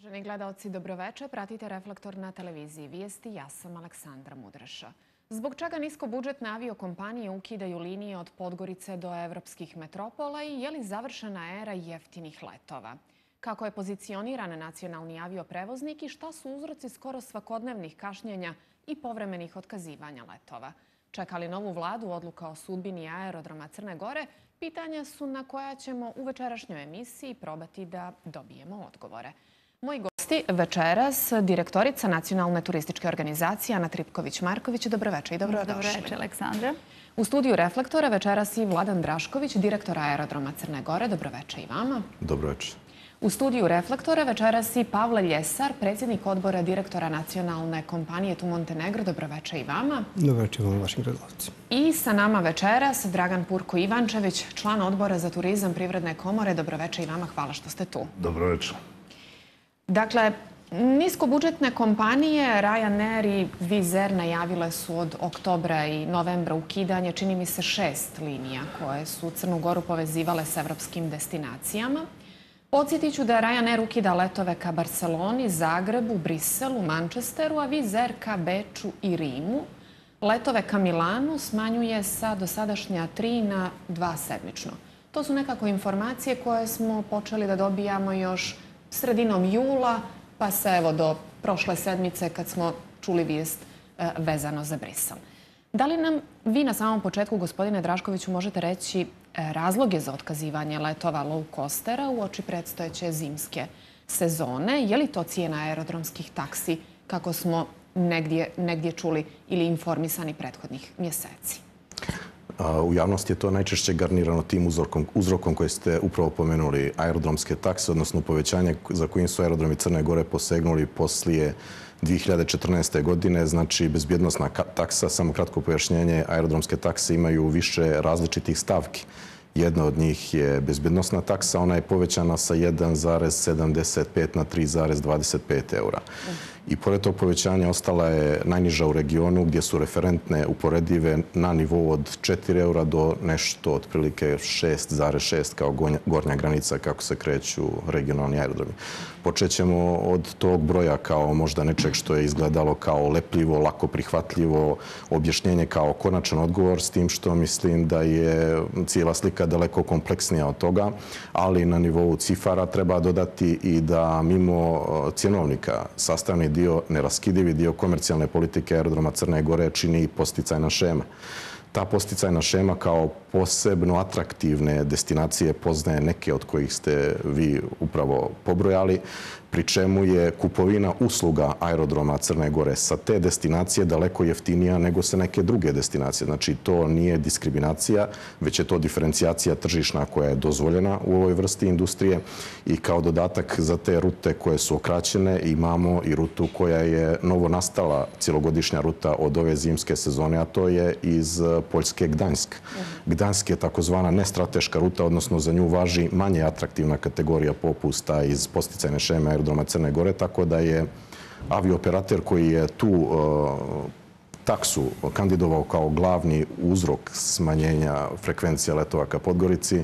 Uvaženi gledaoci, dobroveče. Pratite Reflektor na televiziji Vijesti. Ja sam Aleksandra Mudreša. Zbog čega niskobudžetne aviokompanije ukidaju linije od Podgorice do evropskih metropola i je li završena era jeftinih letova? Kako je pozicioniran nacionalni avioprevoznik i šta su uzroci skoro svakodnevnih kašnjenja i povremenih otkazivanja letova? Čeka li novu vladu odluka o sudbini aerodroma Crne Gore? Pitanja su na koja ćemo u večerašnjoj emisiji probati da dobijemo odgovore. Moji gosti večeras, direktorica Nacionalne turističke organizacije Ana Tripković-Marković. Dobroveče i dobrodošli. Dobroveče, Aleksandra. U studiju Reflektora večeras i Vladan Drašković, direktor aerodroma Crne Gore. Dobroveče i vama. Dobroveče. U studiju Reflektora večeras i Pavle Ljesar, predsjednik odbora direktora nacionalne kompanije Tu Montenegro. Dobroveče i vama. Dobroveče vam, vašim gledalcima. I sa nama večeras Dragan Purko Ivančević, član odbora za turizam Privredne komore. Dobroveče i vama. Hvala što ste tu. Dobroveče. Dakle, niskobudžetne kompanije Ryanair i Wizz Air najavile su od oktobra i novembra ukidanje, čini mi se, 6 linija koje su Crnu Goru povezivale s evropskim destinacijama. Podsjetit ću da Ryanair ukida letove ka Barceloni, Zagrebu, Briselu, Manchesteru, a Wizz Air ka Beču i Rimu. Letove ka Milanu smanjuje sa dosadašnja 3 na 2 sedmično. To su nekako informacije koje smo počeli da dobijamo još sredinom jula, pa se evo do prošle sedmice kad smo čuli vijest vezano za Brisel. Da li nam vi na samom početku, gospodine Draškoviću, možete reći razloge za otkazivanje letova low coastera uoči predstojeće zimske sezone? Je li to cijena aerodromskih taksi, kako smo negdje čuli ili informisani prethodnih mjeseci? U javnosti je to najčešće garnirano tim uzrokom koji ste upravo pomenuli, aerodromske takse, odnosno povećanje za kojim su aerodromi Crne Gore posegnuli poslije 2014. godine. Znači, bezbjednostna taksa, samo kratko pojašnjenje, aerodromske takse imaju više različitih stavki. Jedna od njih je bezbjednostna taksa, ona je povećana sa 1,75 na 3,25 eura. I pored tog povećanja ostala je najniža u regionu gdje su referentne uporedive na nivou od 4 eura do nešto otprilike 6,6 kao gornja granica kako se kreću regionalni aerodromi. Počet ćemo od tog broja kao možda nečeg što je izgledalo kao lepljivo, lako prihvatljivo objašnjenje kao konačan odgovor, s tim što mislim da je cijela slika daleko kompleksnija od toga, ali na nivou cifara treba dodati i da mimo cjenovnika sastavni dio, neraskidivi dio komercijalne politike aerodroma Crne Gore čini posticajna šema. Ta posticajna šema kao posebno atraktivne destinacije poznaje neke od kojih ste vi upravo pobrojali, pri čemu je kupovina usluga aerodroma Crne Gore sa te destinacije daleko jeftinija nego sa neke druge destinacije. Znači, to nije diskriminacija, već je to diferencijacija tržišna koja je dozvoljena u ovoj vrsti industrije i kao dodatak za te rute koje su okraćene imamo i rutu koja je novo nastala cjelogodišnja ruta od ove zimske sezone, a to je iz Poljske Gdansk. Gdansk je takozvana nestrateška ruta, odnosno za nju važi manje atraktivna kategorija popusta iz posticajne šeme aerodroma Crne Gore, tako da je avioperater koji je tu taksu kandidovao kao glavni uzrok smanjenja frekvencija letova ka Podgorici,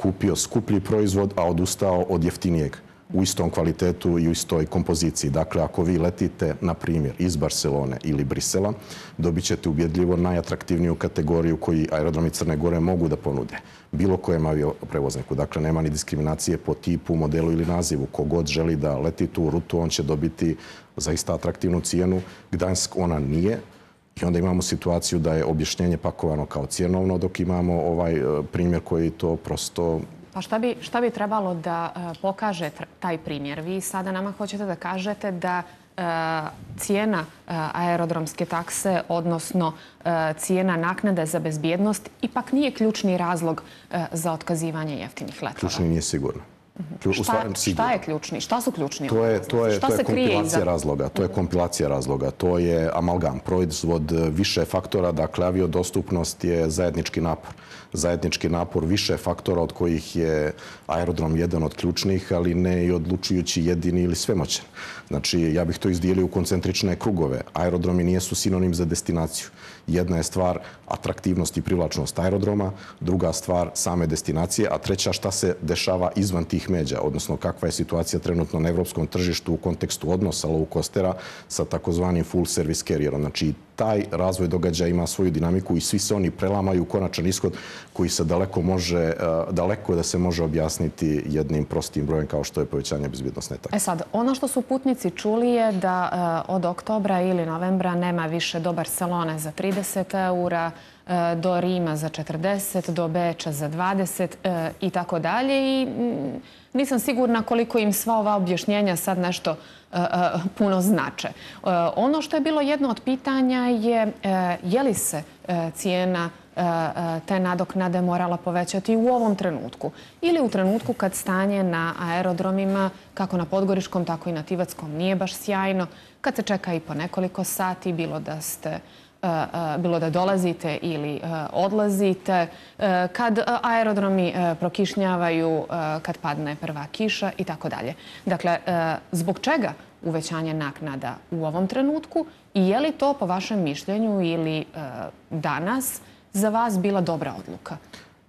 kupio skuplji proizvod, a odustao od jeftinijeg u istom kvalitetu i u istoj kompoziciji. Dakle, ako vi letite, na primjer, iz Barcelone ili Brisela, dobit ćete ubjedljivo najatraktivniju kategoriju koji aerodromi Crne Gore mogu da ponude bilo kojem avioprevozniku. Dakle, nema ni diskriminacije po tipu, modelu ili nazivu. Kogod želi da leti tu rutu, on će dobiti zaista atraktivnu cijenu. Gdansk ona nije. I onda imamo situaciju da je objašnjenje pakovano kao cjenovno, dok imamo ovaj primjer koji to prosto... Pa šta bi trebalo da pokaže taj primjer? Vi sada nama hoćete da kažete da cijena aerodromske takse, odnosno cijena naknade za bezbjednost, ipak nije ključni razlog za otkazivanje jeftinih letova. Ključni nije sigurno. Šta je ključni? Šta su ključni? To je kompilacija razloga. To je kompilacija razloga. To je amalgam, proizvod više faktora. Dakle, aviodostupnost je zajednički napor. Zajednički napor više faktora od kojih je aerodrom jedan od ključnih, ali ne i odlučujući jedini ili svemoćan. Znači, ja bih to izdijelio u koncentrične krugove. Aerodromi nijesu sinonim za destinaciju. Jedna je stvar atraktivnost i privlačnost aerodroma, druga stvar same destinacije, a treća šta se dešava izvan tih low međa, odnosno kakva je situacija trenutno na evropskom tržištu u kontekstu odnosa low costera sa takozvanim full service carrierom. Znači, taj razvoj događaja ima svoju dinamiku i svi se oni prelamaju u konačan ishod koji se daleko da se može objasniti jednim prostim brojem kao što je povećanje bezbjednosne takse. Sad, ono što su putnici čuli je da od oktobra ili novembra nema više do Barcelone za 30 eura, do Rima za 40, do Beča za 20 i tako dalje. I nisam sigurna koliko im sva ova objašnjenja sad nešto puno znače. Ono što je bilo jedno od pitanja je li se cijena te nadoknade morala povećati u ovom trenutku ili u trenutku kad stanje na aerodromima, kako na Podgoričkom, tako i na Tivatskom, nije baš sjajno, kad se čeka i po nekoliko sati, bilo da dolazite ili odlazite, kad aerodromi prokišnjavaju, kad padne prva kiša i tako dalje. Dakle, zbog čega uvećanje naknada u ovom trenutku i je li to po vašem mišljenju ili danas za vas bila dobra odluka?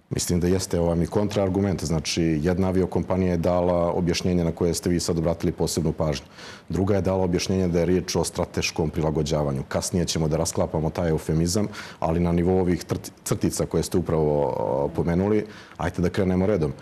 Mislim da jeste, ovo mi kontraargument. Znači, jedna aviokompanija je dala objašnjenje na koje ste vi sad obratili posebnu pažnju. Druga je dala objašnjenje da je riječ o strateškom prilagođavanju. Kasnije ćemo da rasklapamo taj eufemizam, ali na nivou ovih crtica koje ste upravo pomenuli, ajte da krenemo redom.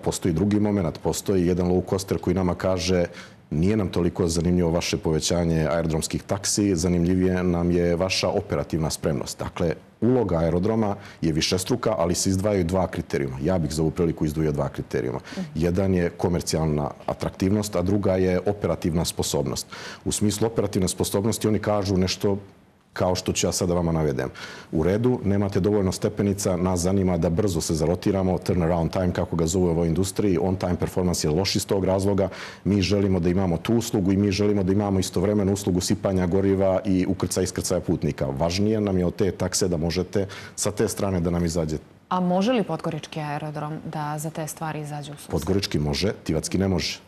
Postoji drugi moment, postoji jedan low coster koji nama kaže nije nam toliko zanimljivo vaše povećanje aerodromskih taksi, zanimljivije nam je vaša operativna spremnost. Dakle, uloga aerodroma je višestruka, ali se izdvajaju dva kriterijuma. Ja bih za ovu priliku izdvojio dva kriterijuma. Jedan je komercijalna atraktivnost, a druga je operativna sposobnost. U smislu operativne sposobnosti oni kažu nešto kao što ću ja sada vama navedem. U redu, nemate dovoljno stepenica, nas zanima da brzo se zarotiramo, turnaround time, kako ga zovu u ovoj industriji, on time performance je loš iz tog razloga. Mi želimo da imamo tu uslugu i mi želimo da imamo istovremenu uslugu sipanja goriva i ukrcaja i iskrcaja putnika. Važnije nam je od te takse da možete sa te strane da nam izađete. A može li Podgorički aerodrom da za te stvari izađe u susret? Podgorički može, Tivatski ne može.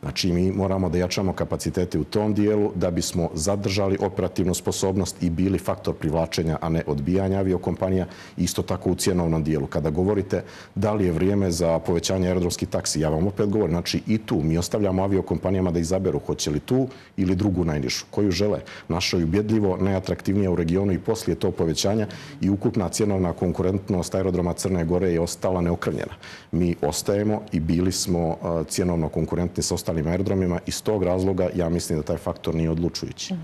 Znači, mi moramo da jačamo kapacitete u tom dijelu da bismo zadržali operativnu sposobnost i bili faktor privlačenja, a ne odbijanja aviokompanija. Isto tako u cjenovnom dijelu. Kada govorite da li je vrijeme za povećanje aerodromskih taksi, ja vam opet govorim, znači i tu mi ostavljamo aviokompanijama da izaberu hoće li tu ili drugu najnižu, koju žele. Naša je ubjedljivo najatraktivnija u regionu i poslije tog povećanja i ukupna cjenovna konkurentnost aerodroma Crne Gore je ostala neokrnjena. Mi ostajemo i bili smo cjenovno konkurentni sa ostalim aerodromima. Iz tog razloga ja mislim da taj faktor nije odlučujući.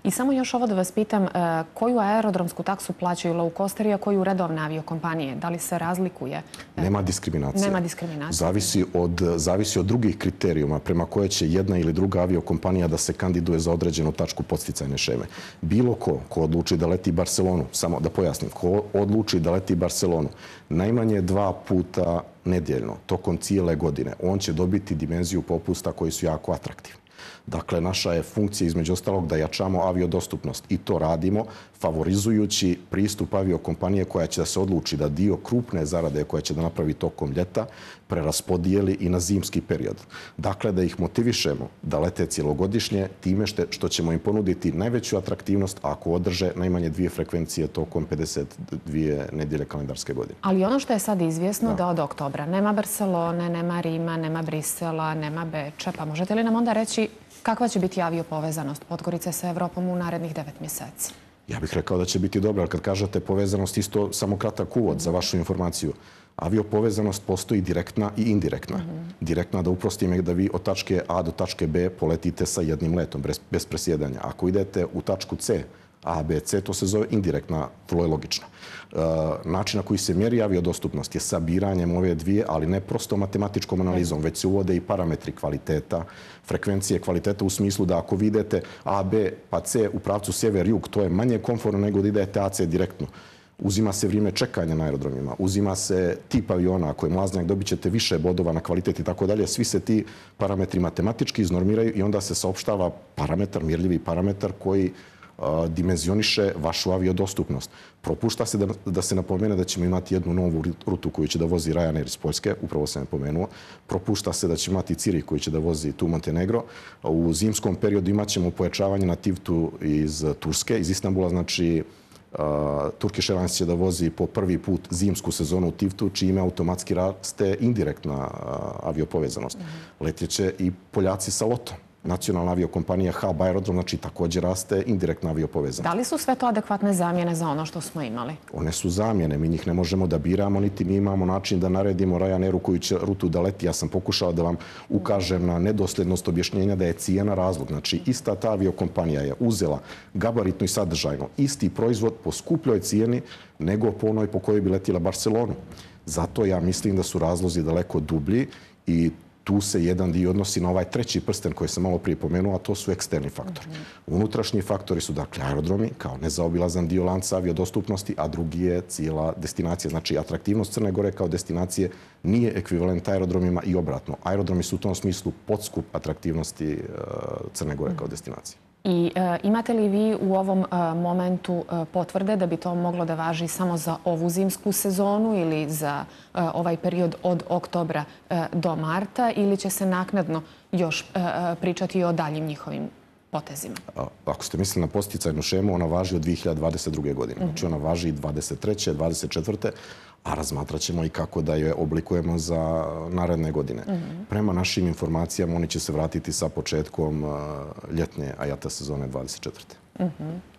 I samo još ovo da vas pitam, koju aerodromsku taksu plaćaju low costeri, a koju redovne aviokompanije? Da li se razlikuje? Nema diskriminacije. Nema diskriminacije. Zavisi od drugih kriterijuma prema koje će jedna ili druga aviokompanija da se kandiduje za određenu tačku podsticajne šeme. Bilo ko odluči da leti Barcelonu, samo da pojasnim, ko odluči da leti Barcelonu najmanje 2 puta nedjeljno, tokom cijele godine, on će dobiti dimenziju popusta koji su jako atraktivni. Dakle, naša je funkcija između ostalog da jačamo aviodostupnost i to radimo favorizujući pristup aviokompanije koja će da se odluči da dio krupne zarade koja će da napravi tokom ljeta preraspodijeli i na zimski period. Dakle, da ih motivišemo da lete cijelogodišnje time što ćemo im ponuditi najveću atraktivnost ako održe najmanje 2 frekvencije tokom 52 nedjelje kalendarske godine. Ali ono što je sad izvjesno da od oktobra nema Barcelone, nema Rima, nema Brisela, nema Beča, pa možete li nam onda reći kakva će biti aviopovezanost Podgorice sa Evropom u narednih 9 mjeseci? Ja bih rekao da će biti dobra, ali kad kažete povezanost, isto samo kratak uvod za vašu informaciju. Aviopovezanost postoji direktna i indirektna. Direktna, da uprostim, je da vi od tačke A do tačke B poletite sa jednim letom, bez presjedanja. Ako idete u tačku C, A, B, C, to se zove indirektna, vrlo je logično. Način na koji se mjeri aviodostupnost je sabiranjem ove dvije, ali ne prosto matematičkom analizom, već se uvode i parametri kvaliteta, frekvencije kvaliteta u smislu da ako vi idete A, B, pa C u pravcu sjever-jug, to je manje komfortno nego da idete AC direktno. Uzima se vrijeme čekanja na aerodromima, uzima se tip aviona, ako je mlaznjak dobit ćete više bodova na kvalitet i tako dalje. Svi se ti parametri matematički iznormiraju i onda se saopštava parametar, mjerljivi parametar koji dimenzioniše vašu aviodostupnost. Propušta se da se napomene da ćemo imati jednu novu rutu koju će da vozi Ryanair iz Poljske, upravo sam je pomenuo. Propušta se da će imati Cirih koji će da vozi tu Montenegro. U zimskom periodu imat ćemo pojačavanje na Tivtu iz Turske, iz Istanbula, znači Turkish Airlines će da vozi po prvi put zimsku sezonu u Tivtu, čime automatski raste indirektna aviopovezanost. Letjeće i Poljaci sa LOT-om. Nacionalna aviokompanija HAB Aerodrom, znači također raste indirektna aviopovezanost. Da li su sve to adekvatne zamjene za ono što smo imali? One su zamjene, mi njih ne možemo da biramo, niti mi imamo način da naredimo Ryanairu koju će rutu da leti. Ja sam pokušao da vam ukažem na nedosljednost objašnjenja da je cijena razlog. Znači, ista ta aviokompanija je uzela gabaritno i sadržajno isti proizvod po skupljoj cijeni nego po onoj po kojoj bi letjela Barcelonu. Zato ja mislim da su razlozi daleko dublji i tu se jedan dio odnosi na ovaj treći prsten koji sam malo prije pomenuo, a to su eksterni faktori. Unutrašnji faktori su dakle aerodromi kao nezaobilazan dio lanca aviodostupnosti, a drugi je cijela destinacija. Znači, atraktivnost Crne Gore kao destinacije nije ekvivalent aerodromima i obratno. Aerodromi su u tom smislu podskup atraktivnosti Crne Gore kao destinacije. I imate li vi u ovom momentu potvrde da bi to moglo da važi samo za ovu zimsku sezonu ili za ovaj period od oktobra do marta ili će se naknadno još pričati o daljim njihovim potezima? Ako ste mislili na posticajnu šemu, ona važi od 2022. godine. Znači ona važi i 23. 24. a razmatrat ćemo i kako da je oblikujemo za naredne godine. Prema našim informacijama oni će se vratiti sa početkom ljetnje AJATA sezone 24.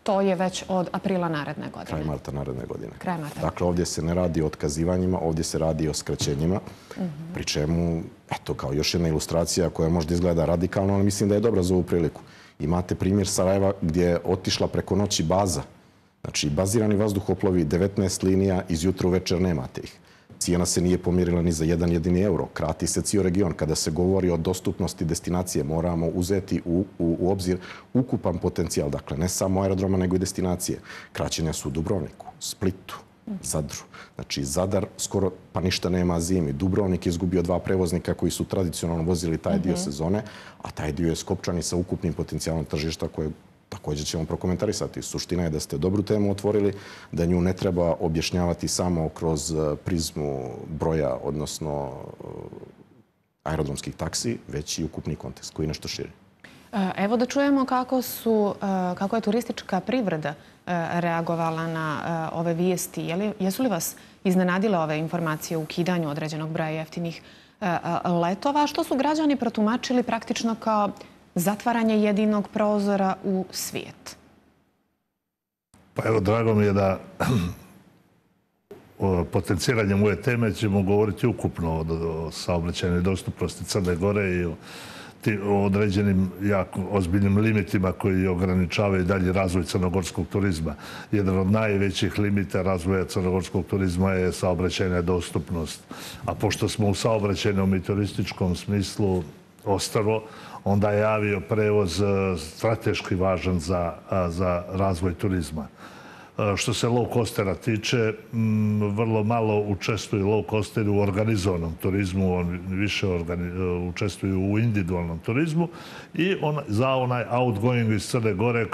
To je već od aprila naredne godine. Kraj marta naredne godine. Kraj marta. Dakle, ovdje se ne radi o otkazivanjima, ovdje se radi o skraćenjima, pri čemu, eto, kao još jedna ilustracija koja možda izgleda radikalno, ali mislim da je dobra za ovu priliku. Imate primjer Sarajeva gdje je otišla preko noći baza. Znači, bazirani vazduhoplovi, 19 linija, iz jutra u večer nemate ih. Cijena se nije pomjerila ni za jedan jedini euro. Krati se cijel region. Kada se govori o dostupnosti destinacije, moramo uzeti u obzir ukupan potencijal. Dakle, ne samo aerodroma, nego i destinacije. Kraćenja su u Dubrovniku, Splitu, Zadru. Znači, Zadar skoro pa ništa nema zimi. Dubrovnik je izgubio 2 prevoznika koji su tradicionalno vozili taj dio sezone, a taj dio je skopčan i sa ukupnim potencijalom tržišta koje također ćemo prokomentarisati. Suština je da ste dobru temu otvorili, da nju ne treba objašnjavati samo kroz prizmu broja, odnosno aerodromskih taksi, već i ukupni kontekst koji je nešto širi. Evo da čujemo kako je turistička privreda reagovala na ove vijesti. Jesu li vas iznenadile ove informacije o ukidanju određenog broja jeftinih letova? Što su građani protumačili praktično kao zatvaranje jedinog prozora u svijet? Pa evo, drago mi je da potenciranjem ove teme ćemo govoriti ukupno o saobraćajnoj dostupnosti Crne Gore i o određenim jako ozbiljnim limitima koji ograničavaju dalji razvoj crnogorskog turizma. Jedan od najvećih limita razvoja crnogorskog turizma je saobraćajna dostupnost. A pošto smo u saobraćajnom i turističkom smislu ostrvo, onda je avioprevoz strateški važan za razvoj turizma. Što se low-costera tiče, vrlo malo učestvuju low-costeri u organizovanom turizmu, oni više učestvuju u individualnom turizmu i za onaj outgoing iz Crne Gore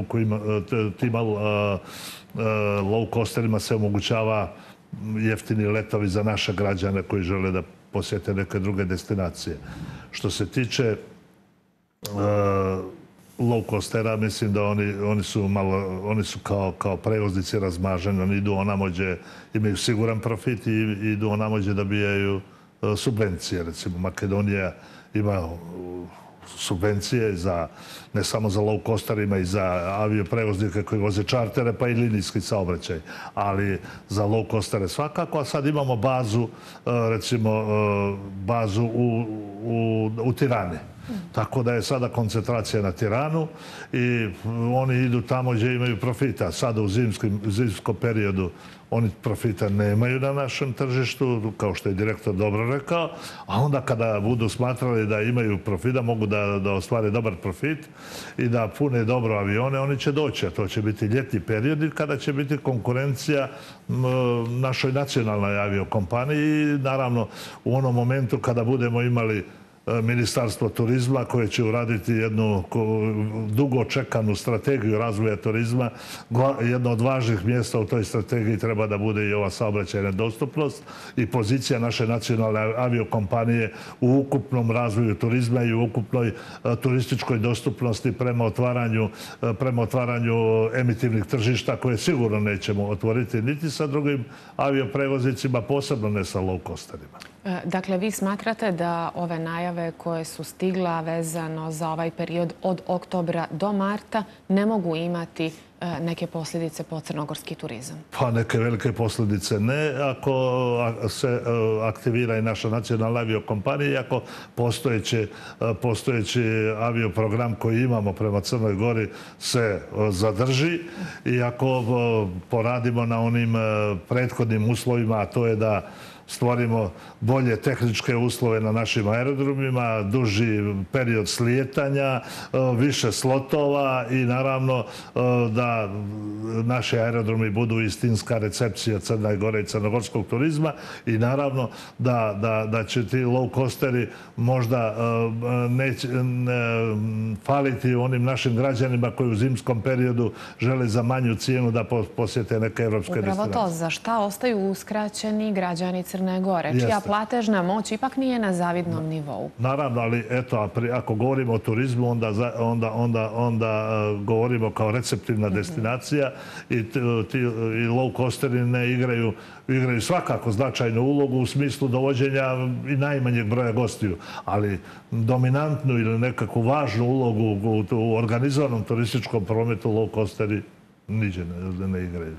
kojima tim low-costerima se omogućava jeftini letovi za naše građane koji žele da posjete neke druge destinacije. Što se tiče low-costera, mislim da oni su kao prevoznici razmaženi. Oni idu onamo gdje imaju siguran profit i idu onamo gdje dobijaju subvencije. Recimo, Makedonija ima subvencije ne samo za low-costerima i za avioprevoznike koji voze čartere, pa i linijski saobraćaj. Ali za low-costere svakako, a sad imamo bazu, recimo, bazu u Tirani. Tako da je sada koncentracija na Tiranu i oni idu tamo gdje imaju profita. Sada u zimskom periodu oni profita nemaju na našem tržištu, kao što je direktor dobro rekao, a onda kada budu smatrali da imaju profit, da mogu da ostvare dobar profit i da pune dobro avione, oni će doći. A to će biti ljetni period kada će biti konkurencija našoj nacionalnoj aviokompaniji i naravno u onom momentu kada budemo imali Ministarstvo turizma koje će uraditi jednu dugo čekanu strategiju razvoja turizma. Jedno od važnih mjesta u toj strategiji treba da bude i ova saobraćajna dostupnost i pozicija naše nacionalne aviokompanije u ukupnom razvoju turizma i u ukupnoj turističkoj dostupnosti prema otvaranju emitivnih tržišta koje sigurno nećemo otvoriti niti sa drugim avioprevoznicima, posebno ne sa low costerima. Dakle, vi smatrate da ove najave koje su stigla vezano za ovaj period od oktobra do marta ne mogu imati neke posljedice po crnogorski turizam? Pa neke velike posljedice ne. Ako se aktivira i naša nacionalna aviokompanija i ako postojeći avioprogram koji imamo prema Crnoj Gori se zadrži i ako poradimo na onim prethodnim uslovima, a to je da stvorimo bolje tehničke uslove na našim aerodromima, duži period slijetanja, više slotova i naravno da naši aerodromi budu istinska recepcija Crne Gore i crnogorskog turizma i naravno da će ti low costeri možda faliti onim našim građanima koji u zimskom periodu žele za manju cijenu da posjete neke evropske destinacije. Upravo to, za šta ostaju uskraćeni građani Crne Gore, čija platežna moć ipak nije na zavidnom nivou. Naravno, ali eto, ako govorimo o turizmu, onda govorimo kao receptivna destinacija i low costeri ne igraju svakako značajnu ulogu u smislu dovođenja i najmanjeg broja gostiju, ali dominantnu ili nekakvu važnu ulogu u organizovanom turističkom prometu low costeri niđe ne igraju.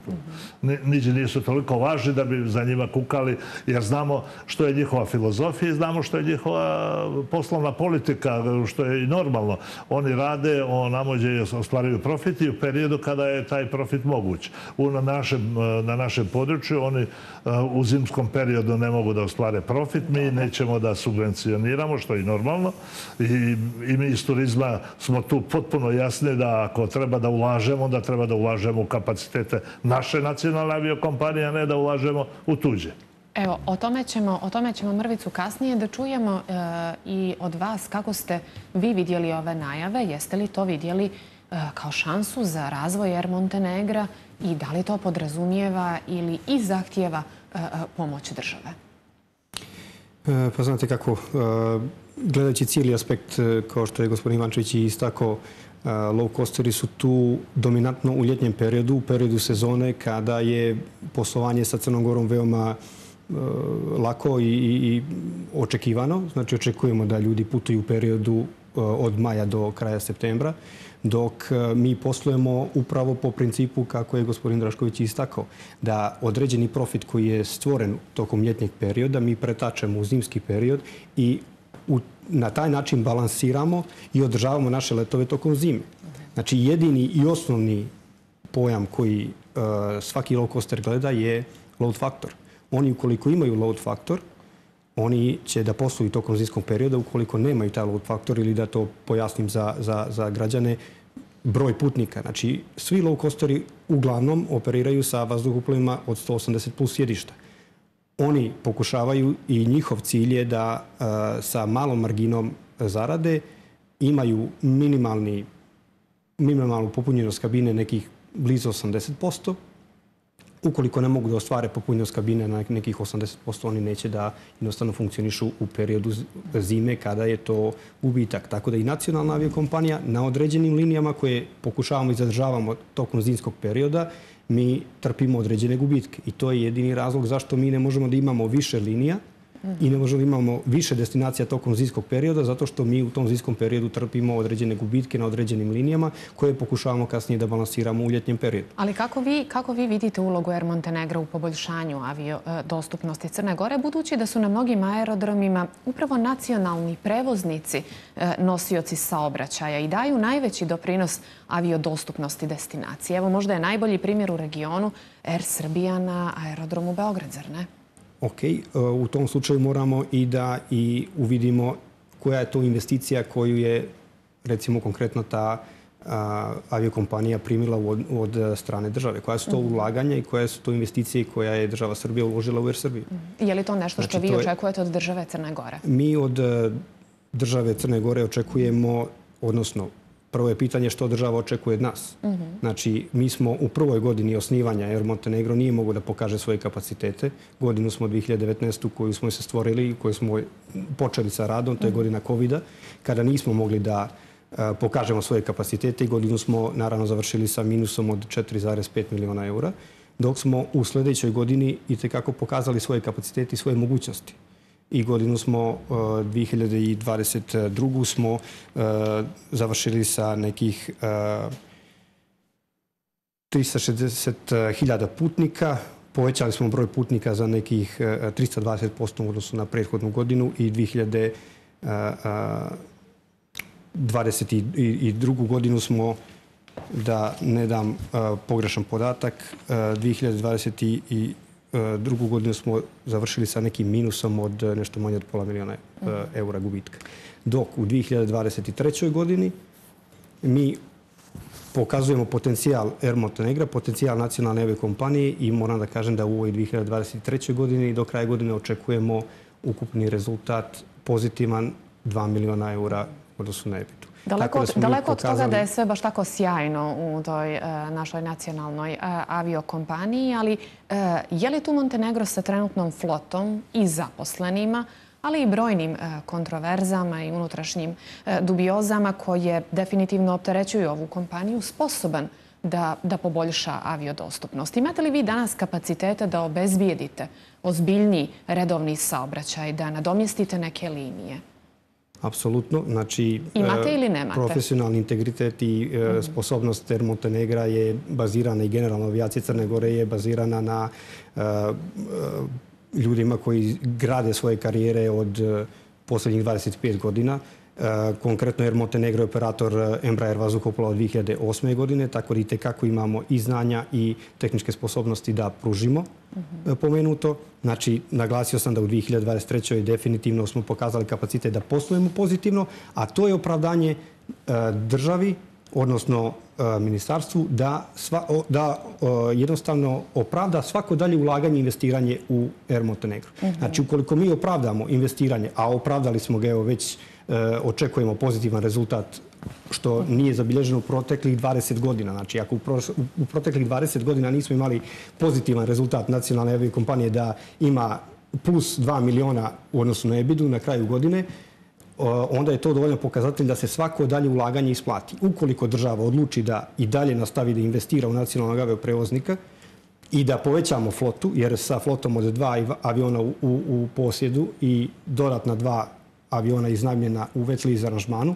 Niđe nisu toliko važni da bi za njima kukali, jer znamo što je njihova filozofija i znamo što je njihova poslovna politika, što je i normalno. Oni rade, namođe i ostvaruju profit i u periodu kada je taj profit moguć. Na našem području oni u zimskom periodu ne mogu da ostvare profit, mi nećemo da subvencioniramo, što je i normalno. I mi iz turizma smo tu potpuno jasni da ako treba da ulažemo, onda treba da ulažemo u kapacitete naše nacionalne aviokompanije, a ne da ulažemo u tuđe. Evo, o tome ćemo mrvicu kasnije da čujemo i od vas kako ste vi vidjeli ove najave. Jeste li to vidjeli kao šansu za razvoj Air Montenegra i da li to podrazumijeva ili i zahtijeva pomoć države? Pa znate kako, gledajući cijeli aspekt, kao što je gospodin Ivančević istakao, low costeri su tu dominantno u ljetnjem periodu, u periodu sezone kada je poslovanje sa Crnom Gorom veoma lako i očekivano. Znači očekujemo da ljudi putuju u periodu od maja do kraja septembra, dok mi poslujemo upravo po principu kako je gospodin Drašković istakao, da određeni profit koji je stvoren tokom ljetnjeg perioda mi pretačemo u zimski period i na taj način balansiramo i održavamo naše letove tokom zime. Znači, jedini i osnovni pojam koji svaki low coaster gleda je load factor. Oni ukoliko imaju load factor, oni će da posluju tokom zimskog perioda. Ukoliko nemaju taj load factor, ili da to pojasnim za građane, broj putnika. Znači, svi low coasteri uglavnom operiraju sa vazduhoplovima od 180 plus sjedišta. Oni pokušavaju i njihov cilj je da sa malom marginom zarade imaju minimalnu popunjenost kabine nekih blizu 80%. Ukoliko ne mogu da ostvare popunjenost kabine na nekih 80%, oni neće da jednostavno funkcionišu u periodu zime kada je to gubitak. Tako da i nacionalna aviokompanija na određenim linijama koje pokušavamo i zadržavamo tokom zimskog perioda, mi trpimo određene gubitke. I to je jedini razlog zašto mi ne možemo da imamo više linija i ne možemo da imamo više destinacija tokom zimskog perioda, zato što mi u tom zimskom periodu trpimo određene gubitke na određenim linijama koje pokušavamo kasnije da balansiramo u ljetnjem periodu. Ali kako vi vidite ulogu Air Montenegra u poboljšanju dostupnosti Crne Gore, budući da su na mnogim aerodromima upravo nacionalni prevoznici nosioci saobraćaja i daju najveći doprinos aviodostupnosti destinacije? Evo, možda je najbolji primjer u regionu Air Srbija na aerodromu Beograd, zar ne? Ok, u tom slučaju moramo i da uvidimo koja je to investicija koju je, recimo konkretno, ta aviokompanija primila od strane države. Koja su to ulaganja i koje su to investicije koja je država Srbija uložila u Air Srbiju. Je li to nešto što vi očekujete od države Crne Gore? Mi od države Crne Gore očekujemo, odnosno prvo je pitanje što država očekuje od nas. Znači, mi smo u prvoj godini osnivanja Air Montenegro nije mogao da pokaže svoje kapacitete. Godinu smo 2019. koju smo se stvorili, koju smo počeli sa radom, to je godina COVID-a, kada nismo mogli da pokažemo svoje kapacitete i godinu smo naravno završili sa minusom od 4,5 miliona eura, dok smo u sljedećoj godini itekako pokazali svoje kapacitete i svoje mogućnosti. I godinu smo, 2022. smo završili sa nekih 360.000 putnika. Povećali smo broj putnika za nekih 320% u odnosu na prethodnu godinu i 2022. godinu smo, da ne dam pogrešan podatak, 2022. godinu smo završili sa nekim minusom od nešto manje od pola miliona eura gubitka. Dok u 2023. godini mi pokazujemo potencijal Air Montenegra, potencijal nacionalne aviakompanije i moram da kažem da u ovoj 2023. godini do kraja godine očekujemo ukupni rezultat pozitivan 2 miliona eura u odnosu na EBITDA. Daleko od toga da je sve baš tako sjajno u toj našoj nacionalnoj aviokompaniji, ali je li tu Montenegro sa trenutnom flotom i zaposlenima, ali i brojnim kontroverzama i unutrašnjim dubiozama koje definitivno opterećuju ovu kompaniju, sposoban da poboljša aviodostupnost? Imate li vi danas kapacitete da obezbijedite ozbiljniji redovni saobraćaj, da nadomjestite neke linije? Apsolutno. Znači, imate ili nemate? Profesionalni integritet i sposobnost Air Montenegra je bazirana i generalna avijacija Crne Gore je bazirana na ljudima koji grade svoje karijere od posljednjih 25 godina. Konkretno Air Montenegro je operator Embraer vazduhoplova od 2008. godine, tako da itekako imamo i znanja i tehničke sposobnosti da pružimo pomenuto. Znači, naglasio sam da u 2023. definitivno smo pokazali kapacitet da poslujemo pozitivno, a to je opravdanje državi, odnosno ministarstvu, da jednostavno opravda svako dalje ulaganje i investiranje u Air Montenegro. Znači, ukoliko mi opravdamo investiranje, a opravdali smo ga evo već, očekujemo pozitivan rezultat, što nije zabilježeno u proteklih 20 godina. Znači, ako u proteklih 20 godina nismo imali pozitivan rezultat nacionalne aviokompanije da ima plus 2 miliona u odnosu na EBITDA na kraju godine, onda je to dovoljno pokazatelj da se svako dalje ulaganje isplati. Ukoliko država odluči da i dalje nastavi da investira u nacionalnog avioprevoznika i da povećamo flotu, jer sa flotom od 2 aviona u posjedu i dodatna 2 aviona iznajmljena u wet lease aranžmanu,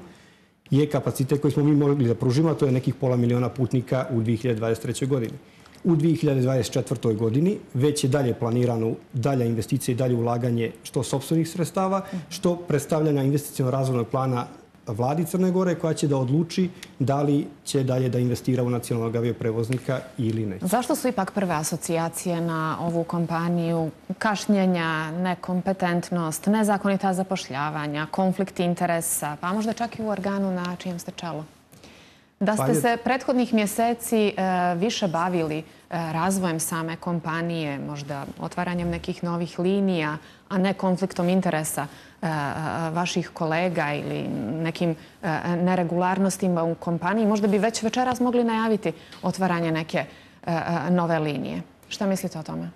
je kapacitet koji smo mi mogli da pružimo, a to je nekih pola miliona putnika u 2023. godini. U 2024. godini već je dalje planirano dalja investicija i dalje ulaganje što sopstvenih sredstava, što predstavljanja investicionog razvojnog plana vladi Crne Gore koja će da odluči da li će dalje da investira u nacionalnog avioprevoznika ili ne. Zašto su ipak prve asocijacije na ovu kompaniju kašnjenja, nekompetentnost, nezakonita zapošljavanja, konflikt interesa, pa možda čak i u organu na čijem ste čelu? Da ste se prethodnih mjeseci više bavili razvojem same kompanije, možda otvaranjem nekih novih linija, a ne konfliktom interesa vaših kolega ili nekim neregularnostima u kompaniji, možda bi već večeras mogli najaviti otvaranje neke nove linije. Šta mislite o tome?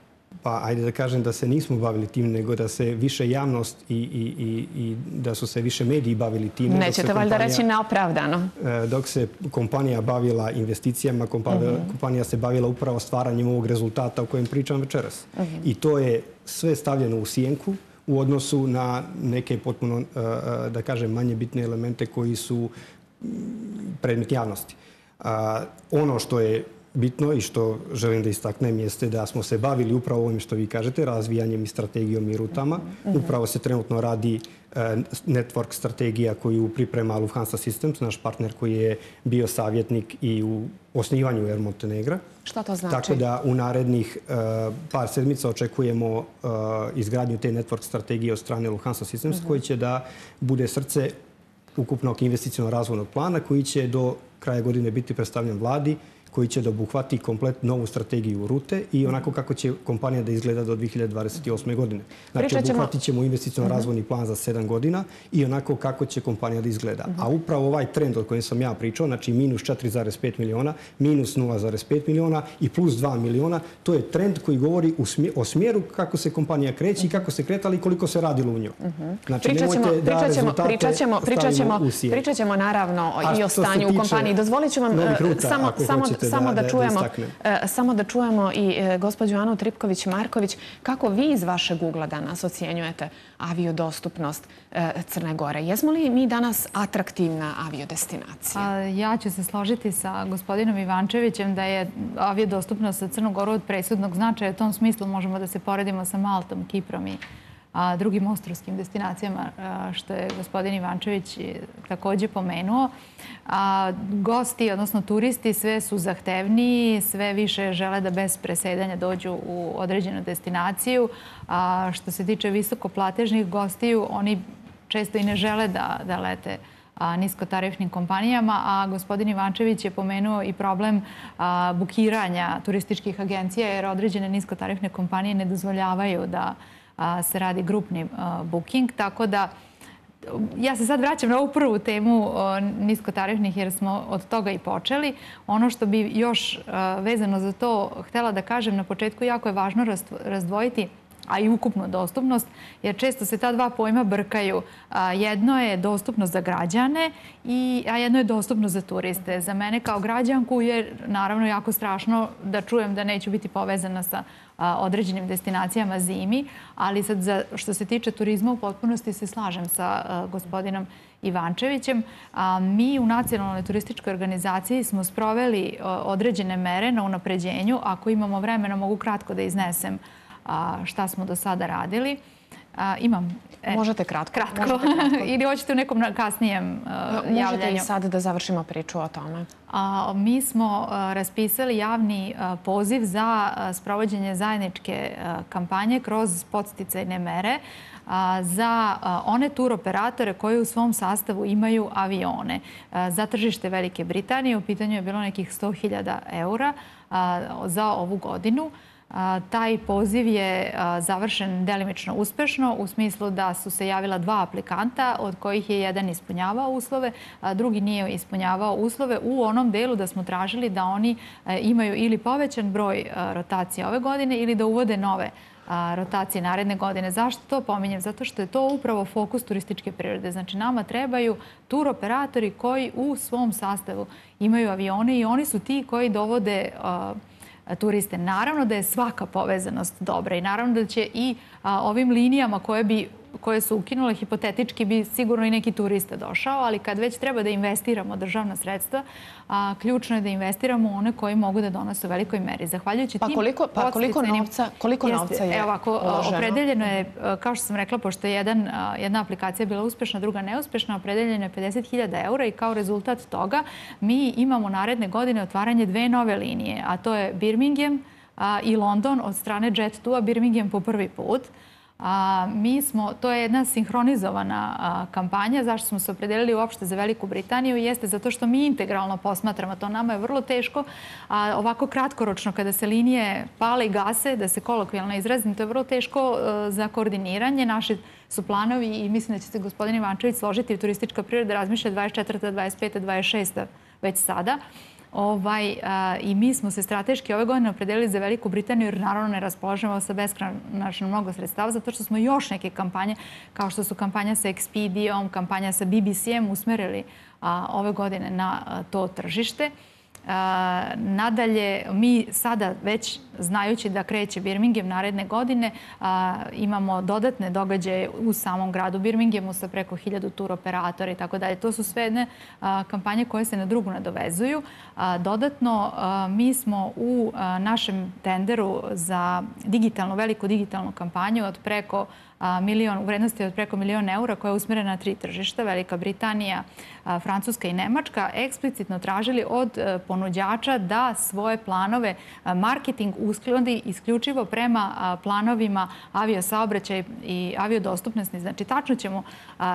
Pa, ajde da kažem da se nismo bavili tim, nego da se više javnost i da su se više mediji bavili tim. Nećete valjda reći neopravdano. Dok se kompanija bavila investicijama, kompanija se bavila upravo stvaranjem ovog rezultata o kojem pričam večeras. I to je sve stavljeno u sjenku u odnosu na neke potpuno, da kažem, manje bitne elemente koji su predmet javnosti. Ono što je bitno i što želim da istaknem jeste da smo se bavili upravo ovim što vi kažete, razvijanjem i strategijom i rutama. Upravo se trenutno radi network strategija koju priprema Lufthansa Systems, naš partner koji je bio savjetnik i u osnivanju Air Montenegra. Šta to znači? Tako da u narednih par sedmica očekujemo izgradnju te network strategije od strane Lufthansa Systems koji će da bude srce ukupnog investicionog razvojnog plana koji će do kraja godine biti predstavljen vladi koji će da obuhvati komplet novu strategiju rute i onako kako će kompanija da izgleda do 2028. godine. Znači, obuhvatit ćemo investiciono razvojni plan za 7 godina i onako kako će kompanija da izgleda. A upravo ovaj trend o kojem sam ja pričao, znači minus 4,5 miliona, minus 0,5 miliona i plus 2 miliona, to je trend koji govori o smjeru kako se kompanija kreće i kako se kretala i koliko se radilo u njoj. Znači, nemojte da rezultate stavimo u sjenu. Pričat ćemo naravno i o stanju u kompaniji. Dozvolit ću vam samo da čujemo i gospođu Anu Tripković-Marković. Kako vi iz vašeg ugla danas ocjenjujete aviodostupnost Crne Gore? Jesmo li mi danas atraktivna aviodestinacija? Ja ću se složiti sa gospodinom Ivančevićem da je aviodostupnost za Crnu Goru od presudnog značaja. U tom smislu možemo da se poredimo sa Maltom, Kiprom i drugim ostrvskim destinacijama, što je gospodin Ivančević također pomenuo. Gosti, odnosno turisti, sve su zahtevniji, sve više žele da bez presedanja dođu u određenu destinaciju. Što se tiče visokoplatežnih gostiju, oni često i ne žele da lete niskotarifnim kompanijama, a gospodin Ivančević je pomenuo i problem bukiranja turističkih agencija, jer određene niskotarifne kompanije ne dozvoljavaju da se radi grupni booking, tako da ja se sad vraćam na ovu prvu temu niskotarifnih jer smo od toga i počeli. Ono što bi još vezano za to htjela da kažem na početku, jako je važno razdvojiti a i ukupnu dostupnost, jer često se ta dva pojma brkaju. Jedno je dostupnost za građane, a jedno je dostupnost za turiste. Za mene kao građanku je naravno jako strašno da čujem da neću biti povezana sa određenim destinacijama zimi, ali sad što se tiče turizma u potpunosti se slažem sa gospodinom Ivančevićem. Mi u Nacionalnoj turističkoj organizaciji smo sproveli određene mere na unapređenju. Ako imamo vremena, mogu kratko da iznesem šta smo do sada radili. Imam. Možete kratko. Ili hoćete u nekom kasnijem javljanju? Možete i sad da završimo priču o tome. Mi smo raspisali javni poziv za sprovođenje zajedničke kampanje kroz podsticajne mere za one turoperatore koji u svom sastavu imaju avione. Za tržište Velike Britanije u pitanju je bilo nekih 100.000 eura za ovu godinu. Taj poziv je završen delimično uspešno u smislu da su se javila 2 aplikanta od kojih je jedan ispunjavao uslove, a drugi nije ispunjavao uslove u onom delu da smo tražili da oni imaju ili povećan broj rotacija ove godine ili da uvode nove rotacije naredne godine. Zašto to pominjem? Zato što je to upravo fokus turističke prirode. Znači, nama trebaju turoperatori koji u svom sastavu imaju avione i oni su ti koji dovode turiste. Naravno da je svaka povezanost dobra i naravno da će i ovim linijama koje su ukinule, hipotetički bi sigurno i neki turista došao, ali kad već treba da investiramo državna sredstva, ključno je da investiramo one koji mogu da donose u velikoj meri. Zahvaljujući tim koliko novca je uloženo? Opredeljeno je, kao što sam rekla, pošto je jedna aplikacija bila uspešna, druga neuspešna, opredeljeno je 50.000 eura i kao rezultat toga mi imamo naredne godine otvaranje 2 nove linije, a to je Birmingham i London od strane Jet2, Birmingham po prvi put. To je jedna sinhronizovana kampanja. Zašto smo se opredelili uopšte za Veliku Britaniju? Jeste zato što mi integralno posmatramo to. Nama je vrlo teško, ovako kratkoročno kada se linije pale i gase, da se kolokvijalno izrazim, to je vrlo teško za koordiniranje. Naši su planovi i mislim da će se gospodin Ivančević složiti u turistička priroda razmišlja 24., 25., 26. već sada. I mi smo se strateški ove godine opredelili za Veliku Britaniju jer naravno ne raspolažemo sa beskonačno mnogo sredstava zato što smo još neke kampanje kao što su kampanja sa Expedijom, kampanja sa BBC-em usmerili ove godine na to tržište. Nadalje, mi sada već znajući da kreće Birmingham naredne godine, imamo dodatne događaje u samom gradu Birminghamu sa preko 1000 turoperatora i tako dalje. To su sve jedne kampanje koje se na drugu nadovezuju. Dodatno, mi smo u našem tenderu za veliku digitalnu kampanju od preko u vrednosti od preko €1.000.000 koja je usmjerena na 3 tržišta, Velika Britanija, Francuska i Nemačka, eksplicitno tražili od ponuđača da svoje planove marketing uskladi isključivo prema planovima aviosaobraćaja i aviodostupnosti. Znači, tačno ćemo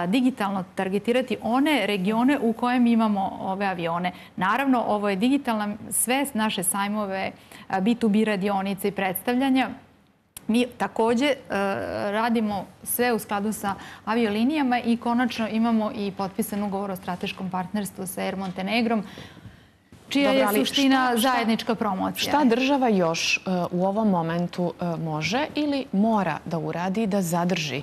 digitalno targetirati one regione u kojem imamo ove avione. Naravno, ovo je digitalna, sve naše sajmove, B2B radionice i predstavljanja. Mi također radimo sve u skladu sa aviolinijama i konačno imamo i potpisan ugovor o strateškom partnerstvu sa Air Montenegrom, čija je suština zajednička promocija. Šta država još u ovom momentu može ili mora da uradi da zadrži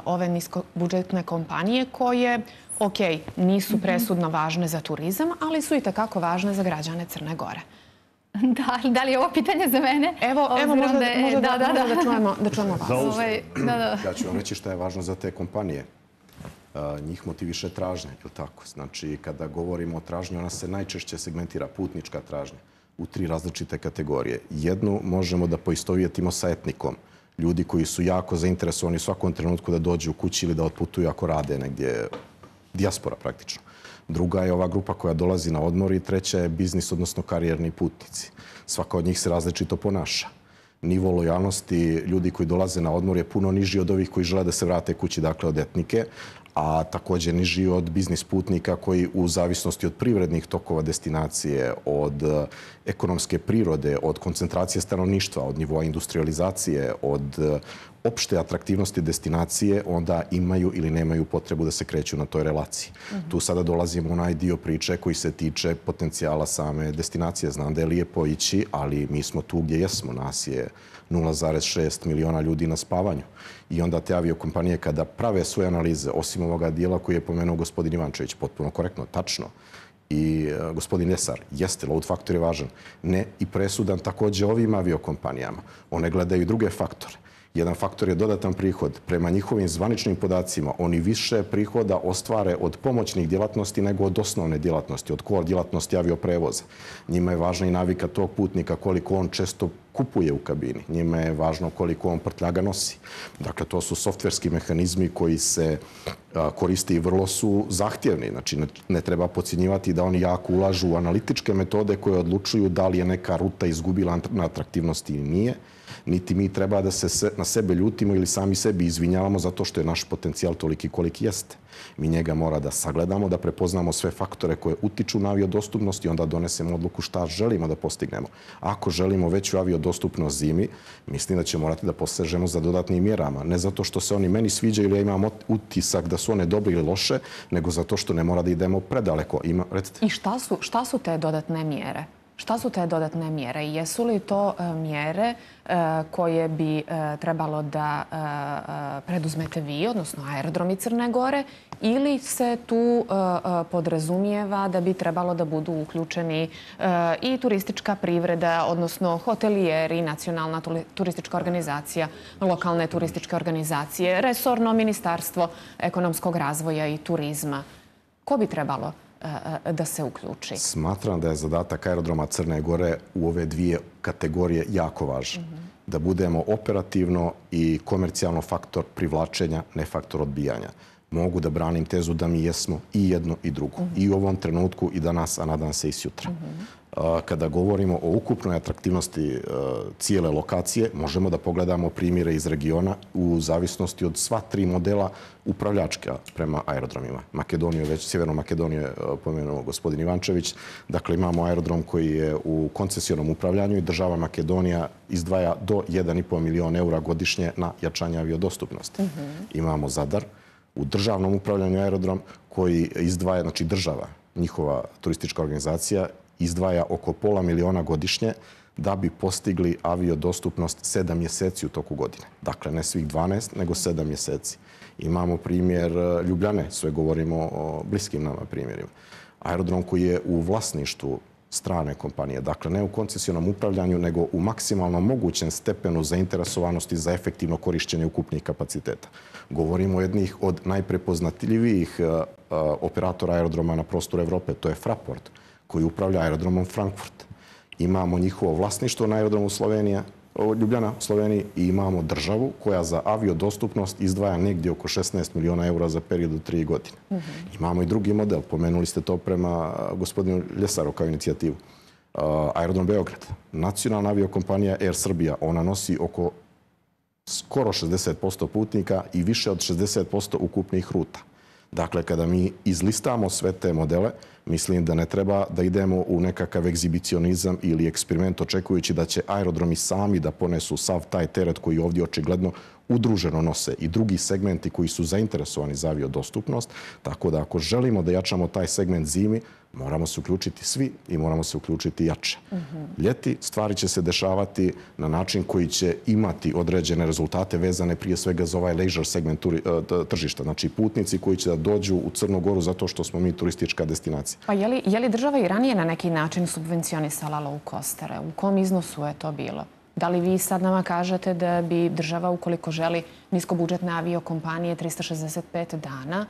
ove niskobudžetne kompanije koje, ok, nisu presudno važne za turizam, ali su i takako važne za građane Crne Gore? Da li je ovo pitanje za mene? Evo, možda da čujemo vas. Ja ću vam reći šta je važno za te kompanije. Njih motiviše tražnja, je li tako? Znači, kada govorimo o tražnji, ona se najčešće segmentira, putnička tražnja, u 3 različite kategorije. Jednu možemo da poistovjetimo sa etnikom. Ljudi koji su jako zainteresovani u svakom trenutku da dođu u kući ili da otputuju ako rade negdje, dijaspora praktično. Druga je ova grupa koja dolazi na odmor i treća je biznis, odnosno karijerni putnici. Svaka od njih se različito ponaša. Nivo lojalnosti ljudi koji dolaze na odmor je puno niži od ovih koji žele da se vrate kući, dakle od etnike, a također niži od biznis putnika koji u zavisnosti od privrednih tokova destinacije, od ekonomske prirode, od koncentracije stanovništva, od nivoa industrializacije, od opšte atraktivnosti destinacije, onda imaju ili nemaju potrebu da se kreću na toj relaciji. Tu sada dolazimo u onaj dio priče koji se tiče potencijala same destinacije. Znam da je lijepo ići, ali mi smo tu gdje jesmo. Nas je 0,6 miliona ljudi na spavanju. I onda te aviokompanije kada prave svoje analize, osim ovoga dijela koji je pomenuo gospodin Ivančević, potpuno korektno, tačno, i gospodin Esar, jeste, load faktor je važan, ne i presudan također ovim aviokompanijama. One gledaju i druge faktore. Jedan faktor je dodatan prihod. Prema njihovim zvaničnim podacima, oni više prihoda ostvare od pomoćnih djelatnosti nego od osnovne djelatnosti, od core djelatnosti avioprevoza. Njima je važna i navika tog putnika, koliko on često kupuje u kabini. Njima je važno koliko on prtljaga nosi. Dakle, to su softverski mehanizmi koji se koriste i vrlo su zahtjevni. Znači, ne treba podcjenjivati da oni jako ulažu u analitičke metode koje odlučuju da li je neka ruta izgubila na atraktivnosti ili nije. Niti mi treba da se na sebe ljutimo ili sami sebi izvinjavamo zato što je naš potencijal toliki koliki jeste. Mi njega mora da sagledamo, da prepoznamo sve faktore koje utiču na aviodostupnost i onda donesemo odluku šta želimo da postignemo. Ako želimo veću aviodostupnost zimi, mislim da će morati da posežemo za dodatnim mjerama. Ne zato što se oni meni sviđaju ili ja imam utisak da su one dobre ili loše, nego zato što ne mora da idemo predaleko. I šta su te dodatne mjere? Šta su te dodatne mjere? Jesu li to mjere koje bi trebalo da preduzmete vi, odnosno aerodromi Crne Gore, ili se tu podrazumijeva da bi trebalo da budu uključeni i turistička privreda, odnosno hotelijeri, nacionalna turistička organizacija, lokalne turističke organizacije, resorno ministarstvo ekonomskog razvoja i turizma? Ko bi trebalo da se uključi? Smatram da je zadatak aerodroma Crne Gore u ove 2 kategorije jako važan. Da budemo operativno i komercijalno faktor privlačenja, ne faktor odbijanja. Mogu da branim tezu da mi jesmo i jedno i drugo. I u ovom trenutku i danas, a nadam se i sutra. Kada govorimo o ukupnoj atraktivnosti cijele lokacije, možemo da pogledamo primjere iz regiona u zavisnosti od sva 3 modela upravljačka prema aerodromima. Sjevernu Makedoniju je pomenuo gospodin Ivančević. Dakle, imamo aerodrom koji je u koncesionom upravljanju i država Makedonija izdvaja do 1,5 miliona eura godišnje na jačanje aviodostupnosti. Imamo Zadar u državnom upravljanju aerodrom koji izdvaja, znači država, njihova turistička organizacija, izdvaja oko pola miliona godišnje da bi postigli aviodostupnost 7 mjeseci u toku godine. Dakle, ne svih 12, nego 7 mjeseci. Imamo primjer Ljubljane, sve govorimo o bliskim nama primjerima. Aerodrom koji je u vlasništvu strane kompanije, dakle ne u koncesionom upravljanju, nego u maksimalno mogućem stepenu zainteresovanosti za efektivno korišćenje ukupnih kapaciteta. Govorimo o jednih od najprepoznatljivijih operatora aerodroma na prostoru Evrope, to je Fraport, koji upravlja aerodromom Frankfurt. Imamo njihovo vlasništvo na aerodromu Slovenija, Ljubljana, Sloveniji, i imamo državu koja za aviodostupnost izdvaja negdje oko 16 miliona eura za period od 3 godine. Imamo i drugi model, pomenuli ste to prema gospodinu Ljesaru kao inicijativu. Aerodrom Beograd, nacionalna aviokompanija Air Srbija, ona nosi oko skoro 60% putnika i više od 60% ukupnih ruta. Dakle, kada mi izlistamo sve te modele, mislim da ne treba da idemo u nekakav egzibicionizam ili eksperiment očekujući da će aerodromi sami da ponesu sav taj teret koji ovdje očigledno udruženo nose i drugi segmenti koji su zainteresovani za aviodostupnost. Tako da ako želimo da jačamo taj segment zimi, moramo se uključiti svi i moramo se uključiti jače. Ljeti stvari će se dešavati na način koji će imati određene rezultate vezane prije svega za ovaj leisure segment tržišta. Znači putnici koji će da dođu u Crnu Goru zato što smo mi turistička destinacija. Pa je li država i ranije na neki način subvencionisala low costere? U kom iznosu je to bilo? Da li vi sad nama kažete da bi država, ukoliko želi niskobudžetne aviokompanije 365 dana,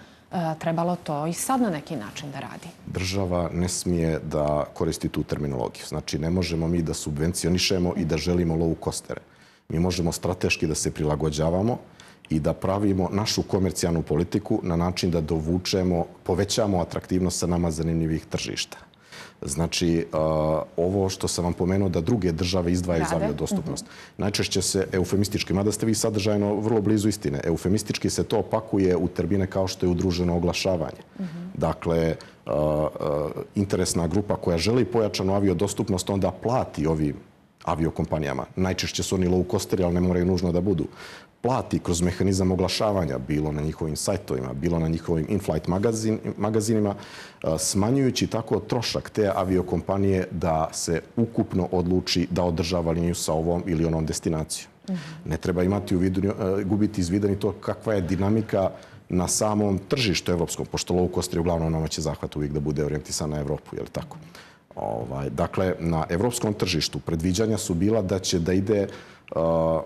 trebalo to i sad na neki način da radi? Država ne smije da koristi tu terminologiju. Znači, ne možemo mi da subvencionišemo i da želimo low costere. Mi možemo strateški da se prilagođavamo i da pravimo našu komercijalnu politiku na način da povećamo atraktivnost sa nama zanimljivih tržišta. Znači, ovo što sam vam pomenuo da druge države izdvajaju za aviodostupnost. Najčešće se eufemistički, mada ste vi sadržajno vrlo blizu istine, eufemistički se to opakuje u termine kao što je udruženo oglašavanje. Dakle, interesna grupa koja želi pojačanu aviodostupnost onda plati ovim aviokompanijama. Najčešće su oni low costeri, ali ne moraju nužno da budu. Plati kroz mehanizam oglašavanja, bilo na njihovim sajtovima, bilo na njihovim in-flight magazinima, smanjujući tako trošak te aviokompanije da se ukupno odluči da održava liniju sa ovom ili onom destinacijom. Ne treba imati gubiti iz vida ni to kakva je dinamika na samom tržištu evropskom, pošto low costeri uglavnom nama će zahvat uvijek da bude orijentisan na Evropu, je li tako? Dakle, na evropskom tržištu predviđanja su bila da će da ide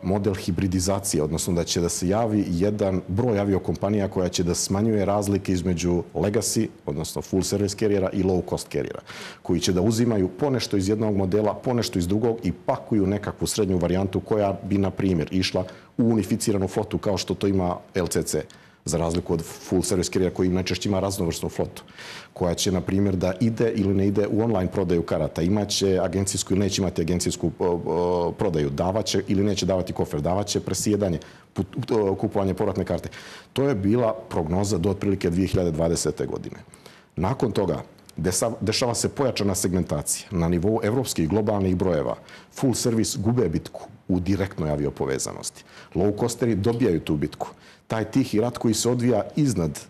model hibridizacije, odnosno da će da se javi jedan broj aviokompanija koja će da smanjuje razlike između legacy, odnosno full service carriera i low cost carriera, koji će da uzimaju ponešto iz jednog modela, ponešto iz drugog i pakuju nekakvu srednju varijantu koja bi, na primjer, išla u unificiranu flotu kao što to ima LCC, za razliku od full service carriera koji najčešće ima raznovrsnu flotu, koja će, na primjer, da ide ili ne ide u online prodaju karata. Imaće agencijsku ili neće imati agencijsku prodaju, davaće ili neće davati kofer, davaće presjedanje, kupovanje povratne karte. To je bila prognoza do otprilike 2020. godine. Nakon toga dešava se pojačana segmentacija. Na nivou evropskih i globalnih brojeva full service gube bitku u direktnoj aviopovezanosti. Low costeri dobijaju tu bitku. Taj tihi rat koji se odvija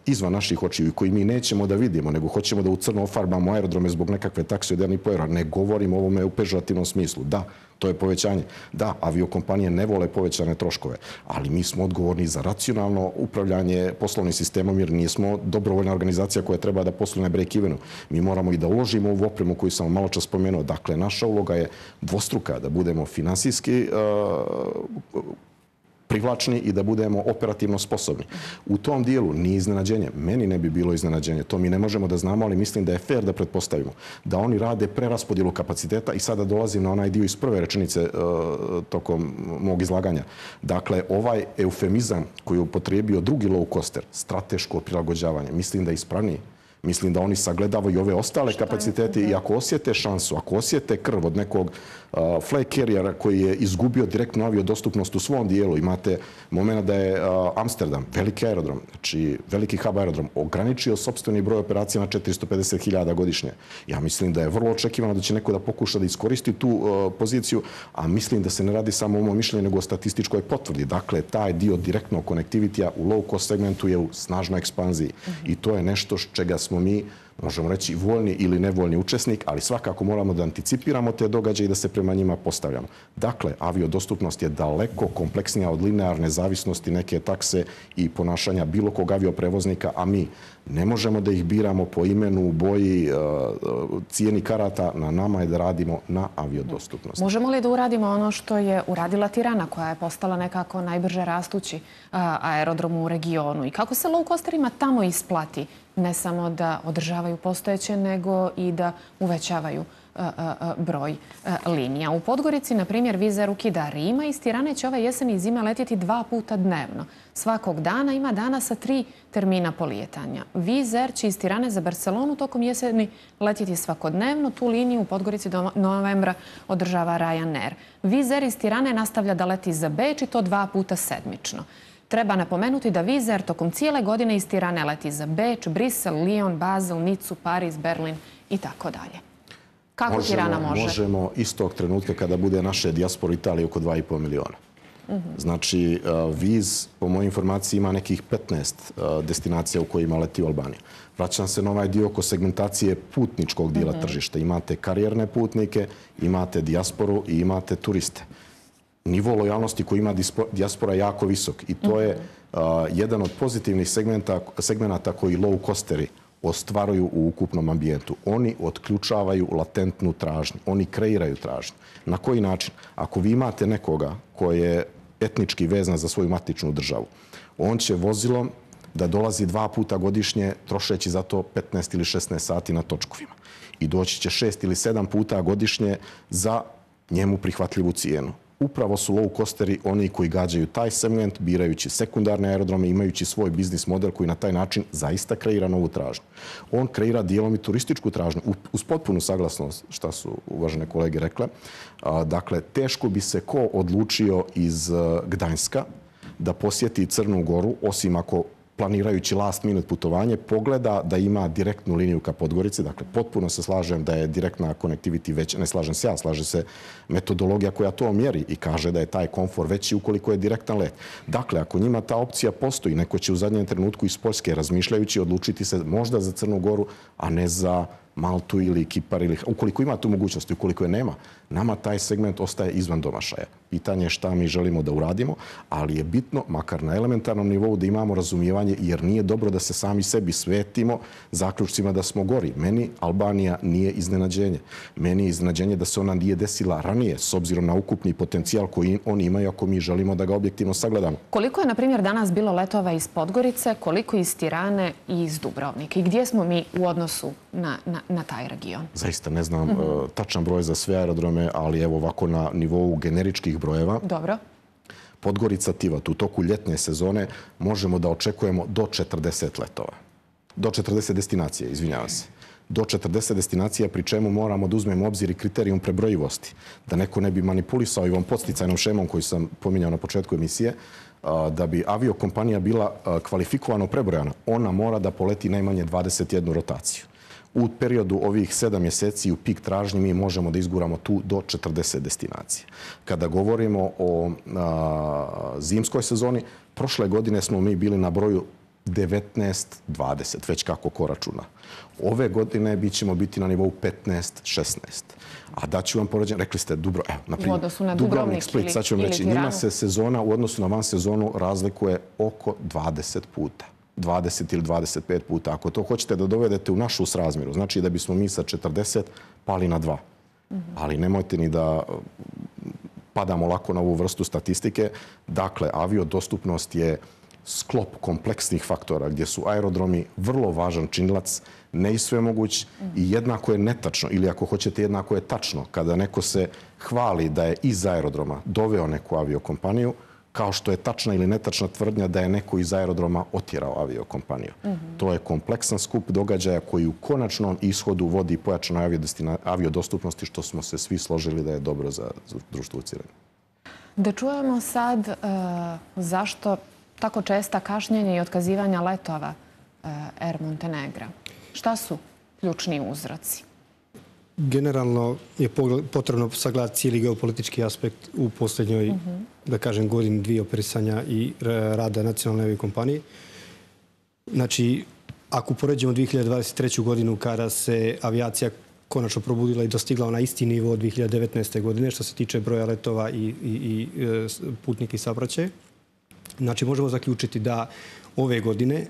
izvan naših očiju i koji mi nećemo da vidimo, nego hoćemo da u crno ofarbamo aerodrome zbog nekakve takse od 1,5 eura. Ne govorimo o ovome u pežorativnom smislu. Da, to je povećanje. Da, aviokompanije ne vole povećane troškove, ali mi smo odgovorni za racionalno upravljanje poslovnim sistemom jer nismo dobrovoljna organizacija koja treba da posluje na break-evenu. Mi moramo i da uložimo u opremu koju sam malo čas spomenuo. Dakle, naša uloga je dvostruka, da budemo finansijski privlačni i da budemo operativno sposobni. U tom dijelu nije iznenađenje. Meni ne bi bilo iznenađenje. To mi ne možemo da znamo, ali mislim da je fair da pretpostavimo da oni rade preraspodjelu kapaciteta i sada dolazim na onaj dio iz prve rečenice tokom mog izlaganja. Dakle, ovaj eufemizam koji je upotrijebio drugi low coster, strateško prilagođavanje, mislim da je ispravniji. Mislim da oni sagledavaju ove ostale kapacitete i ako osjete šansu, ako osjete krv od nekog flag carriera koji je izgubio direktnu aviodostupnost u svom dijelu, imate moment da je Amsterdam, veliki aerodrom, znači veliki hub aerodrom, ograničio sopstveni broj operacija na 450.000 godišnje. Ja mislim da je vrlo očekivano da će neko da pokuša da iskoristi tu poziciju, a mislim da se ne radi samo o mom mišljenju, nego o statističkoj potvrdi. Dakle, taj dio direktnog konektivitija u low cost segmentu je u snažnoj ekspanziji. I to je nešto čega smo mi, možemo reći, voljni ili nevoljni učesnik, ali svakako moramo da anticipiramo te događaje i da se prema njima postavljamo. Dakle, aviodostupnost je daleko kompleksnija od linearne zavisnosti neke takse i ponašanja bilo kog avioprevoznika, a mi ne možemo da ih biramo po imenu, boji, cijeni karata. Na nama je da radimo na aviodostupnosti. Možemo li da uradimo ono što je uradila Tirana, koja je postala nekako najbrže rastući aerodrom u regionu? I kako se low costerima tamo isplati ne samo da održavaju postojeće, nego i da uvećavaju broj linija. U Podgorici, na primjer, Wizz Air ukida Rima. Iz Tirane će ove jeseni i zime letjeti 2 puta dnevno. Svakog dana ima dana sa 3 termina polijetanja. Wizz Air će iz Tirane za Barcelonu tokom jeseni letjeti svakodnevno. Tu liniju u Podgorici do novembra održava Ryanair. Wizz Air iz Tirane nastavlja da leti za Beč i to 2 puta sedmično. Treba napomenuti da Wizz Air tokom cijele godine iz Tirane leti za Beč, Brisel, Lyon, Basel, Nicu, Pariz, Berlin i tako dalje. Kako Tirana može? Možemo istog trenutka kada bude naše dijaspora Italije oko 2,5 miliona. Znači, Wizz, po mojoj informaciji, ima nekih 15 destinacija u kojima leti u Albaniju. Vraćam se na ovaj dio oko segmentacije putničkog dijela tržišta. Imate karijerne putnike, imate dijasporu i imate turiste. Nivo lojalnosti koji ima dijaspora je jako visok i to je jedan od pozitivnih segmenata koji low costeri ostvaruju u ukupnom ambijentu. Oni otključavaju latentnu tražnju. Oni kreiraju tražnju. Na koji način? Ako vi imate nekoga koji je etnički vezan za svoju matičnu državu, on će vozilom da dolazi 2 puta godišnje trošeći za to 15 ili 16 sati na točkovima. I doći će 6 ili 7 puta godišnje za njemu prihvatljivu cijenu. Upravo su low costeri oni koji gađaju taj segment, birajući sekundarne aerodrome, imajući svoj biznis model koji na taj način zaista kreira novu tražnju. On kreira dijelom i turističku tražnju, uz potpunu saglasnost, šta su uvažene kolege rekle. Dakle, teško bi se ko odlučio iz Gdańska da posjeti Crnu Goru, osim ako planirajući last minute putovanje, pogleda da ima direktnu liniju ka Podgorici. Dakle, potpuno se slažem da je direktna connectivity veća. Ne slažem se ja, slaže se metodologija koja to mjeri i kaže da je taj komfor veći ukoliko je direktan let. Dakle, ako njima ta opcija postoji, neko će u zadnjem trenutku iz Poljske razmišljajući odlučiti se možda za Crnu Goru, a ne za Maltu ili Kipar, ili ukoliko ima tu mogućnost i ukoliko je nema, nama taj segment ostaje izvan domašaja. Pitanje je šta mi želimo da uradimo, ali je bitno, makar na elementarnom nivou, da imamo razumijevanje, jer nije dobro da se sami sebi svetimo zaključcima da smo gori. Meni Albanija nije iznenađenje. Meni je iznenađenje da se ona nije desila ranije, s obzirom na ukupni potencijal koji oni imaju ako mi želimo da ga objektivno sagledamo. Koliko je, na primjer, danas bilo letova iz Podgorice, koliko iz Tirane i iz Dubrovnika? I gdje smo mi u odnosu na taj region? Zaista ne znam tačan broj za sve aerodrome, ali evo ovako na nivou generičkih brojeva. Dobro. Podgorica, Tivat, u toku ljetne sezone možemo da očekujemo do 40 letova. Do 40 destinacije, izvinjavam se. Do 40 destinacija, pri čemu moramo da uzmemo obzir i kriterijum prebrojivosti. Da neko ne bi manipulisao i ovom podsticajnom šemom koju sam pominjao na početku emisije, da bi aviokompanija bila kvalifikovano prebrojana, ona mora da poleti najmanje 21 rotaciju. U periodu ovih 7 mjeseci u pik tražnji mi možemo da izguramo tu do 40 destinacija. Kada govorimo o zimskoj sezoni, prošle godine smo mi bili na broju 19-20, već kako ko računa. Ove godine ćemo biti na nivou 15-16. A daću vam poređenje, rekli ste Dubrovnik, Split, sad ću vam reći, njima se sezona u odnosu na van sezonu razlikuje oko 20 puta. 20 ili 25 puta. Ako to hoćete da dovedete u našu srazmjeru, znači da bismo mi sa 40 pali na 2. Ali nemojte ni da padamo lako na ovu vrstu statistike. Dakle, aviodostupnost je sklop kompleksnih faktora gdje su aerodromi vrlo važan činilac, ne i sve moguć i jednako je netačno, ili ako hoćete jednako je tačno, kada neko se hvali da je iz aerodroma doveo neku aviokompaniju, kao što je tačna ili netačna tvrdnja da je neko iz aerodroma otjerao aviokompaniju. To je kompleksan skup događaja koji u konačnom ishodu vodi pojačanoj aviodostupnosti, što smo se svi složili da je dobro za društvo u cijelini. Da čujemo sad zašto tako česta kašnjenja i otkazivanja letova Air Montenegra. Šta su ključni uzroci? Generalno je potrebno sagledati cijeli geopolitički aspekt u posljednjoj, da kažem, godini 2 operisanja i rada nacionalne aviokompanije. Znači, ako poređemo 2023. godinu kada se avijacija konačno probudila i dostigla na isti nivo od 2019. godine što se tiče broja letova i putnika i saobraćaja, znači možemo zaključiti da ove godine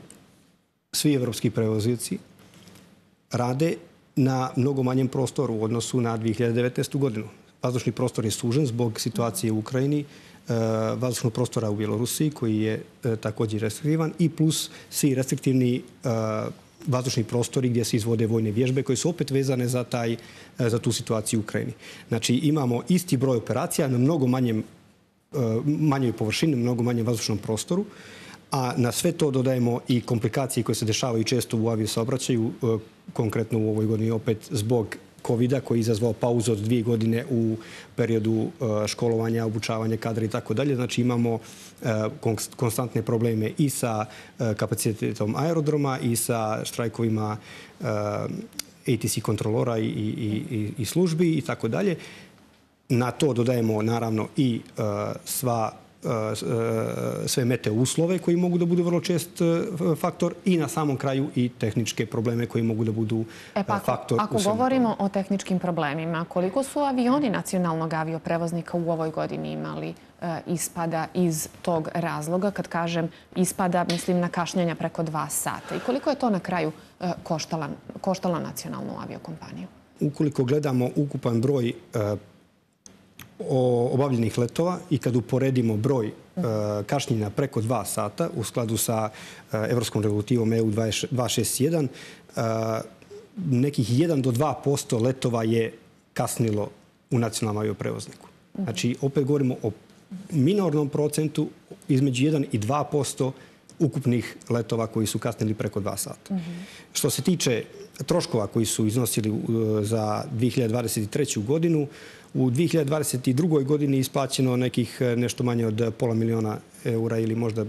svi evropski prevozioci rade na mnogo manjem prostoru u odnosu na 2019. godinu. Vazdušni prostor je sužen zbog situacije u Ukrajini, vazdušnog prostora u Bjelorusiji koji je također restriktivan i plus svi restriktivni vazdušni prostori gdje se izvode vojne vježbe koje su opet vezane za tu situaciju u Ukrajini. Znači imamo isti broj operacija na mnogo manjoj površini, mnogo manjem vazdušnom prostoru, a na sve to dodajemo i komplikacije koje se dešavaju često u aviosaobraćaju, konkretno u ovoj godini opet zbog COVID-a koji je izazvao pauzu od 2 godine u periodu školovanja, obučavanja kadra i tako dalje. Znači imamo konstantne probleme i sa kapacitetom aerodroma i sa štrajkovima ATC kontrolora i službi i tako dalje. Na to dodajemo naravno i sve meteo uslove koji mogu da budu vrlo čest faktor i na samom kraju i tehničke probleme koji mogu da budu faktor. Ako govorimo o tehničkim problemima, koliko su avioni nacionalnog avioprevoznika u ovoj godini imali ispada iz tog razloga? Kad kažem ispada, mislim na kašnjenja preko 2 sata. I koliko je to na kraju koštala nacionalnu aviokompaniju? Ukoliko gledamo ukupan broj obavljenih letova i kad uporedimo broj kašnjenja preko 2 sata u skladu sa evropskom regulativom EU 261, nekih 1 do 2% letova je kasnilo u nacionalnom avioprevozniku. Znači, opet govorimo o minornom procentu između 1 i 2% ukupnih letova koji su kasnili preko 2 sata. Što se tiče troškova koji su iznosili za 2023. godinu, u 2022. godini je isplaćeno nekih nešto manje od €500.000 ili možda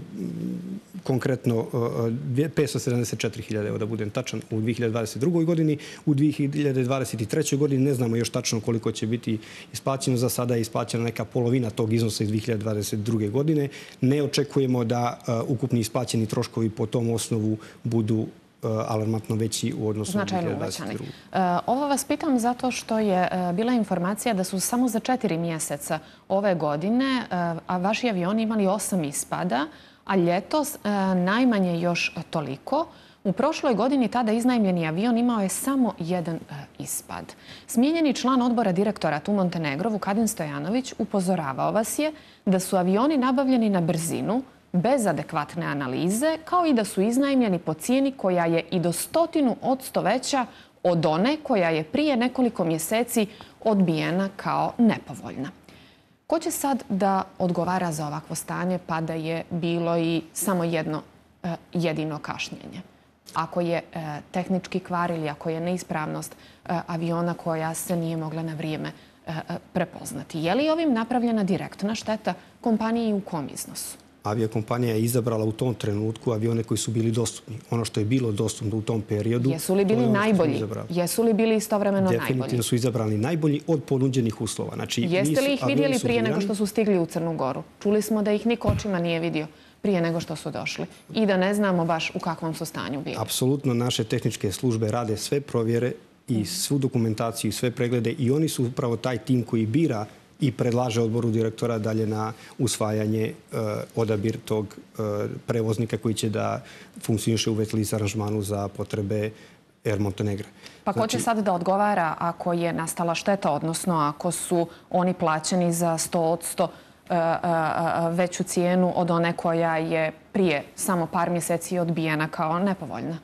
konkretno 574.000 eura, da budem tačan, u 2022. godini. U 2023. godini ne znamo još tačno koliko će biti isplaćeno. Za sada je isplaćena neka polovina tog iznosa iz 2022. godine. Ne očekujemo da ukupni isplaćeni troškovi po tom osnovu budu alarmantno veći u odnosu na 2022. Ovo vas pitam zato što je bila informacija da su samo za 4 mjeseca ove godine vaši avioni imali 8 ispada, a ljetos najmanje još toliko. U prošloj godini tada iznajmljeni avion imao je samo 1 ispad. Smijenjeni član odbora direktora TU Montenegro, Vukadin Stojanović, upozoravao vas je da su avioni nabavljeni na brzinu, bez adekvatne analize, kao i da su iznajmljeni po cijeni koja je i do 100% veća od one koja je prije nekoliko mjeseci odbijena kao nepovoljna. Ko će sad da odgovara za ovakvo stanje pa da je bilo i samo jedno jedino kašnjenje? Ako je tehnički kvar ili ako je neispravnost aviona koja se nije mogla na vrijeme prepoznati. Je li ovim napravljena direktna šteta kompaniji i u kom iznosu? Aviakompanija je izabrala u tom trenutku avione koji su bili dostupni. Ono što je bilo dostupno u tom periodu... Jesu li bili najbolji? Jesu li bili istovremeno najbolji? Definitivno su izabrani najbolji od ponuđenih uslova. Znači, jeste li ih vidjeli prije nego što su stigli u Crnu Goru? Čuli smo da ih niko očima nije vidio prije nego što su došli i da ne znamo baš u kakvom su stanju bili. Apsolutno naše tehničke službe rade sve provjere i svu dokumentaciju i sve preglede i oni su upravo taj tim koji bira i predlaže odboru direktora dalje na usvajanje odabir tog prevoznika koji će da funkcioniše u wet lease aranžmanu za potrebe Air Montenegra. Pa ko će sad da odgovara ako je nastala šteta, odnosno ako su oni plaćeni za 100% veću cijenu od one koja je prije samo par mjeseci odbijena kao nepovoljna?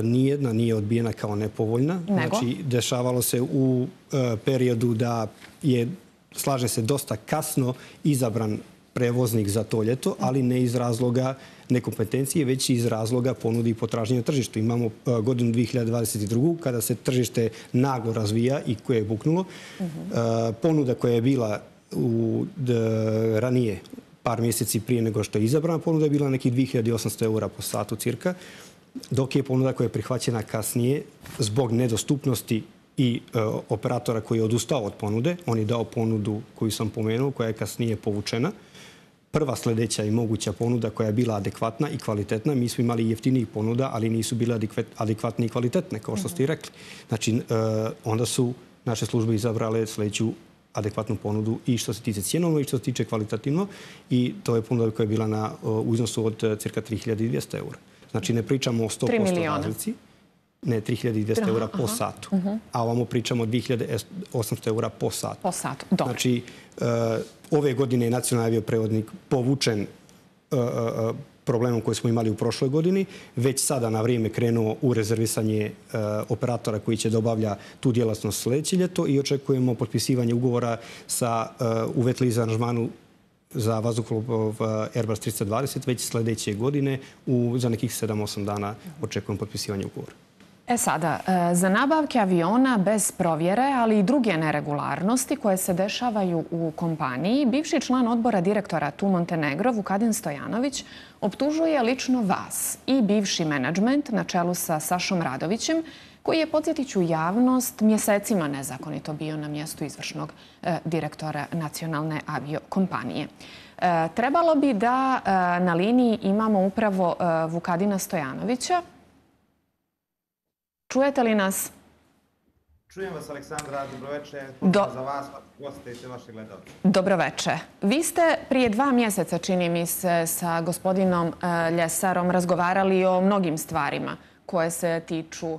Nijedna nije odbijena kao nepovoljna. Znači, dešavalo se u periodu da je, slažem se, dosta kasno izabran prevoznik za to ljeto, ali ne iz razloga nekompetencije, već iz razloga ponudi i potražnje na tržištu. Imamo godinu 2022. kada se tržište naglo razvija i koje je buknulo. Ponuda koja je bila ranije, par mjeseci prije nego što je izabrana, ponuda je bila nekih 2.800 eura po satu cirka, dok je ponuda koja je prihvaćena kasnije zbog nedostupnosti i operatora koji je odustao od ponude. On je dao ponudu koju sam pomenuo, koja je kasnije povučena. Prva sljedeća i moguća ponuda koja je bila adekvatna i kvalitetna. Mi smo imali jeftinijih ponuda, ali nisu bile adekvatne i kvalitetne, kao što ste i rekli. Znači, onda su naše službe izabrale sljedeću adekvatnu ponudu i što se tiče cjenovno i što se tiče kvalitativno. I to je ponuda koja je bila u iznosu od cirka 3.200 eura. Znači, ne pričamo o 100% razlici. Ne, 3.200 eura po satu. A ovamo pričamo o 2.800 eura po satu. Po satu, dobro. Znači, ove godine je nacionalni avioprevoznik povučen problemom koji smo imali u prošloj godini, već sada na vrijeme krenuo u rezervisanje operatora koji će da obavlja tu djelatnost sljedeće ljeto i očekujemo potpisivanje ugovora u wet lease aranžmanu za vazduhoplov Airbus 320 već sljedeće godine. Za nekih 7-8 dana očekujemo potpisivanje ugovora. Sada, za nabavke aviona bez provjere, ali i druge neregularnosti koje se dešavaju u kompaniji, bivši član odbora direktora TU Montenegro, Vukadin Stojanović, optužuje lično vas i bivši menadžment na čelu sa Sašom Radovićem, koji je, podsjetit ću javnost, mjesecima nezakonito bio na mjestu izvršnog direktora nacionalne aviokompanije. Trebalo bi da na liniji imamo upravo Vukadina Stojanovića. Čujete li nas? Čujem vas, Aleksandra. Dobroveče. Pozdrav za vas, goste i sve vaše gledalce. Dobroveče. Vi ste prije 2 mjeseca, čini mi se, sa gospodinom Ljesarom razgovarali o mnogim stvarima koje se tiču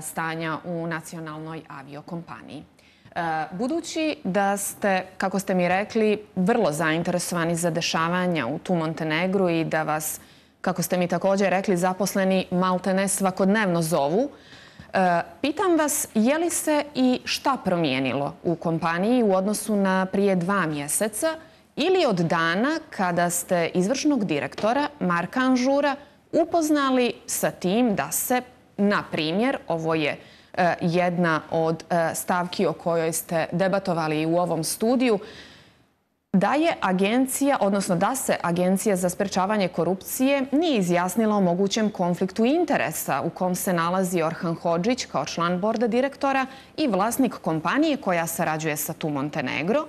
stanja u nacionalnoj aviokompaniji. Budući da ste, kako ste mi rekli, vrlo zainteresovani za dešavanja u TU Montenegru i da vas, kako ste mi također rekli, zaposleni maltene svakodnevno zovu, pitam vas je li se i šta promijenilo u kompaniji u odnosu na prije 2 mjeseca ili od dana kada ste izvršnog direktora Marka Anžura upoznali sa tim da se, na primjer, ovo je jedna od stavki o kojoj ste debatovali u ovom studiju, da je agencija, odnosno da se Agencija za sprečavanje korupcije nije izjasnila o mogućem konfliktu interesa u kom se nalazi Orhan Hodžić kao član borda direktora i vlasnik kompanije koja sarađuje sa TU Montenegro,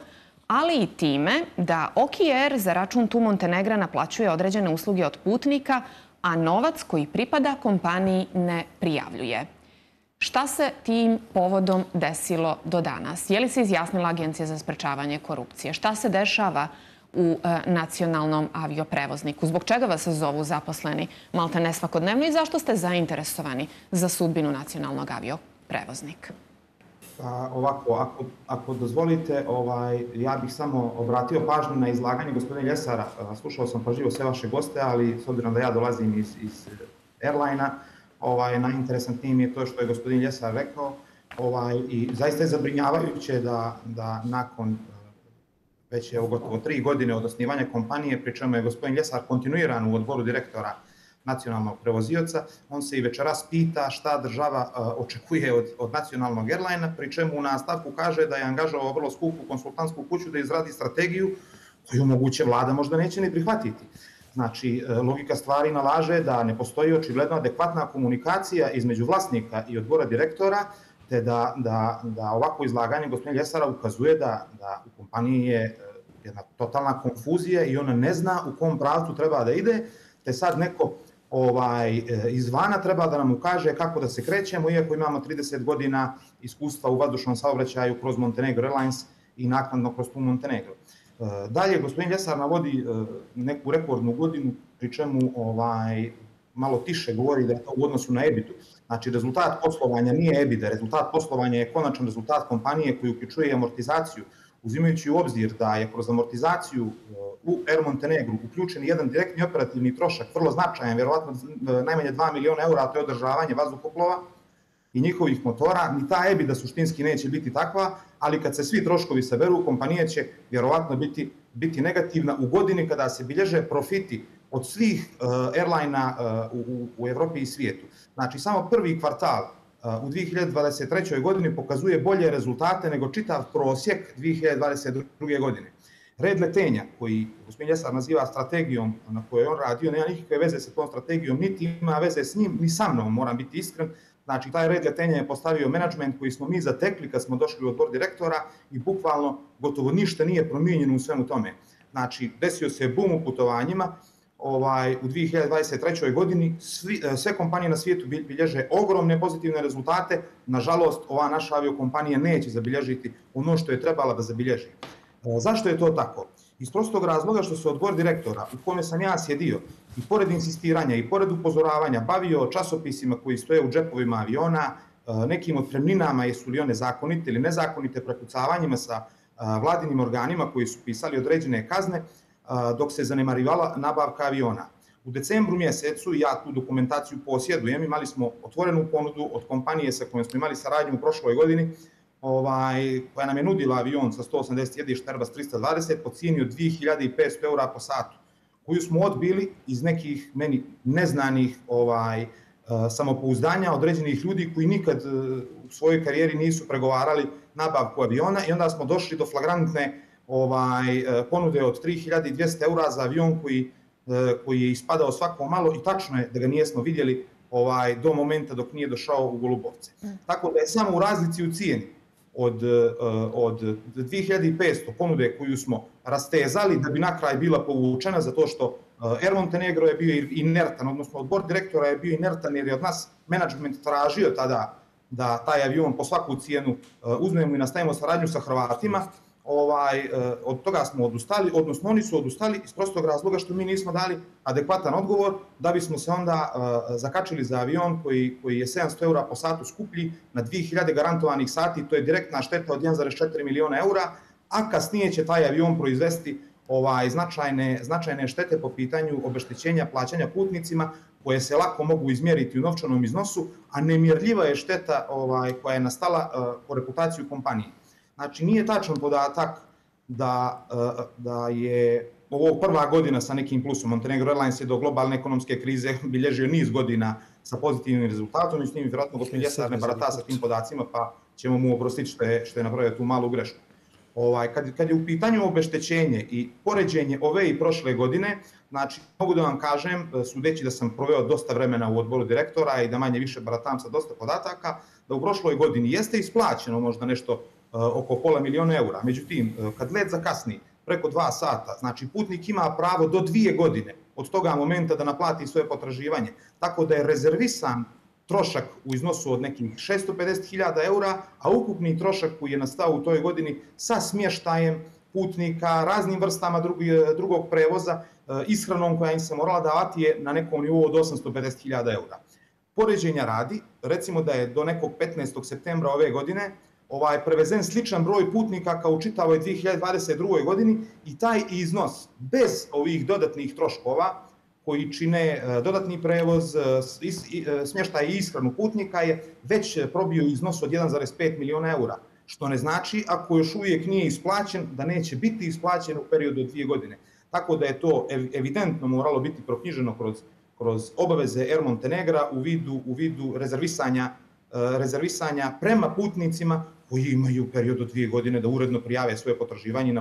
ali i time da OKR za račun TU Montenegra naplaćuje određene usluge od putnika, a novac koji pripada kompaniji ne prijavljuje. Šta se tim povodom desilo do danas? Je li se izjasnila Agencija za sprečavanje korupcije? Šta se dešava u nacionalnom avioprevozniku? Zbog čega vas zovu zaposleni maltene svakodnevno i zašto ste zainteresovani za sudbinu nacionalnog avioprevoznika? Ovako, ako dozvolite, ja bih samo obratio pažnju na izlaganje gospodina Ljesara. Slušao sam pažljivo sve vaše goste, ali s obzirom da ja dolazim iz airline-a, najinteresantnije mi je to što je gospodin Ljesar rekao i zaista je zabrinjavajuće da nakon već je gotovo 3 godine od osnivanja kompanije, pri čemu je gospodin Ljesar kontinuiran u odboru direktora nacionalnog prevozioca, on se i večeras pita šta država očekuje od nacionalnog airline-a, pri čemu u nastavku kaže da je angažovao vrlo skupu konsultantsku kuću da izradi strategiju koju moguće vlada možda neće ni prihvatiti. Znači, logika stvari nalaže da ne postoji očigledno adekvatna komunikacija između vlasnika i odbora direktora, te da ovako izlaganje gospodina Ljesara ukazuje da u kompaniji je jedna totalna konfuzija i ona ne zna u kom pravcu treba da ide, te sad neko izvana treba da nam ukaže kako da se krećemo, iako imamo 30 godina iskustva u vazdušnom saobraćaju kroz Montenegro Airlines i naknadno kroz TU Montenegro. Dalje, gospodin Ljesar navodi neku rekordnu godinu, pri čemu malo tiše govori da je to u odnosu na EBITDA. Znači, rezultat poslovanja nije EBITDA, rezultat poslovanja je konačan rezultat kompanije koji uključuje amortizaciju, uzimajući u obzir da je kroz amortizaciju u Air Montenegru uključen jedan direktni operativni trošak, vrlo značajan, vjerovatno najmanje 2 miliona eura, a to je održavanje vazduhoplova i njihovih motora, ni ta EBITDA suštinski neće biti takva, ali kad se svi troškovi saberu, kompanija će vjerovatno biti negativna u godini kada se bilježe profiti od svih airline-a u Evropi i svijetu. Znači, samo prvi kvartal u 2023. godini pokazuje bolje rezultate nego čitav prosjek 2022. godine. Red letenja, koji gospodin Ljesar naziva strategijom na kojoj on radio, nema nikakve veze sa tom strategijom, niti ima veze s njim, ni sa mnom, moram biti iskren. Znači, taj red letenja je postavio menadžment koji smo mi zatekli kad smo došli u odbor direktora i bukvalno gotovo ništa nije promijenjeno u svemu tome. Znači, desio se bum u putovanjima. U 2023. godini sve kompanije na svijetu bilježe ogromne pozitivne rezultate. Nažalost, ova naša aviokompanija neće zabilježiti ono što je trebala da zabilježi. Zašto je to tako? Iz prostog razloga što se odbor direktora, u kome sam ja sjedio, i pored insistiranja i pored upozoravanja bavio časopisima koji stoje u džepovima aviona, nekim otpremninama, jesu li one zakonite ili nezakonite, prepucavanjima sa vladinim organima koji su pisali određene kazne, dok se zanemarivala nabavka aviona. U decembru mjesecu, ja tu dokumentaciju posjedujem, imali smo otvorenu ponudu od kompanije sa kojom smo imali saradnju u prošloj godini, koja nam je nudila avion sa 180 sjedišta Airbus 320 po cijeni od 2500 € po satu, koju smo odbili iz nekih meni neznanih samopouzdanja određenih ljudi koji nikad u svojoj karijeri nisu pregovarali nabavku aviona i onda smo došli do flagrantne ponude od 3200 € za avion koji je ispadao svako malo i tačno je da ga nijesmo vidjeli do momenta dok nije došao u Golubovce. Tako da je samo u razlici u cijeni od 2500 ponude koju smo rastezali da bi na kraj bila povučena zato što Air Montenegro je bio inertan, odnosno odbor direktora je bio inertan jer je od nas menadžment tražio tada da taj avion po svaku cijenu uzmemo i nastavimo saradnju sa Hrvatima. Od toga smo odustali, odnosno oni su odustali iz prostog razloga što mi nismo dali adekvatan odgovor da bismo se onda zakačili za avion koji je 700 € po satu skuplji na 2000 garantovanih sati, to je direktna šteta od 1,4 miliona eura, a kasnije će taj avion proizvesti značajne štete po pitanju obeštećenja plaćanja putnicima koje se lako mogu izmjeriti u novčanom iznosu, a nemjerljiva je šteta koja je nastala po reputaciju kompanije. Znači, nije tačan podatak da je ovo prva godina sa nekim plusom. Montenegro Airlines je do globalne ekonomske krize bilježio niz godina sa pozitivnim rezultatom i s njim vjerojatno gospodin Ljesar ne barata sa tim podacima, pa ćemo mu oprostiti što je napravio tu malu grešku. Kad je u pitanju obeštećenje i poređenje ove i prošle godine, znači mogu da vam kažem, sudeći da sam proveo dosta vremena u odboru direktora i da manje više baratam sa dosta podataka, da u prošloj godini jeste isplaćeno možda nešto oko $500 000. Međutim, kad let zakasni preko 2 sata, znači putnik ima pravo do 2 godine od toga momenta da naplati svoje potraživanje. Tako da je rezervisan trošak u iznosu od nekih 650.000 €, a ukupni trošak koji je nastao u toj godini sa smještajem putnika, raznim vrstama drugog prevoza, ishranom koja im se morala davati je na nekom nivou od 850.000 €. Poređenja radi, recimo da je do nekog 15. septembra ove godine prevezen sličan broj putnika kao u čitavoj 2022. godini i taj iznos bez ovih dodatnih troškova koji čine dodatni prevoz, smještaj i ishranu putnika je već probio iznos od 1,5 miliona eura. Što ne znači, ako još uvijek nije isplaćen, da neće biti isplaćen u periodu od 2 godine. Tako da je to evidentno moralo biti proknjiženo kroz obaveze Air Montenegra u vidu rezervisanja prema putnicima koji imaju period od 2 godine da uredno prijave svoje potraživanje i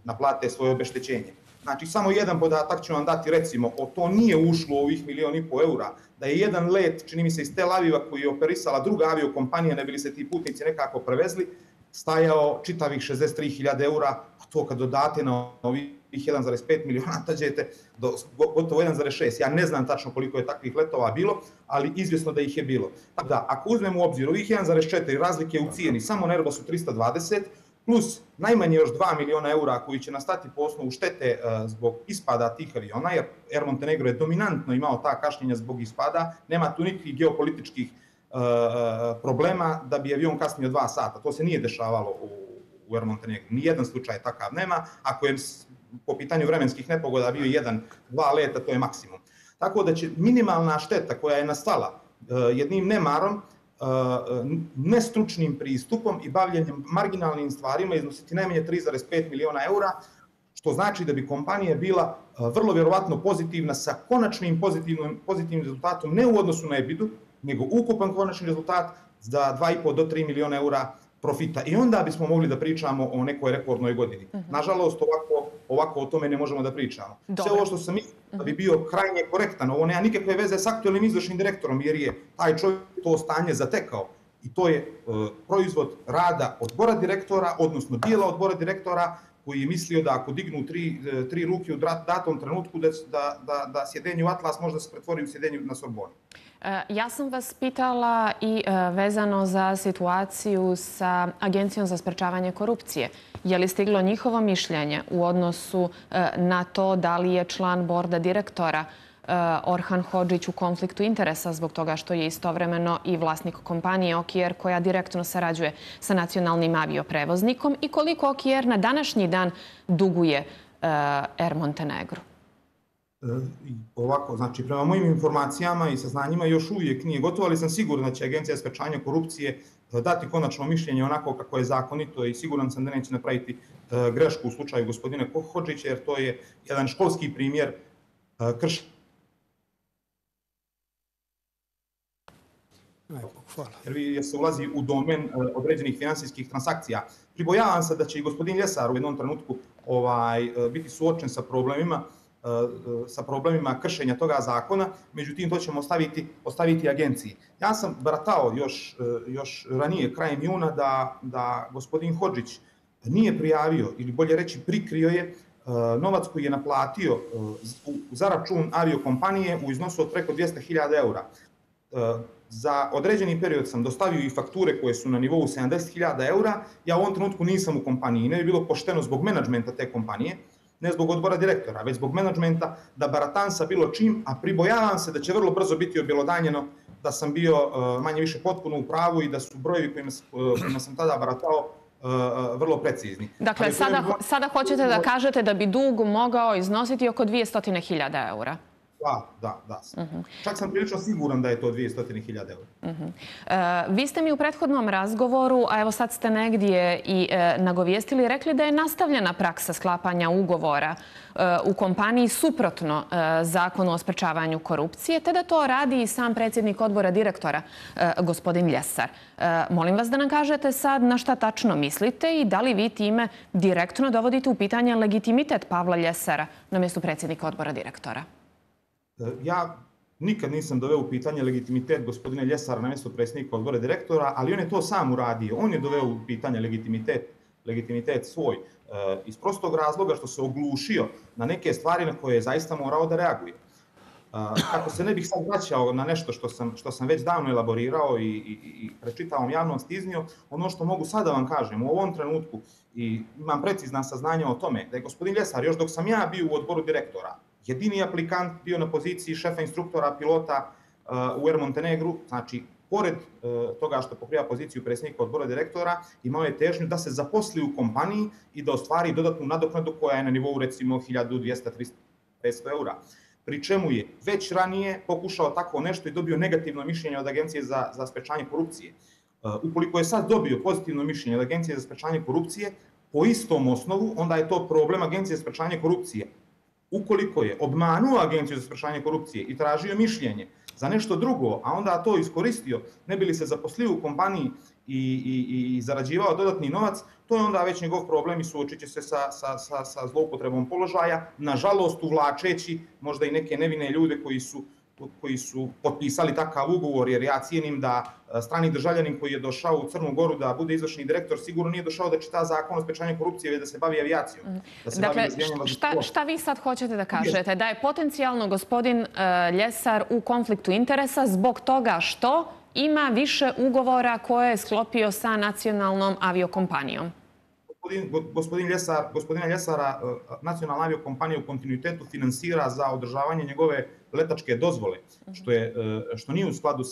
naplate svoje obeštećenje. Znači, samo jedan podatak ću vam dati, recimo, to nije ušlo u ovih 1,5 miliona eura, da je jedan let, čini mi se iz Tel Aviva, koji je operisala druga aviokompanija, ne bili se ti putnici nekako prevezli, stajao čitavih 63.000 eura, a to kad dodate na ovih 1,5 miliona, tađete do gotovo 1,6. Ja ne znam tačno koliko je takvih letova bilo, ali izvjesno da ih je bilo. Tako da, ako uzmemo u obzir ovih 1,4 razlike u cijeni samo na Airbusu 320, plus najmanje još 2 miliona eura koji će nastati po osnovu štete zbog ispada tih aviona, jer Air Montenegro je dominantno imao ta kašnjenja zbog ispada, nema tu nikakvih geopolitičkih problema da bi avion kasnio 2 sata. To se nije dešavalo u Air Montenegro. Nijedan slučaj takav nema. Ako je po pitanju vremenskih nepogoda bio 1-2 leta, to je maksimum. Tako da će minimalna šteta koja je nastala jednim nemarom, nestručnim pristupom i bavljenjem marginalnim stvarima iznositi najmanje 3,5 miliona eura, što znači da bi kompanija bila vrlo vjerovatno pozitivna sa konačnim pozitivnim rezultatom, ne u odnosu na EBITDA, nego ukupan konačni rezultat za 2,5 do 3 miliona eura profita. I onda bismo mogli da pričamo o nekoj rekordnoj godini. Nažalost, ovako o tome ne možemo da pričamo. Sve ovo što sam mislio da bi bio krajnje korektan, ovo nema nikakve veze s aktualnim izvršnim direktorom, jer je taj čovjek to stanje zatekao. I to je proizvod rada odbora direktora, odnosno dijela odbora direktora, koji je mislio da ako dignu tri ruke u datom trenutku, da sjedenje u Atlas možda se pretvori u sjedenje na Sorboni. Ja sam vas pitala i vezano za situaciju sa Agencijom za sprečavanje korupcije. Je li stiglo njihovo mišljenje u odnosu na to da li je član borda direktora Orhan Hodžić u konfliktu interesa zbog toga što je istovremeno i vlasnik kompanije OKR koja direktno sarađuje sa nacionalnim avioprevoznikom i koliko OKR na današnji dan duguje Air Montenegro? Ovako, znači prema mojim informacijama i saznanjima još uvijek nije gotovo, ali sam siguran da će Agencija za sprečavanje korupcije dati konačno mišljenje onako kako je zakonito i siguran sam da neće napraviti grešku u slučaju gospodina Hodžića, jer to je jedan školski primjer kršenja. Jer se ulazi u domen određenih finansijskih transakcija. Pribojavam se da će i gospodin Ljesar u jednom trenutku biti suočen sa problemima kršenja toga zakona, međutim to ćemo ostaviti agenciji. Ja sam baratao još ranije, krajem juna, da gospodin Hodžić nije prijavio, ili bolje reći prikrio je, novac koji je naplatio za račun aviokompanije u iznosu od preko 200.000 eura. Za određeni period sam dostavio i fakture koje su na nivou 70.000 eura. Ja u ovom trenutku nisam u kompaniji. Ne bi bilo pošteno zbog menadžmenta te kompanije, ne zbog odbora direktora, već zbog menadžmenta da baratam sa bilo čim, a pribojavam se da će vrlo brzo biti objelodanjeno da sam bio manje više potpuno u pravu i da su brojevi kojima sam tada baratao vrlo precizni. Dakle, sada hoćete da kažete da bi dug mogao iznositi oko 200.000 eura? Da. Čak sam prilično siguran da je to 200.000 eura. Vi ste mi u prethodnom razgovoru, a evo sad ste negdje i nagovijestili, rekli da je nastavljena praksa sklapanja ugovora u kompaniji suprotno zakonu o sprečavanju korupcije, te da to radi i sam predsjednik odbora direktora, gospodin Ljesar. Molim vas da nam kažete sad na šta tačno mislite i da li vi time direktno dovodite u pitanje legitimitet Pavla Ljesara na mjestu predsjednika odbora direktora? Ja nikad nisam doveo u pitanje legitimitet gospodina Ljesara na mjesto predsjednika odbora direktora, ali on je to sam uradio. On je doveo u pitanje legitimitet svoj iz prostog razloga što se oglušio na neke stvari na koje je zaista morao da reaguje. Kako se ne bih sad vraćao na nešto što sam već davno elaborirao i prečitavom javnosti iznio, ono što mogu sada vam kažem u ovom trenutku i imam precizna saznanja o tome da je gospodin Ljesar, još dok sam ja bio u odboru direktora, jedini aplikant bio na poziciji šefa instruktora pilota u Air Montenegru, znači pored toga što pokriva poziciju predsjednika odbora direktora, imao je težnju da se zaposli u kompaniji i da ostvari dodatnu nadoknadu koja je na nivou recimo 1200, 300, 500 eura. Pri čemu je već ranije pokušao tako nešto i dobio negativno mišljenje od Agencije za sprečavanje korupcije. Ukoliko je sad dobio pozitivno mišljenje od Agencije za sprečavanje korupcije, po istom osnovu, onda je to problem Agencije za sprečavanje korupcije. Ukoliko je obmanuo Agenciju za sprečavanje korupcije i tražio mišljenje za nešto drugo, a onda to iskoristio, ne bi li se zaposlio u kompaniji i zarađivao dodatni novac, to je onda već njegov problem i suočit će se sa zloupotrebom položaja, nažalost uvlačeći možda i neke nevine ljude koji su potpisali takav ugovor, jer ja cijenim da strani državljanin koji je došao u Crnu Goru da bude izvršni direktor sigurno nije došao da čita zakon o sprečavanju korupcije, već da se bavi avijacijom. Dakle, šta vi sad hoćete da kažete? Da je potencijalno gospodin Ljesar u konfliktu interesa zbog toga što ima više ugovora koje je sklopio sa nacionalnom aviokompanijom? Gospodina Ljesara nacionalna aviokompanija u kontinuitetu finansira za održavanje njegove letačke dozvole, što nije u skladu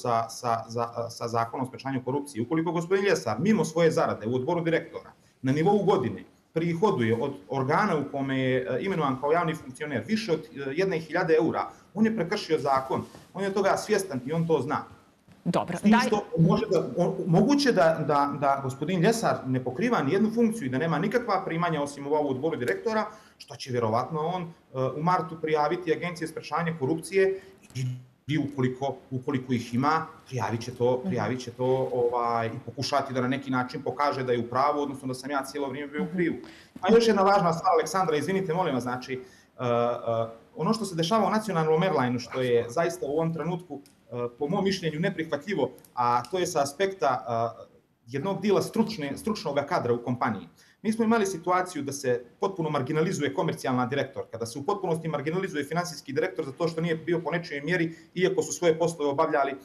sa zakonom o sprečavanju korupcije. Ukoliko gospodin Ljesar mimo svoje zarade u odboru direktora na nivou godine prihoduje od organa u kome je imenovan kao javni funkcioner više od 1.000 eura, on je prekršio zakon, on je toga svjestan i on to zna. Dobro. Moguće da gospodin Ljesar ne pokriva nijednu funkciju i da nema nikakva primanja osim u odboru direktora, što će vjerovatno on u martu prijaviti Agencije za sprečavanje korupcije i ukoliko ih ima, prijavit će to i pokušati da na neki način pokaže da je u pravu, odnosno da sam ja cijelo vrijeme bio u krivu. A još jedna važna stvar, Aleksandra, izvinite, molim vas, znači, ono što se dešava u nacionalnom airlineu, što je zaista u ovom trenutku, po mom mišljenju, neprihvatljivo, a to je sa aspekta jednog dijela stručnog kadra u kompaniji. Mi smo imali situaciju da se potpuno marginalizuje komercijalna direktor, kada se u potpunosti marginalizuje finansijski direktor za to što nije bio po nečijoj mjeri, iako su svoje poslove obavljali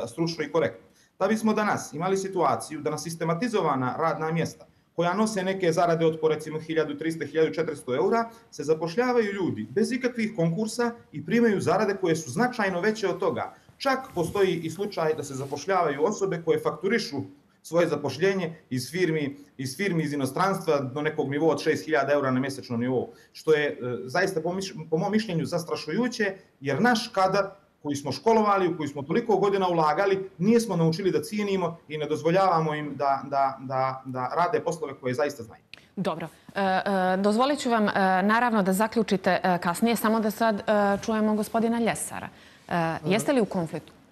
stručno i korektno. Da bismo danas imali situaciju da na sistematizovana radna mjesta koja nose neke zarade od po recimo 1300-1400 eura, se zapošljavaju ljudi bez ikakvih konkursa i primaju zarade koje su značajno veće od toga. Čak postoji i slučaj da se zapošljavaju osobe koje fakturišu svoje zapošljenje iz firmi iz inostranstva do nekog nivoa od 6.000 eura na mjesečnom nivou, što je zaista po mom mišljenju zastrašujuće, jer naš kadar koji smo školovali, u koji smo toliko godina ulagali, nismo naučili da cijenimo i ne dozvoljavamo im da rade poslove koje zaista znaju. Dobro. Dozvolit ću vam naravno da zaključite kasnije, samo da sad čujemo gospodina Ljesara. Jeste li u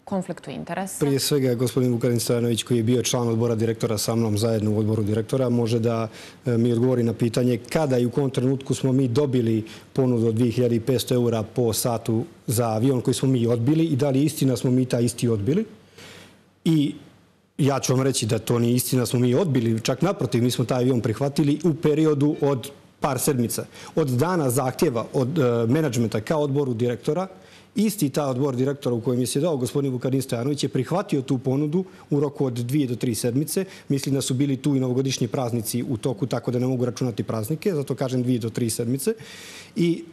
konfliktu interesa? Prije svega, gospodin Vukarin Stojanović, koji je bio član odbora direktora sa mnom zajedno u odboru direktora, može da mi odgovori na pitanje kada i u kom trenutku smo mi dobili ponudu od 2500 eura po satu za avion koji smo mi odbili i da li istina smo mi taj isti odbili. I ja ću vam reći da to nije istina, smo mi odbili, čak naprotiv, mi smo taj avion prihvatili u periodu od par sedmica. Od dana zahtjeva od menadžmenta kao odboru direktora, isti ta odbor direktora u kojem je sjedao gospodin Vukarin Stojanović je prihvatio tu ponudu u roku od 2 do 3 sedmice. Mislim da su bili tu i novogodišnji praznici u toku, tako da ne mogu računati praznike, zato kažem 2 do 3 sedmice. I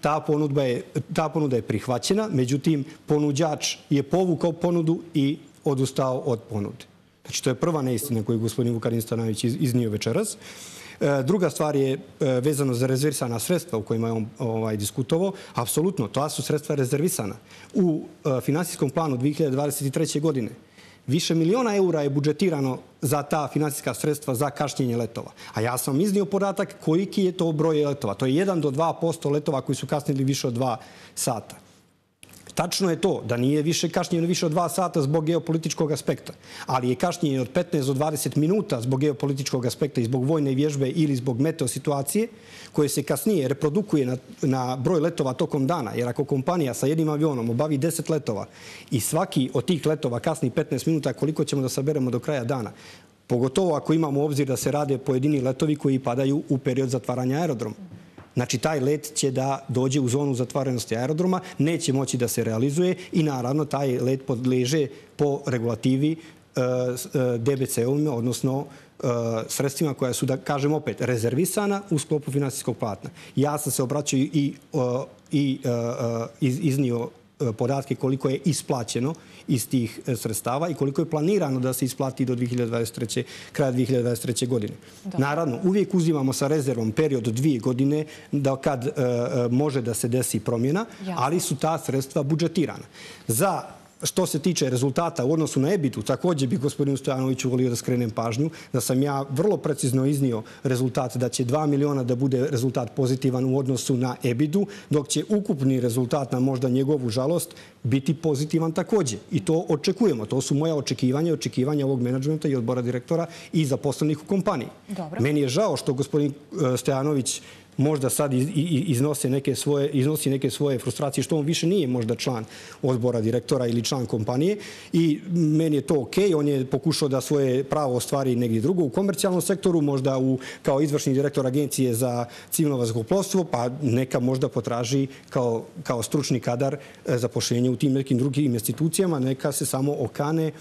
ta ponuda je prihvaćena, međutim, ponuđač je povukao ponudu i odustao od ponude. Znači, to je prva neistina koju gospodin Vukarin Stojanović iznio večeras. Druga stvar je vezano za rezervisana sredstva u kojima je on diskutovao. Apsolutno, ta su sredstva rezervisana. U finansijskom planu 2023. godine više miliona eura je budžetirano za ta finansijska sredstva za kašnjenje letova. A ja sam iznio podatak koliki je to broj letova. To je 1 do 2% letova koji su kasnili više od 2 sata. Tačno je to da nije više kašnjenje više od 2 sata zbog geopolitičkog aspekta, ali je kašnjenje od 15 do 20 minuta zbog geopolitičkog aspekta i zbog vojne vježbe ili zbog meteo situacije koje se kasnije reprodukuje na broj letova tokom dana. Jer ako kompanija sa jednim avionom obavi 10 letova i svaki od tih letova kasni 15 minuta, koliko ćemo da saberemo do kraja dana? Pogotovo ako imamo u obzir da se rade pojedini letovi koji padaju u period zatvaranja aerodroma. Znači, taj let će da dođe u zonu zatvorenosti aerodroma, neće moći da se realizuje i naravno taj let podleže po regulativi DBC-ovima, odnosno sredstvima koja su, da kažem opet, rezervisana u sklopu finansijskog platna. Ja sam se obraćao i iznio podatke koliko je isplaćeno iz tih sredstava i koliko je planirano da se isplati do kraja 2023. godine. Naravno, uvijek uzimamo sa rezervom period od 2 godine kad može da se desi promjena, ali su ta sredstva budžetirana. Za što se tiče rezultata u odnosu na EBITDA, također bih gospodinu Stojanoviću volio da skrenem pažnju, da sam ja vrlo precizno iznio rezultat da će 2 miliona da bude rezultat pozitivan u odnosu na EBITDA, dok će ukupni rezultat na možda njegovu žalost biti pozitivan također. I to očekujemo. To su moja očekivanja ovog menadžmenta i odbora direktora i zaposlenih u kompaniji. Meni je žao što gospodin Stojanović možda sad iznosi neke svoje frustracije, što on više nije možda član odbora direktora ili član kompanije i meni je to okej. On je pokušao da svoje pravo ostvari negdje drugo u komercijalnom sektoru, možda kao izvršni direktor agencije za civilno vazduhoplovstvo, pa neka možda potraži kao stručni kadar zapošljenje u tim nekim drugim institucijama, neka se samo okane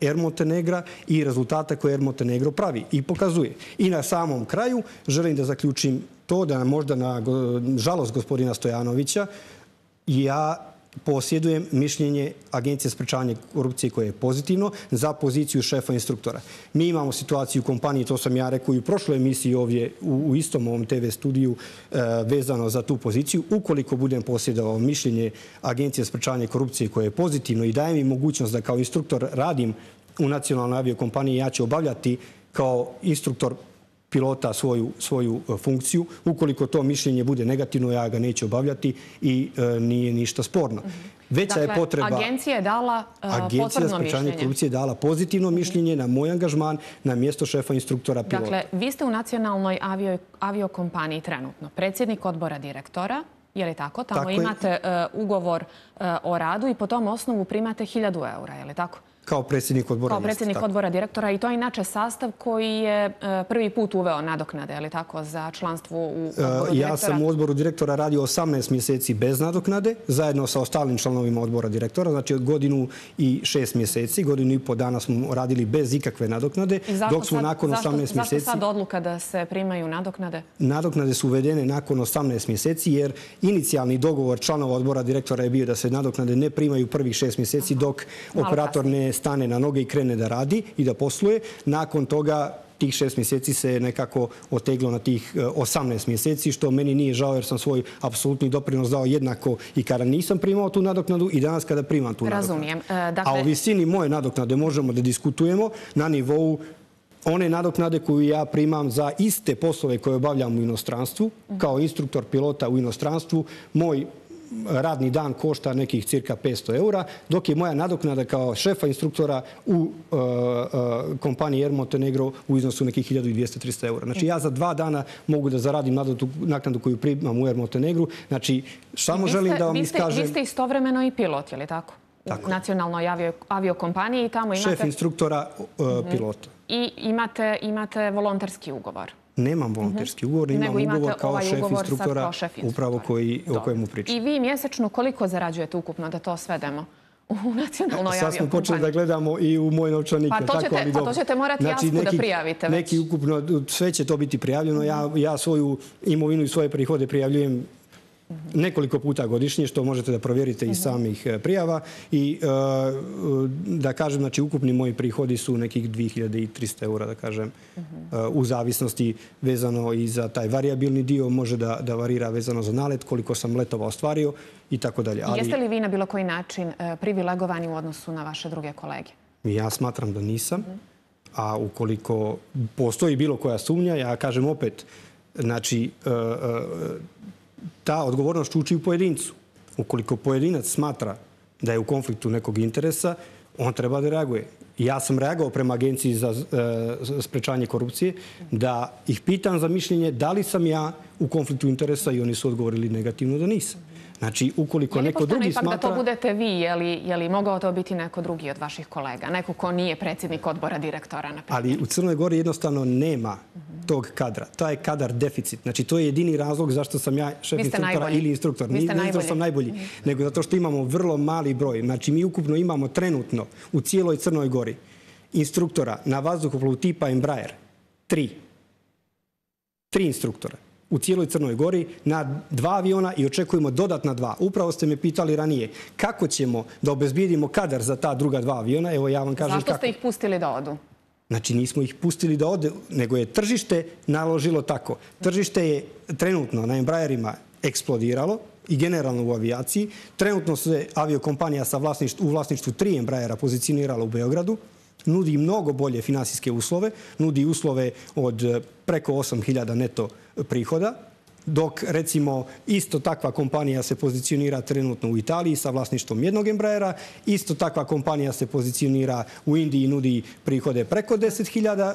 Air Montenegra i rezultata koje Air Montenegro pravi i pokazuje. I na samom kraju želim da zaključim to da možda na žalost gospodina Stojanovića ja posjedujem mišljenje Agencije za sprečavanje korupcije koje je pozitivno za poziciju šefa instruktora. Mi imamo situaciju u kompaniji, to sam ja rekao i u prošloj emisiji ovdje u istom ovom TV studiju vezano za tu poziciju. Ukoliko budem posjedovao mišljenje Agencije za sprečavanje korupcije koje je pozitivno i daje mi mogućnost da kao instruktor radim u nacionalnoj aviokompaniji, ja ću obavljati kao instruktor pilota svoju funkciju. Ukoliko to mišljenje bude negativno, ja ga neću obavljati i nije ništa sporno. Veća je potreba... Dakle, agencija je dala potvrdno mišljenje. Agencija za sprečavanje korupcije je dala pozitivno mišljenje na moj angažman na mjesto šefa instruktora pilota. Dakle, vi ste u nacionalnoj aviokompaniji trenutno predsjednik odbora direktora, je li tako? Tamo imate ugovor o radu i po tom osnovu primate 1.000 eura, je li tako? Kao predsjednik odbora. Kao predsjednik odbora direktora i to je inače sastav koji je prvi put uveo nadoknade, je li tako, za članstvo u odboru direktora? Ja sam u odboru direktora radio 18 mjeseci bez nadoknade, zajedno sa ostalim članovima odbora direktora, znači od 1 godinu i 6 mjeseci, 1,5 godinu dana smo radili bez ikakve nadoknade, dok smo nakon 18 mjeseci... Zašto sad odluka da se primaju nadoknade? Nadoknade su uvedene nakon 18 mjeseci, jer inicijalni dogovor članova odbora direktora je bio da se nadoknade ne primaju prvih 6 mjeseci dok operator ne stane na noge i krene da radi i da posluje. Nakon toga tih 6 mjeseci se nekako oteglo na tih 18 mjeseci, što meni nije žao jer sam svoj apsolutni doprinos dao jednako i kada nisam primao tu nadoknadu i danas kada primam tu nadoknadu. Razumijem. A o visini moje nadoknade možemo da diskutujemo na nivou one nadoknade koju ja primam za iste poslove koje obavljam u inostranstvu, kao instruktor pilota u inostranstvu. Moj radni dan košta nekih cirka 500 eura, dok je moja nadoknada kao šefa instruktora u kompaniji Air Montenegro u iznosu nekih 1200-300 eura. Znači ja za 2 dana mogu da zaradim naknadu koju primam u Air Montenegru. Znači, samo želim da vam iskažem... Vi ste istovremeno i pilot, je li tako? U nacionalnoj aviokompaniji i tamo imate... Šef instruktora pilota. I imate volonterski ugovor. Nemam volonterski ugovor, imam ugovor kao šef instruktora upravo o kojemu pričam. I vi mjesečno koliko zarađujete ukupno, da to svedemo u nacionalnoj aviokompaniji? Sad smo počeli da gledamo i u moj novčanik. Pa to ćete morati jasku da prijavite. Neki ukupno, sve će to biti prijavljeno. Ja svoju imovinu i svoje prihode prijavljujem nekoliko puta godišnje, što možete da provjerite iz samih prijava. I da kažem, znači, ukupni moji prihodi su nekih 2300 eura, da kažem, u zavisnosti vezano i za taj variabilni dio, može da varira vezano za nalet, koliko sam letova ostvario i tako dalje. Jeste li vi na bilo koji način privilegovani u odnosu na vaše druge kolege? Ja smatram da nisam, a ukoliko postoji bilo koja sumnja, ja kažem opet, znači, ta odgovornost čuči u pojedincu. Ukoliko pojedinac smatra da je u konfliktu nekog interesa, on treba da reaguje. Ja sam reagao prema Agenciji za sprečavanje korupcije da ih pitam za mišljenje da li sam ja u konfliktu interesa i oni su odgovorili negativno da nisam. Znači, ukoliko neko drugi smatra... ipak da to budete vi, je li mogao to biti neko drugi od vaših kolega? Neko ko nije predsjednik odbora direktora, na primjer? Ali u Crnoj Gori jednostavno nema tog kadra. To je kadar deficit. Znači, to je jedini razlog zašto sam ja šef instruktora ili instruktor. Vi ste najbolji. Ne zato sam najbolji, nego zato što imamo vrlo mali broj. Znači, mi ukupno imamo trenutno u cijeloj Crnoj Gori instruktora na vazduhoplovu tipa Embraer. 3 instruktora u cijeloj Crnoj Gori na 2 aviona i očekujemo dodatna 2. Upravo ste me pitali ranije kako ćemo da obezbijedimo kadar za ta druga 2 aviona. Evo ja vam kažem kako. Zašto ste ih pustili da odu? Znači nismo ih pustili da ode, nego je tržište naložilo tako. Tržište je trenutno na Embraerima eksplodiralo i generalno u avijaciji. Trenutno se aviokompanija u vlasništvu 3 Embraera pozicionirala u Beogradu. Nudi mnogo bolje finansijske uslove, nudi uslove od preko 8.000 neto prihoda, dok recimo isto takva kompanija se pozicionira trenutno u Italiji sa vlasništvom 1 Embraera, isto takva kompanija se pozicionira u Indiji i nudi prihode preko 10.000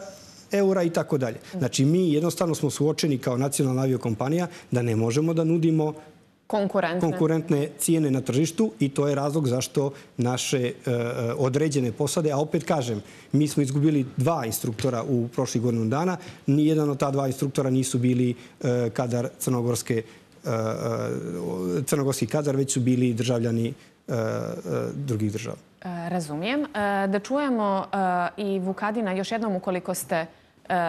eura i tako dalje. Znači mi jednostavno smo suočeni kao nacionalna aviokompanija da ne možemo da nudimo konkurentne cijene na tržištu i to je razlog zašto naše određene posade, a opet kažem, mi smo izgubili 2 instruktora u prošlih godinu dana, nijedan od ta 2 instruktora nisu bili kadar crnogorski kadar, već su bili državljani drugih država. Razumijem. Da čujemo i Vukadina još jednom ukoliko ste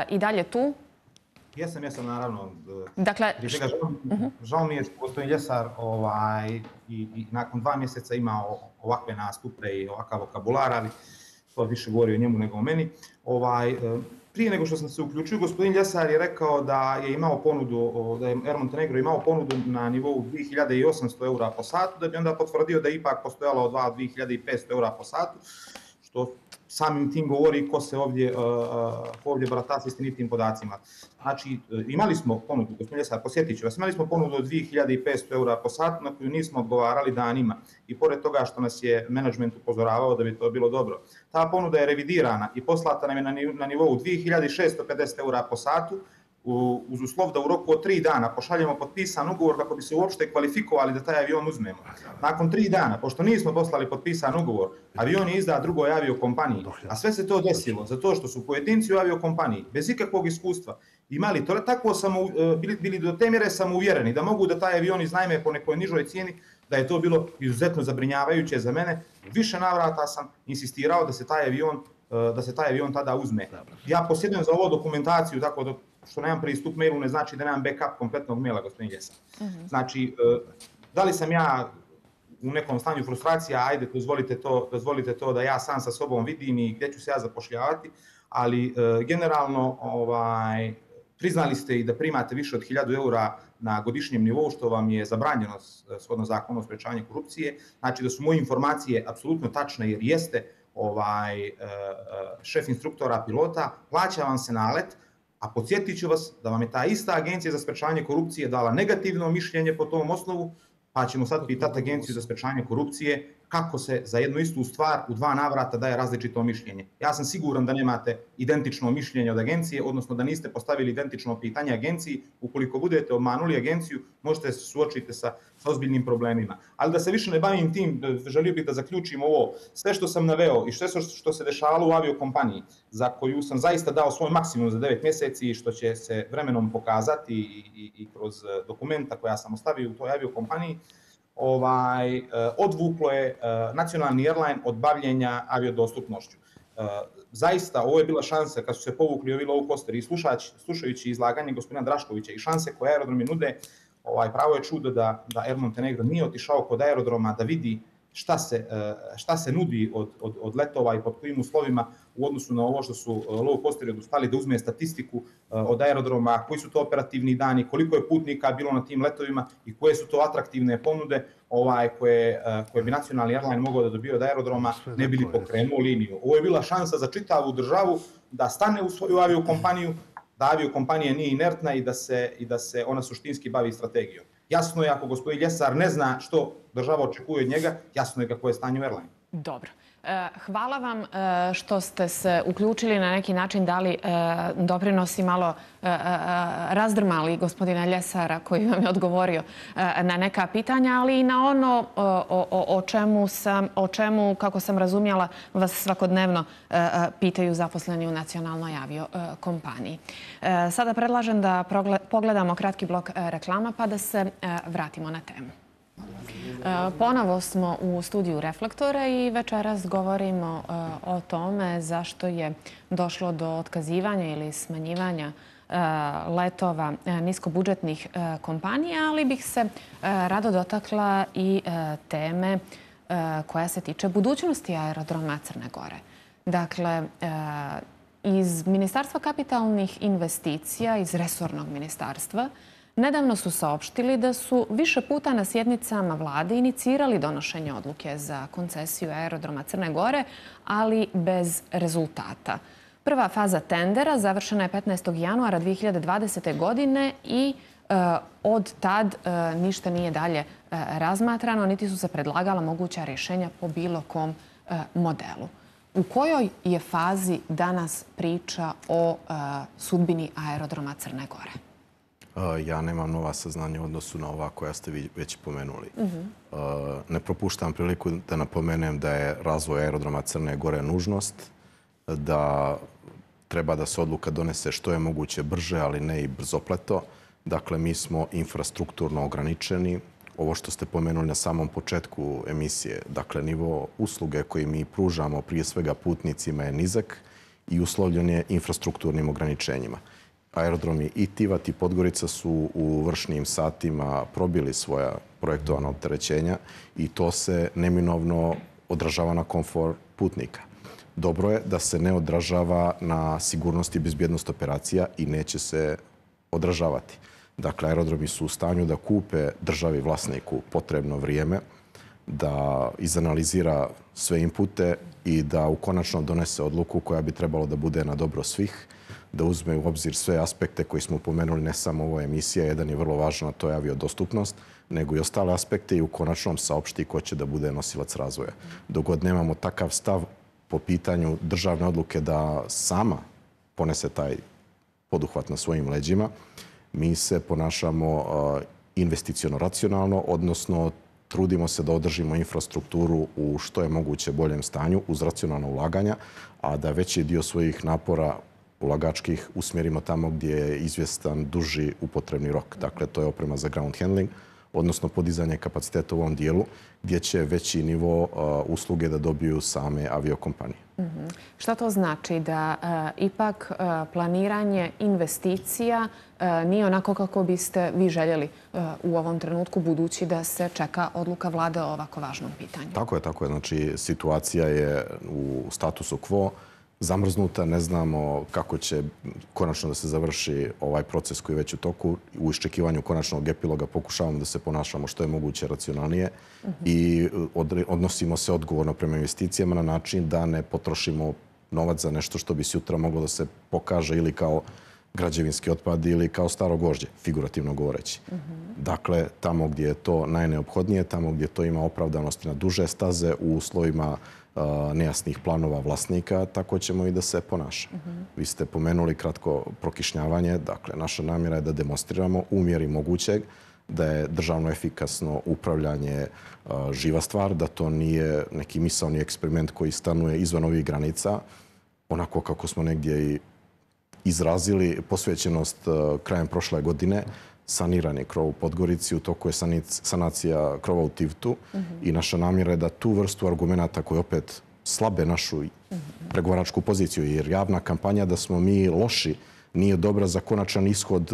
i dalje tu. Jesam, naravno. Dakle, žao mi je što gospodin Ljesar i nakon 2 mjeseca imao ovakve nastupe i ovakav vokabular, ali to više govori o njemu nego o meni. Prije nego što sam se uključio, gospodin Ljesar je rekao da je imao ponudu, da je Air Montenegro imao ponudu na nivou 2.800 eura po satu, da bi onda potvrdio da je ipak postojalo 2.500 eura po satu, što samim tim govori ko se ovdje barata s istinitim podacima. Znači, imali smo ponudu, gospodin Ljesar, posjetit ću vas, imali smo ponudu od 2.500 eura po satu na koju nismo odgovarali danima. I pored toga što nas je menadžment upozoravao da bi to bilo dobro. Ta ponuda je revidirana i poslata nam je na nivou 2.650 eura po satu, uz uslov da u roku od 3 dana pošaljemo potpisan ugovor kako bi se uopšte kvalifikovali da taj avion uzmemo. Nakon 3 dana, pošto nismo poslali potpisan ugovor, avion je izdat drugoj aviokompaniji, a sve se to desilo zato što su pojedinci u aviokompaniji bez ikakvog iskustva imali to, tako bili do te mjere samouvjereni da mogu da taj avion iznajme po nekoj nižoj cijeni, da je to bilo izuzetno zabrinjavajuće za mene. Više navrata sam insistirao da se taj avion tada uzme. Ja posjedujem za ovo dokumentaciju, tako da što nemam pristup mailu ne znači da nemam backup kompletnog maila, gospodin Ljesar. Znači, da li sam ja u nekom stanju frustracija, ajde, dozvolite to da ja sam sa sobom vidim i gdje ću se ja zapošljavati, ali generalno priznali ste i da primate više od 1000 eura na godišnjem nivou, što vam je zabranjeno shodno zakonu o sprečavanju korupcije. Znači da su moje informacije apsolutno tačne, jer jeste šef instruktora pilota, plaća vam se nalet, a podsjetit ću vas da vam je ta ista agencija za sprečavanje korupcije dala negativno mišljenje po tom osnovu, pa ćemo sad pitati agenciju za sprečavanje korupcije kako se za jednu istu stvar u 2 navrata daje različito mišljenje. Ja sam siguran da nemate identično mišljenje od agencije, odnosno da niste postavili identično pitanje agenciji. Ukoliko budete obmanuli agenciju, možete se suočiti sa ozbiljnim problemima. Ali da se više ne bavim tim, želio bih da zaključim ovo. Sve što sam naveo i sve što se dešavalo u aviokompaniji, za koju sam zaista dao svoj maksimum za 9 mjeseci i što će se vremenom pokazati i kroz dokumenta koja sam ostavio u toj aviokompaniji, odvuklo je nacionalni airline od bavljenja aviodostupnošću. Zaista, ovo je bila šansa kad su se povukli ovi low costeri i slušajući izlaganje gospodina Draškovića i šanse koje aerodromi nude, pravo je čudo da Air Montenegro nije otišao kod aerodroma da vidi šta se nudi od letova i pod kojim uslovima u odnosu na ovo što su low costeri odustali, da uzme statistiku od aerodroma, koji su to operativni dani, koliko je putnika bilo na tim letovima i koje su to atraktivne ponude koje bi nacionalni airline mogao da dobije od aerodroma, ne bi li pokrenuo liniju. Ovo je bila šansa za čitavu državu da stane u svoju aviokompaniju, da aviokompanija nije inertna i da se ona suštinski bavi strategijom. Jasno je, ako gospodin Ljesar ne zna što država očekuje od njega, jasno je kako je stanje u airline. Dobro. Hvala vam što ste se uključili, na neki način dali doprinos i malo razdrmali gospodina Ljesara koji vam je odgovorio na neka pitanja, ali i na ono o čemu, kako sam razumjela, vas svakodnevno pitaju zaposleni u nacionalnoj aviokompaniji. Sada predlažem da pogledamo kratki blok reklama pa da se vratimo na temu. Ponovo smo u studiju Reflektora i večeras govorimo o tome zašto je došlo do otkazivanja ili smanjivanja letova niskobudžetnih kompanija, ali bih se rado dotakla i teme koja se tiče budućnosti aerodroma Crne Gore. Dakle, iz Ministarstva kapitalnih investicija, iz resornog ministarstva, nedavno su saopštili da su više puta na sjednicama vlade inicirali donošenje odluke za koncesiju aerodroma Crne Gore, ali bez rezultata. Prva faza tendera završena je 15. januara 2020. godine i od tad ništa nije dalje razmatrano, niti su se predlagala moguća rješenja po bilo kom modelu. U kojoj je fazi danas priča o sudbini aerodroma Crne Gore? Ja nemam nova saznanja u odnosu na ova koja ste vi već pomenuli. Ne propuštam priliku da napomenem da je razvoj aerodroma Crne Gore nužnost, da treba da se odluka donese što je moguće brže, ali ne i brzopleto. Dakle, mi smo infrastrukturno ograničeni. Ovo što ste pomenuli na samom početku emisije, dakle, nivo usluge koji mi pružamo prije svega putnicima je nizak i uslovljen je infrastrukturnim ograničenjima. Aerodromi i Tivat i Podgorica su u vršnim satima probili svoja projektovana opterećenja i to se neminovno odražava na komfor putnika. Dobro je da se ne odražava na sigurnost i bezbjednost operacija i neće se odražavati. Dakle, aerodromi su u stanju da kupe državi vlasniku potrebno vrijeme, da izanalizira sve inpute i da ukonačno donese odluku koja bi trebalo da bude na dobro svih, da uzme u obzir sve aspekte koji smo pomenuli, ne samo ovo emisija, jedan je vrlo važan, a to je aviodostupnost, nego i ostale aspekte i u konačnom saopšti ko će da bude nosilac razvoja. Dok god nemamo takav stav po pitanju državne odluke da sama ponese taj poduhvat na svojim leđima, mi se ponašamo investiciono racionalno, odnosno trudimo se da održimo infrastrukturu u što je moguće boljem stanju uz racionalna ulaganja, a da veći dio svojih napora ulagačkih usmjerimo tamo gdje je izvjestan duži upotrebni rok. Dakle, to je oprema za ground handling, odnosno podizanje kapaciteta u ovom dijelu, gdje će veći nivo usluge da dobiju same aviokompanije. Šta to znači? Da ipak planiranje investicija nije onako kako biste vi željeli u ovom trenutku, budući da se čeka odluka vlade o ovako važnom pitanju? Tako je. Znači, situacija je u statusu quo, zamrznuta, ne znamo kako će konačno da se završi ovaj proces koji je već u toku. U iščekivanju konačnog epiloga pokušavamo da se ponašamo što je moguće racionalnije i odnosimo se odgovorno prema investicijama na način da ne potrošimo novac za nešto što bi sutra moglo da se pokaže ili kao građevinski otpad ili kao staro gvožđe, figurativno govoreći. Dakle, tamo gdje je to najneophodnije, tamo gdje to ima opravdanosti na duže staze u uslovima nejasnih planova vlasnika, tako ćemo i da se ponaša. Vi ste pomenuli kratko prokišnjavanje. Dakle, naša namjera je da demonstriramo u mjeri mogućeg da je državno efikasno upravljanje živa stvar, da to nije neki misaoni eksperiment koji stanuje izvan ovih granica, onako kako smo negdje i izrazili posvećenost krajem prošle godine. Saniran je krov u Podgorici, u toku je sanacija krova u Tivtu i naša namjera je da tu vrstu argumenta koji opet slabe našu pregovaračku poziciju, jer javna kampanja da smo mi loši nije dobra za konačan ishod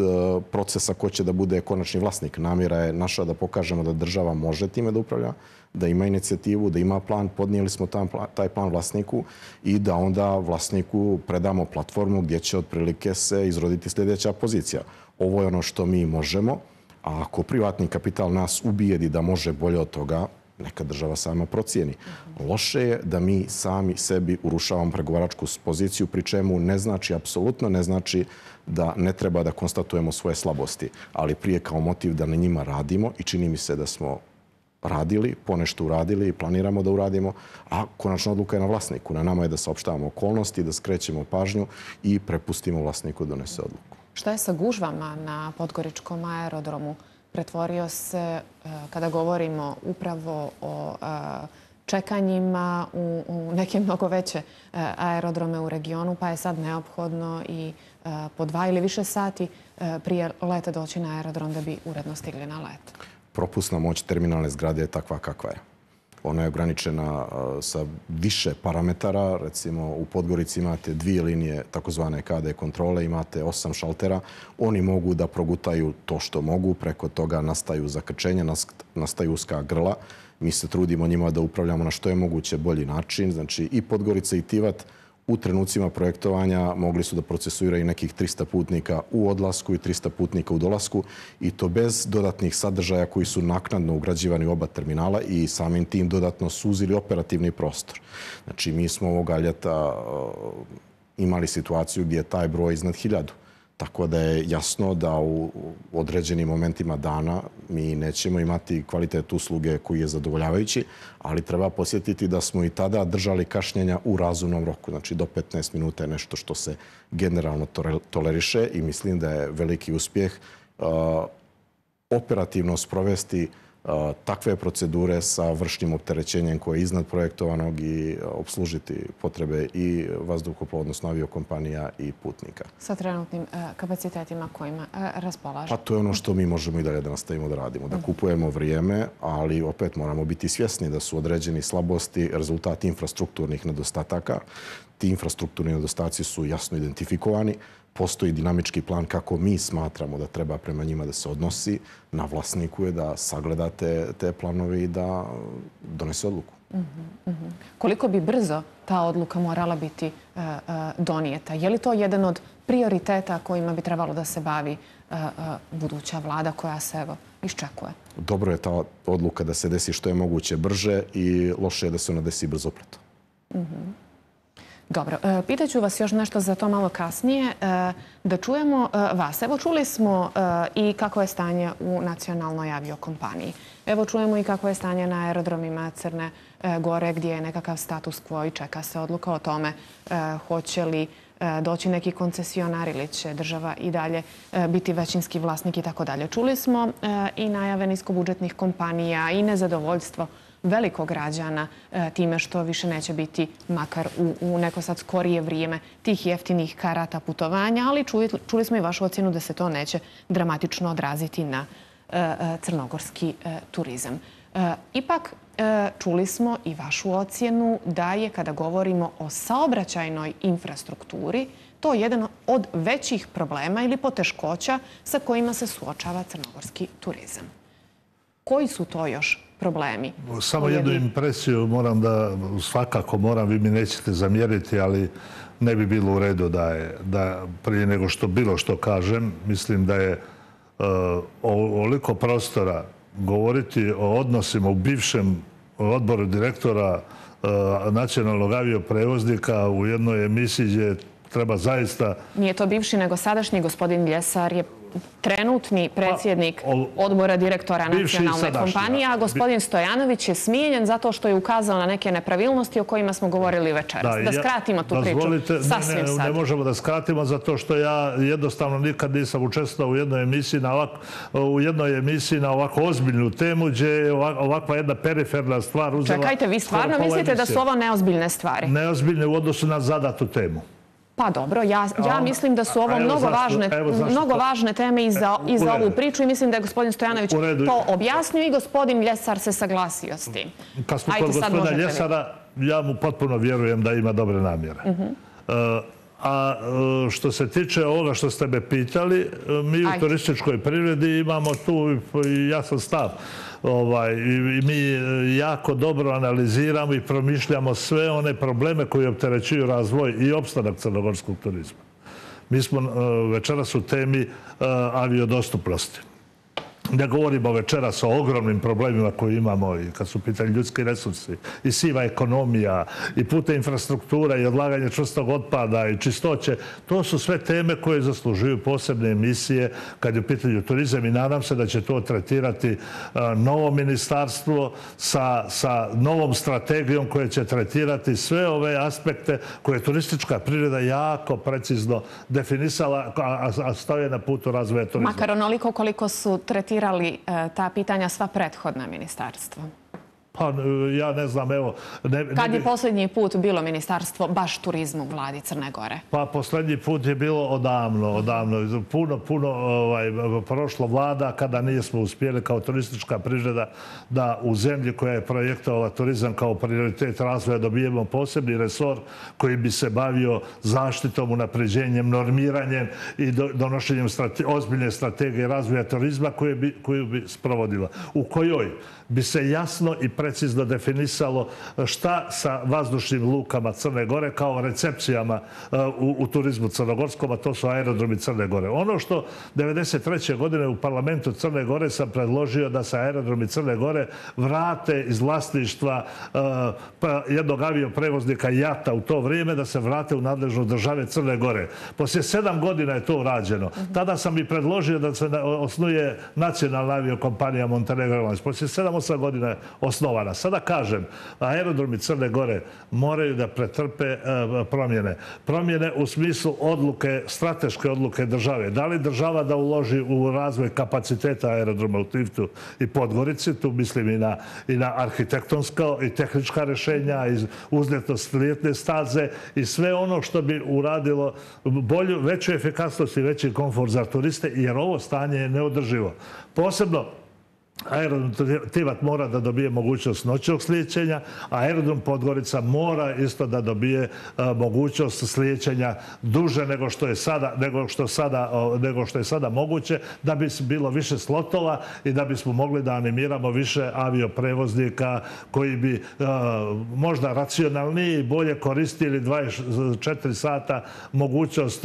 procesa ko će da bude konačni vlasnik. Namjera je naša da pokažemo da država može time da upravlja, da ima inicijativu, da ima plan, podnijeli smo taj plan vlasniku i da onda vlasniku predamo platformu gdje će otprilike se izroditi sljedeća pozicija. Ovo je ono što mi možemo, a ako privatni kapital nas ubijedi da može bolje od toga, neka država sama procijeni. Loše je da mi sami sebi urušavamo pregovaračku poziciju, pri čemu ne znači, apsolutno ne znači da ne treba da konstatujemo svoje slabosti, ali prije kao motiv da na njima radimo i čini mi se da smo radili, ponešto uradili i planiramo da uradimo, a konačna odluka je na vlasniku. Na nama je da saopštavamo okolnosti, da skrećemo pažnju i prepustimo vlasniku da donese odluku. Šta je sa gužvama na Podgoričkom aerodromu? Pretvorio se, kada govorimo upravo o čekanjima u neke mnogo veće aerodrome u regionu, pa je sad neophodno i po 2 ili više sati prije leta doći na aerodrom da bi uredno stigli na let. Propusna moć terminalne zgrade je takva kakva je. Ona je ograničena sa više parametara. Recimo, u Podgorici imate 2 linije takozvane KD kontrole, imate 8 šaltera. Oni mogu da progutaju to što mogu. Preko toga nastaju zakrčenja, nastaju uska grla. Mi se trudimo njima da upravljamo na što je moguće bolji način. Znači, i Podgorica i Tivat u trenucima projektovanja mogli su da procesuiraju nekih 300 putnika u odlasku i 300 putnika u dolasku i to bez dodatnih sadržaja koji su naknadno ugrađivani u oba terminala i samim tim dodatno suzili operativni prostor. Znači, mi smo ovoga ljeta imali situaciju gdje je taj broj iznad 1000. Tako da je jasno da u određenim momentima dana mi nećemo imati kvalitet usluge koji je zadovoljavajući, ali treba posjetiti da smo i tada držali kašnjenja u razumnom roku. Znači, do 15 minuta je nešto što se generalno toleriše i mislim da je veliki uspjeh operativno sprovesti takve procedure sa vršnim opterećenjem koje je iznad projektovanog i obslužiti potrebe i vazduhoplova, odnosno aviokompanija i putnika. Sa trenutnim kapacitetima kojima raspolažemo? Pa to je ono što mi možemo i dalje da nastavimo da radimo. Da kupujemo vrijeme, ali opet moramo biti svjesni da su određeni slabosti rezultat infrastrukturnih nedostataka. Ti infrastrukturni nedostaci su jasno identifikovani. Postoji dinamički plan kako mi smatramo da treba prema njima da se odnosi. Na vlasniku je da sagleda te planove i da donese odluku. Koliko bi brzo ta odluka morala biti donijeta? Je li to jedan od prioriteta kojima bi trebalo da se bavi buduća vlada koja se evo iščekuje? Dobro je ta odluka da se desi što je moguće brže i loše je da se ona desi brzopleto. Dobro, pitaću vas još nešto za to malo kasnije, da čujemo vas. Evo, čuli smo i kako je stanje u nacionalnoj aviokompaniji. Evo, čujemo i kako je stanje na aerodromima Crne Gore, gdje je nekakav status quo i čeka se odluka o tome hoće li doći neki koncesionar ili će država i dalje biti većinski vlasnik i tako dalje. Čuli smo i najave niskobudžetnih kompanija i nezadovoljstvo velikog građana time što više neće biti, makar u neko sad skorije vrijeme, tih jeftinih karata putovanja, ali čuli smo i vašu ocjenu da se to neće dramatično odraziti na crnogorski turizam. Ipak, čuli smo i vašu ocjenu da je, kada govorimo o saobraćajnoj infrastrukturi, to jedan od većih problema ili poteškoća sa kojima se suočava crnogorski turizam. Koji su to još problemi? Samo jednu impresiju svakako moram, vi mi nećete zamjeriti, ali ne bi bilo u redu da prije nego što bilo što kažem, mislim da je ovoliko prostora govoriti o odnosima u bivšem odboru direktora nacionalnog avioprevoznika u jednoj emisiji gdje treba zaista... Nije to bivši, nego sadašnji. Gospodin Ljesar je trenutni predsjednik odbora direktora nacionalne kompanije, a gospodin Stojanović je smijenjen zato što je ukazao na neke nepravilnosti o kojima smo govorili večeras. Da skratimo tu priču sasvim sad. Ne možemo da skratimo zato što ja jednostavno nikad nisam učestvovao u jednoj emisiji na ovako ozbiljnu temu gdje je ovakva jedna periferna stvar uzela... Čekajte, vi stvarno mislite da su ovo neozbiljne stvari? Neozbiljne u odnosu na zadatu temu. Pa dobro, ja mislim da su ovo mnogo važne teme i za ovu priču i mislim da je gospodin Stojanović to objasnio i gospodin Ljesar se saglasio s tim. Kad smo kod gospodina Ljesara, ja mu potpuno vjerujem da ima dobre namjere. A što se tiče ovoga što ste me pitali, mi u turističkoj privredi imamo tu jasan stav. Mi jako dobro analiziramo i promišljamo sve one probleme koji opterećuju razvoj i opstanak crnogorskog turizma. Mi smo večeras u temi aviodostupnosti. Ne govorimo večeras o ogromnim problemima koje imamo i kad su pitanje ljudski resursi i siva ekonomija i putna infrastruktura i odlaganje čvrstog otpada i čistoće. To su sve teme koje zaslužuju posebne emisije kad je u pitanju turizam i nadam se da će to tretirati novo ministarstvo sa novom strategijom koja će tretirati sve ove aspekte koje je turistička privreda jako precizno definisala, a stoje na putu razvoja turizma. Makar onoliko koliko su tretirali ta pitanja sva prethodna ministarstva? Pa ja ne znam, evo... Kad je posljednji put bilo ministarstvo baš turizmu u vladi Crne Gore? Pa posljednji put je bilo odavno. Puno prošlo vlada kada nismo uspjeli kao turistička privreda da u zemlji koja je projektovala turizam kao prioritet razvoja dobijemo posebni resor koji bi se bavio zaštitom, unapređenjem, normiranjem i donošenjem ozbiljne strategije razvoja turizma koju bi sprovodila. U kojoj bi se jasno i precizno definisalo šta sa vazdušnim lukama Crne Gore kao recepcijama u turizmu crnogorskom, a to su aerodromi Crne Gore. Ono što 1993. godine u parlamentu Crne Gore sam predložio da se aerodromi Crne Gore vrate iz vlasništva jednog avioprevoznika JAT-a u to vrijeme, da se vrate u nadležnu države Crne Gore. Poslije 7 godina je to urađeno. Tada sam i predložio da se osnuje nacionalna aviokompanija Montenegro Airlines. Poslije 7-8 godina je osnovana. Sada kažem, aerodromi Crne Gore moraju da pretrpe promjene. Promjene u smislu odluke, strateške odluke države. Da li država da uloži u razvoj kapaciteta aerodroma u Tivtu i Podgorici, tu mislim i na arhitektonska i tehnička rješenja, i uzletnost ljetne staze i sve ono što bi uradilo bolju, veću efikasnost i veći komfort za turiste, jer ovo stanje je neodrživo. Posebno aerodrom Tivat mora da dobije mogućnost noćnog slijećenja, a aerodrom Podgorica mora isto da dobije mogućnost slijećenja duže nego što je sada moguće, da bi bilo više slotova i da bismo mogli da animiramo više avioprevoznika koji bi možda racionalnije i bolje koristili 24 sata mogućnost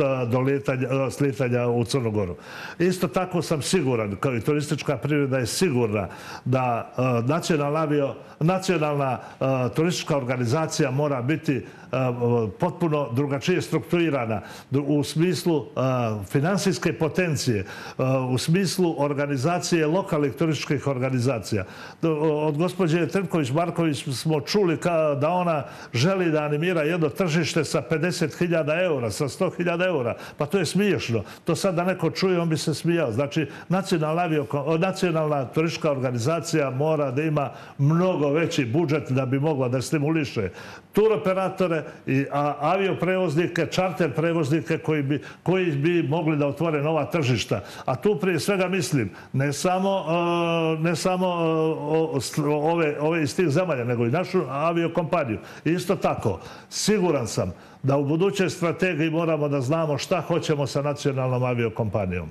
slitanja u Crnu Goru. Isto tako sam siguran, kao i turistička privreda je sigurna da nacionalna turistička organizacija mora biti potpuno drugačije strukturirana u smislu finansijske potencije, u smislu organizacije lokalnih turističkih organizacija. Od gospođe Trnković-Marković smo čuli da ona želi da animira jedno tržište sa 50.000 eura, sa 100.000 eura. Pa to je smiješno. To sad da neko čuje, on bi se smijao. Znači, nacionalna turistička turistička organizacija mora da ima mnogo veći budžet da bi mogla da stimuliše turoperatore i avioprevoznike, čarter prevoznike koji bi mogli da otvore nova tržišta. A tu prije svega mislim ne samo ove iz tih zemalja, nego i našu aviokompaniju. Isto tako, siguran sam da u budućoj strategiji moramo da znamo šta hoćemo sa nacionalnom aviokompanijom.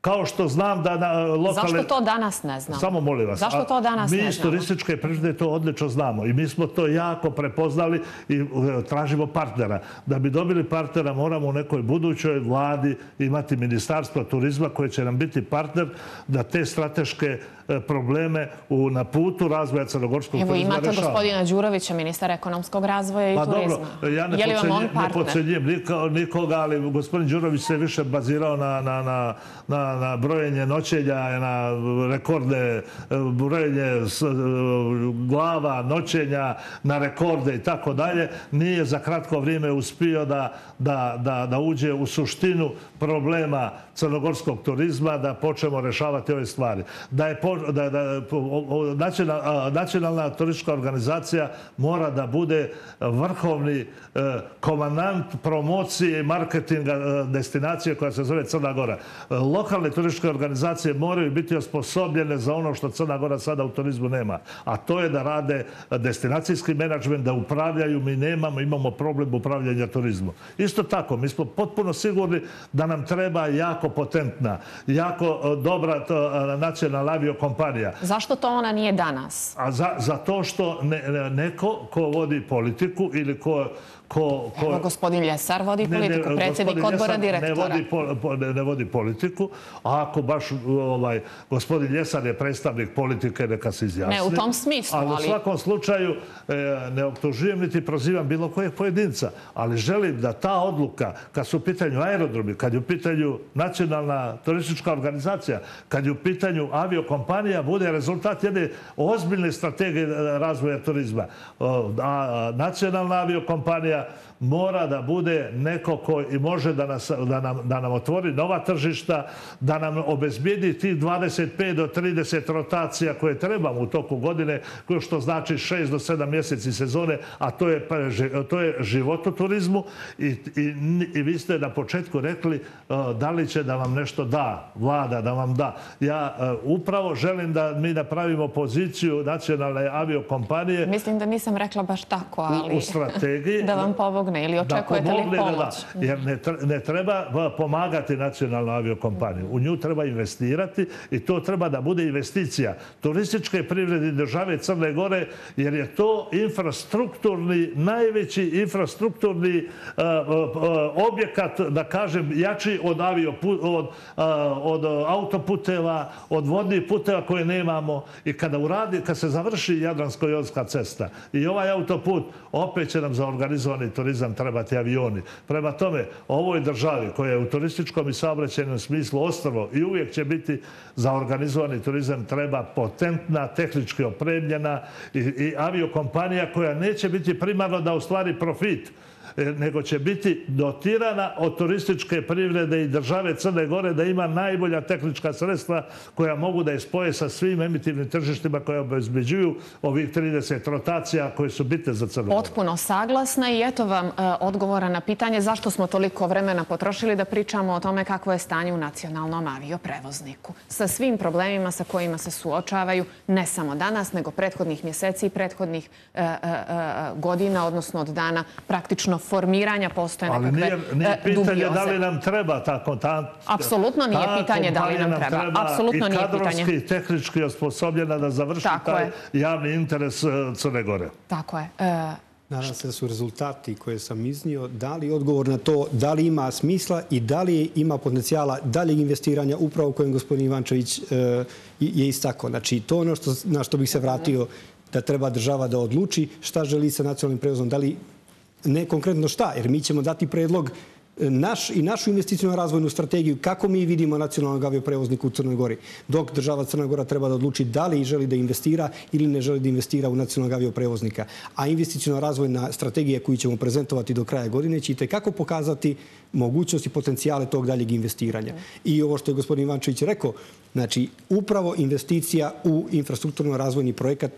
Kao što znam da lokalne... Zašto to danas ne znamo? Samo molim vas. Zašto to danas ne znamo? Mi iz turističke privrede to odlično znamo i mi smo to jako prepoznali i tražimo partnera. Da bi dobili partnera moramo u nekoj budućoj vladi imati Ministarstvo turizma koje će nam biti partner da te strateške probleme na putu razvoja crnogorskog turizma rešava. Evo imate gospodina Đurovića, ministara ekonomskog razvoja i turizma. Pa dobro, ja ne podcenjujem nikoga, ali gospodin Đurović se više bazirao na brojenje noćenja, na rekorde, brojenje glava, noćenja, na rekorde i tako dalje. Nije za kratko vrijeme uspio da uđe u suštinu problema crnogorskog turizma, da počnemo rešavati ove stvari. Nacionalna turistička organizacija mora da bude vrhovni komandant promocije i marketinga destinacije koja se zove Crna Gora. Lokalne turističke organizacije moraju biti osposobljene za ono što Crna Gora sada u turizmu nema. A to je da rade destinacijski menadžment, da upravljaju. Mi imamo problem upravljanja turizmom. Isto tako, mi smo potpuno sigurni da nam treba jako potentna, jako dobra nacionalna aviokompanija. Zašto to ona nije danas? Zato što neko ko vodi politiku ili Evo, gospodin Ljesar vodi politiku, predsjednik odbora direktora. Ne vodi politiku, a ako baš gospodin Ljesar je predstavnik politike, neka se izjasni. Ne, u tom smislu. Ali u svakom slučaju ne optužujem niti prozivam bilo kojeg pojedinca, ali želim da ta odluka, kad su u pitanju aerodromi, kad je u pitanju nacionalna turistička organizacija, kad je u pitanju aviokompanija, bude rezultat jedne ozbiljne strategije razvoja turizma. A nacionalna aviokompanija mora da bude neko koji može da nam otvori nova tržišta, da nam obezbijedi tih 25 do 30 rotacija koje trebamo u toku godine, što znači 6 do 7 mjeseci sezone, a to je život u turizmu. I vi ste na početku rekli da li će da vam nešto da, vlada da vam da. Ja upravo želim da mi napravimo poziciju nacionalne aviokompanije. Mislim da nisam rekla baš tako, ali u strategiji da vam pomogne ili očekujete li pomoć? Jer ne treba pomagati nacionalnu aviokompaniju. U nju treba investirati i to treba da bude investicija turističke privrede države Crne Gore, jer je to infrastrukturni, najveći infrastrukturni objekat, da kažem, jači od autoputeva, od vodnih puteva koje nemamo. I kad se završi Jadransko-jonska cesta i ovaj autoput, opet će nam za organizovani turizam trebati avioni. Prema tome, ovoj državi koja je u turističkom i saobraćajnom smislu ostrvo i uvijek će biti za organizovani turizam treba potentna, tehnički opremljena i aviokompanija koja neće biti primarno da ostvari profit, nego će biti dotirana od turističke privrede i države Crne Gore da ima najbolja tehnička sredstva koja mogu da je spoje sa svim emitivnim tržištima koje obezbeđuju ovih 30 rotacija koje su bitne za Crnu Goru. Potpuno saglasna i eto vam odgovora na pitanje zašto smo toliko vremena potrošili da pričamo o tome kakvo je stanje u nacionalnom avioprevozniku. Sa svim problemima sa kojima se suočavaju ne samo danas, nego prethodnih mjeseci i prethodnih godina, odnosno od dana praktično formiranja postoje nekakve dubiozne. Ali nije pitanje da li nam treba ta kontakta. Apsolutno nije pitanje da li nam treba. Apsolutno nije pitanje. I kadrovski i tehnički osposobljena da završi taj javni interes Crne Gore. Tako je. Nadam se da su rezultati koje sam iznio dali odgovor na to da li ima smisla i da li ima potencijala daljeg investiranja upravo kojem gospodin Ivančević je istakao. Znači, to ono na što bih se vratio, da treba država da odluči šta želi sa nacionalnim prevozom, da li ne konkretno šta, jer mi ćemo dati predlog našu investicijnu razvojnu strategiju, kako mi vidimo nacionalnog avioprevoznika u Crnoj Gori, dok država Crna Gora treba da odluči da li želi da investira ili ne želi da investira u nacionalnog avioprevoznika. A investicijna razvojna strategija koju ćemo prezentovati do kraja godine će itekako pokazati mogućnosti i potencijale tog daljeg investiranja. I ovo što je gospodin Ivančević rekao, znači upravo investicija u infrastrukturno razvojni projekat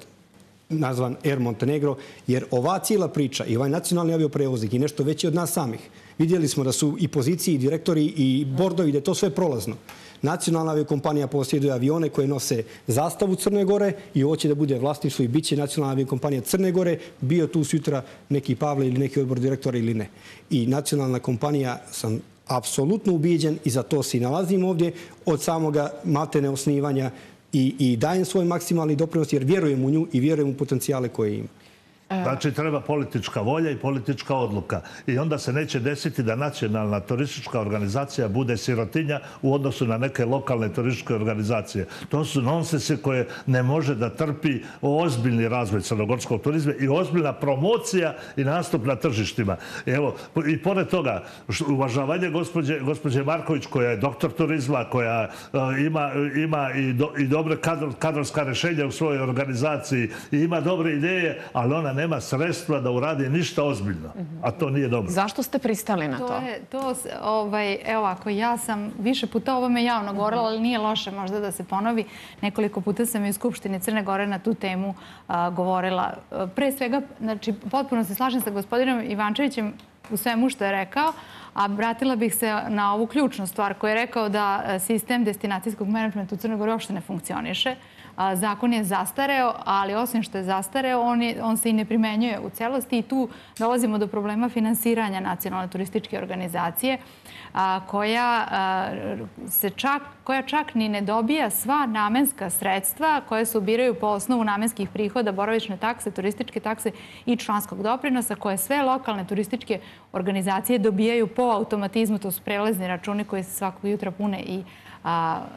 nazvan Air Montenegro, jer ova cijela priča i ovaj nacionalni avioprevoznik je nešto veće od nas samih. Vidjeli smo da su i pozicije, i direktori, i bordovi, da je to sve prolazno. Nacionalna aviokompanija posjeduje avione koje nose zastavu Crne Gore i ovo će da bude vlasništvo i bit će nacionalna aviokompanija Crne Gore, bio tu sutra neki Pavle ili neki odbor direktora ili ne. I nacionalna kompanija, sam apsolutno ubijeđen i za to se i nalazim ovdje od samoga maltene osnivanja i dajem svoj maksimalni doprinos jer vjerujem u nju i vjerujem u potencijale koje ima. Znači, treba politička volja i politička odluka. I onda se neće desiti da nacionalna turistička organizacija bude sirotinja u odnosu na neke lokalne turističke organizacije. To su nonsense koje ne može da trpi ozbiljni razvoj crnogorskog turizma i ozbiljna promocija i nastup na tržištima. Evo, i pored toga, uvažavanje gospođe Marković, koja je doktor turizma, koja ima i dobre kadrovska rješenja u svojoj organizaciji i ima dobre ideje, ali ona nema sredstva da uradi ništa ozbiljno, a to nije dobro. Zašto ste pristali na to? Evo, ako ja sam više puta o ovome javno govorila, ali nije loše možda da se ponovi. Nekoliko puta sam i u Skupštini Crne Gore na tu temu govorila. Pre svega, znači, potpuno se slažem sa gospodinom Ivančevićem u svemu što je rekao, a vratila bih se na ovu ključnu stvar koju je rekao da sistem destinacijskog menadžmenta u Crnoj Gori uopšte ne funkcioniše. Zakon je zastareo, ali osim što je zastareo, on se i ne primenjuje u celosti i tu dolazimo do problema finansiranja nacionalne turističke organizacije koja čak ni ne dobija sva namenska sredstva koje se ubiraju po osnovu namenskih prihoda, boravišne takse, turističke takse i članskog doprinosa koje sve lokalne turističke organizacije dobijaju po automatizmu. To su prelezni računi koji se svakog jutra pune i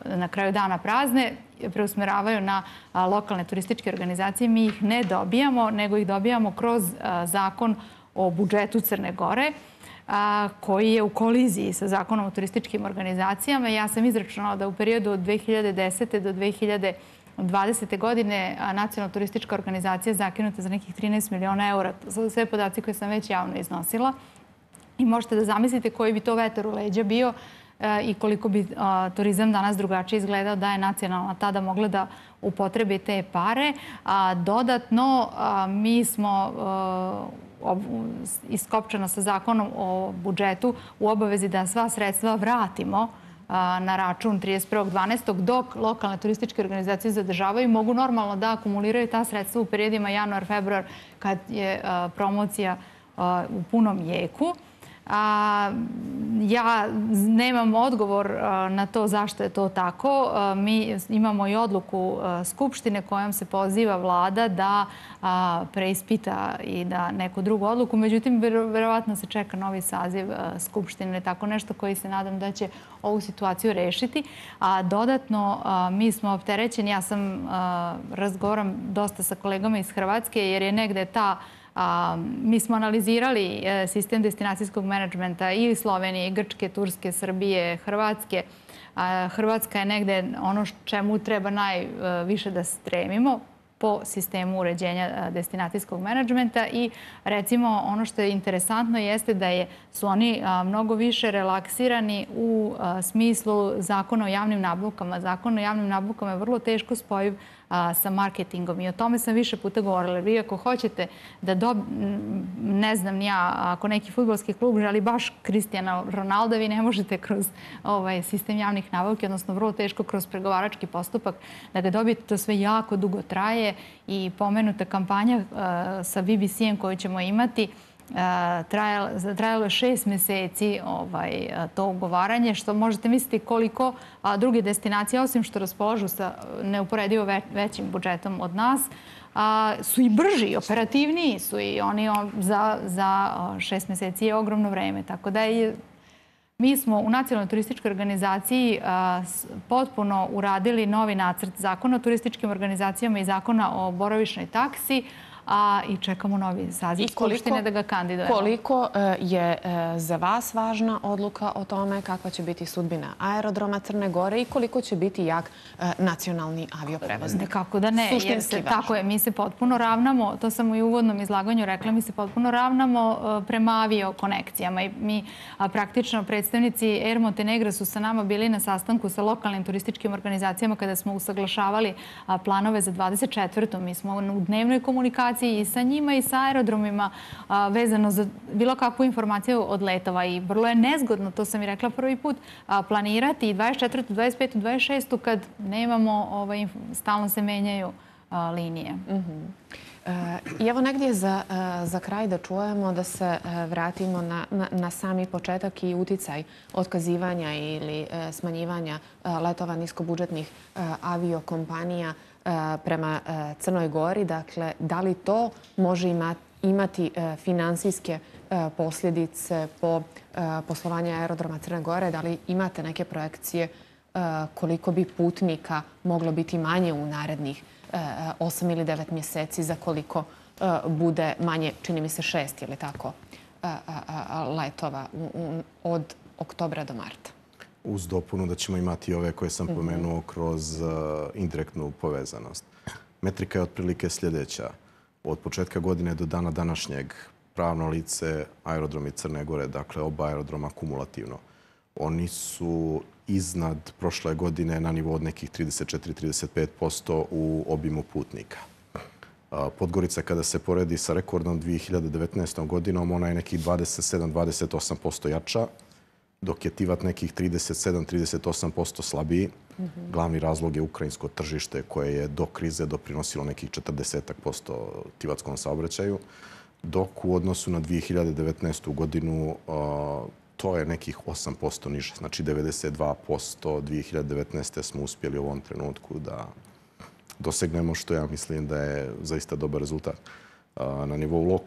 na kraju dana prazne, preusmeravaju na lokalne turističke organizacije. Mi ih ne dobijamo, nego ih dobijamo kroz zakon o budžetu Crne Gore, koji je u koliziji sa zakonom o turističkim organizacijama. Ja sam izračunala da u periodu od 2010. do 2020. godine nacionalna turistička organizacija zakinuta za nekih 13 miliona eura. Sve podaci koje sam već javno iznosila. I možete da zamislite koji bi to vetar u leđa bio i koliko bi turizam danas drugačije izgledao da je nacionalna tada mogla da upotrebi te pare. Dodatno, mi smo iskopčano sa zakonom o budžetu u obavezi da sva sredstva vratimo na račun 31.12. dok lokalne turističke organizacije zadržavaju i mogu normalno da akumuliraju ta sredstva u periodima januar-februar kad je promocija u punom jeku. Ja nemam odgovor na to zašto je to tako. Mi imamo i odluku Skupštine kojom se poziva vlada da preispita i da neku drugu odluku. Međutim, verovatno se čeka novi saziv Skupštine, tako nešto koji se nadam da će ovu situaciju rešiti. A dodatno, mi smo opterećeni. Ja sam razgovaram dosta sa kolegama iz Hrvatske jer je negde mi smo analizirali sistem destinacijskog menadžmenta i Slovenije, i Grčke, Turske, Srbije, Hrvatske. Hrvatska je negde ono čemu treba najviše da stremimo po sistemu uređenja destinacijskog menadžmenta i recimo ono što je interesantno jeste da su oni mnogo više relaksirani u smislu zakona o javnim nabavkama. Zakon o javnim nabavkama je vrlo teško spojiv sa marketingom i o tome sam više puta govorila. Vi ako hoćete da ne znam ja, ako neki fudbalski klub želi baš Cristiana Ronalda, vi ne možete kroz sistem javnih nabavki, odnosno vrlo teško kroz pregovarački postupak da ga dobijete. To sve jako dugo traje i pomenuta kampanja sa BBC-em koju ćemo imati trajalo je 6 meseci to ugovaranje, što možete misliti koliko druge destinacije, osim što raspolažu sa neuporedivo većim budžetom od nas, su i brži i operativniji su i oni za 6 meseci je ogromno vreme. Tako da mi smo u Nacionalnoj turističkoj organizaciji potpuno uradili novi nacrt zakona o turističkim organizacijama i zakona o boravišnoj taksi, i čekamo novi saziv Skupštine da ga kandidujemo. Koliko je za vas važna odluka o tome kakva će biti sudbina aerodroma Crne Gore i koliko će biti jak nacionalni avioprevoznik? Kako da ne, jer tako je, mi se potpuno ravnamo, to sam i u uvodnom izlaganju rekla, mi se potpuno ravnamo prema aviokonekcijama i mi praktično predstavnici Air Montenegra su sa nama bili na sastanku sa lokalnim turističkim organizacijama kada smo usaglašavali planove za 24. Mi smo u dnevnoj komunikaciji i sa njima i sa aerodromima vezano za bilo kakvu informaciju od letova i vrlo je nezgodno, to sam i rekla prvi put, planirati 24., 25., 26. kad nemamo, stalno se menjaju linije. I evo negdje za kraj da čujemo, da se vratimo na sami početak i uticaj otkazivanja ili smanjivanja letova niskobudžetnih aviokompanija prema Crnoj Gori. Dakle, da li to može imati finansijske posljedice po poslovanju aerodroma Crne Gore? Da li imate neke projekcije koliko bi putnika moglo biti manje u narednih 8 ili 9 mjeseci, za koliko bude manje, čini mi se 6 ili tako, letova od oktobra do marta? Uz dopunu da ćemo imati ove koje sam pomenuo kroz indirektnu povezanost. Metrika je otprilike sljedeća. Od početka godine do dana današnjeg pravno lice aerodromi Crne Gore, dakle oba aerodroma kumulativno, oni su iznad prošle godine na nivou od nekih 34-35% u obimu putnika. Podgorica kada se poredi sa rekordnom 2019. godinom, ona je nekih 27-28% jača, dok je Tivat nekih 37-38% slabiji. Glavni razlog je ukrajinsko tržište koje je do krize doprinosilo nekih 40% tivatskom saobraćaju, dok u odnosu na 2019. godinu to je nekih 8% niže. Znači 92% 2019. smo uspjeli u ovom trenutku da dosegnemo, što ja mislim da je zaista dobar rezultat. Na nivou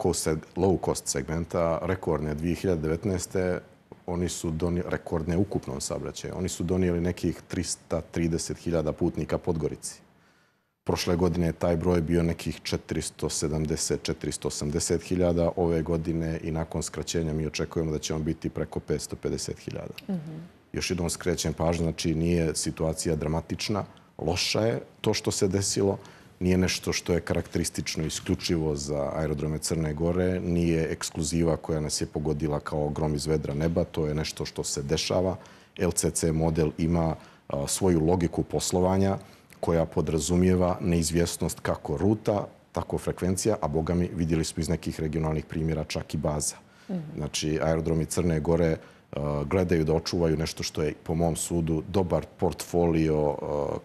low cost segmenta, rekordne 2019. oni su rekordne ukupnom saobraćaju. Oni su donijeli nekih 330.000 putnika Podgorici. Prošle godine je taj broj bio nekih 470-480.000. Ove godine i nakon skraćenja mi očekujemo da će on biti preko 550.000. Još jednom skrećem pažnju, znači nije situacija dramatična, loša je to što se desilo, nije nešto što je karakteristično isključivo za aerodrome Crne Gore, nije ekskluziva koja nas je pogodila kao grom iz vedra neba, to je nešto što se dešava. LCC model ima svoju logiku poslovanja koja podrazumijeva neizvjesnost kako ruta, tako frekvencija, a boga mi vidjeli smo iz nekih regionalnih primjera čak i baza. Znači, aerodromi Crne Gore gledaju da očuvaju nešto što je, po mom sudu, dobar portfolio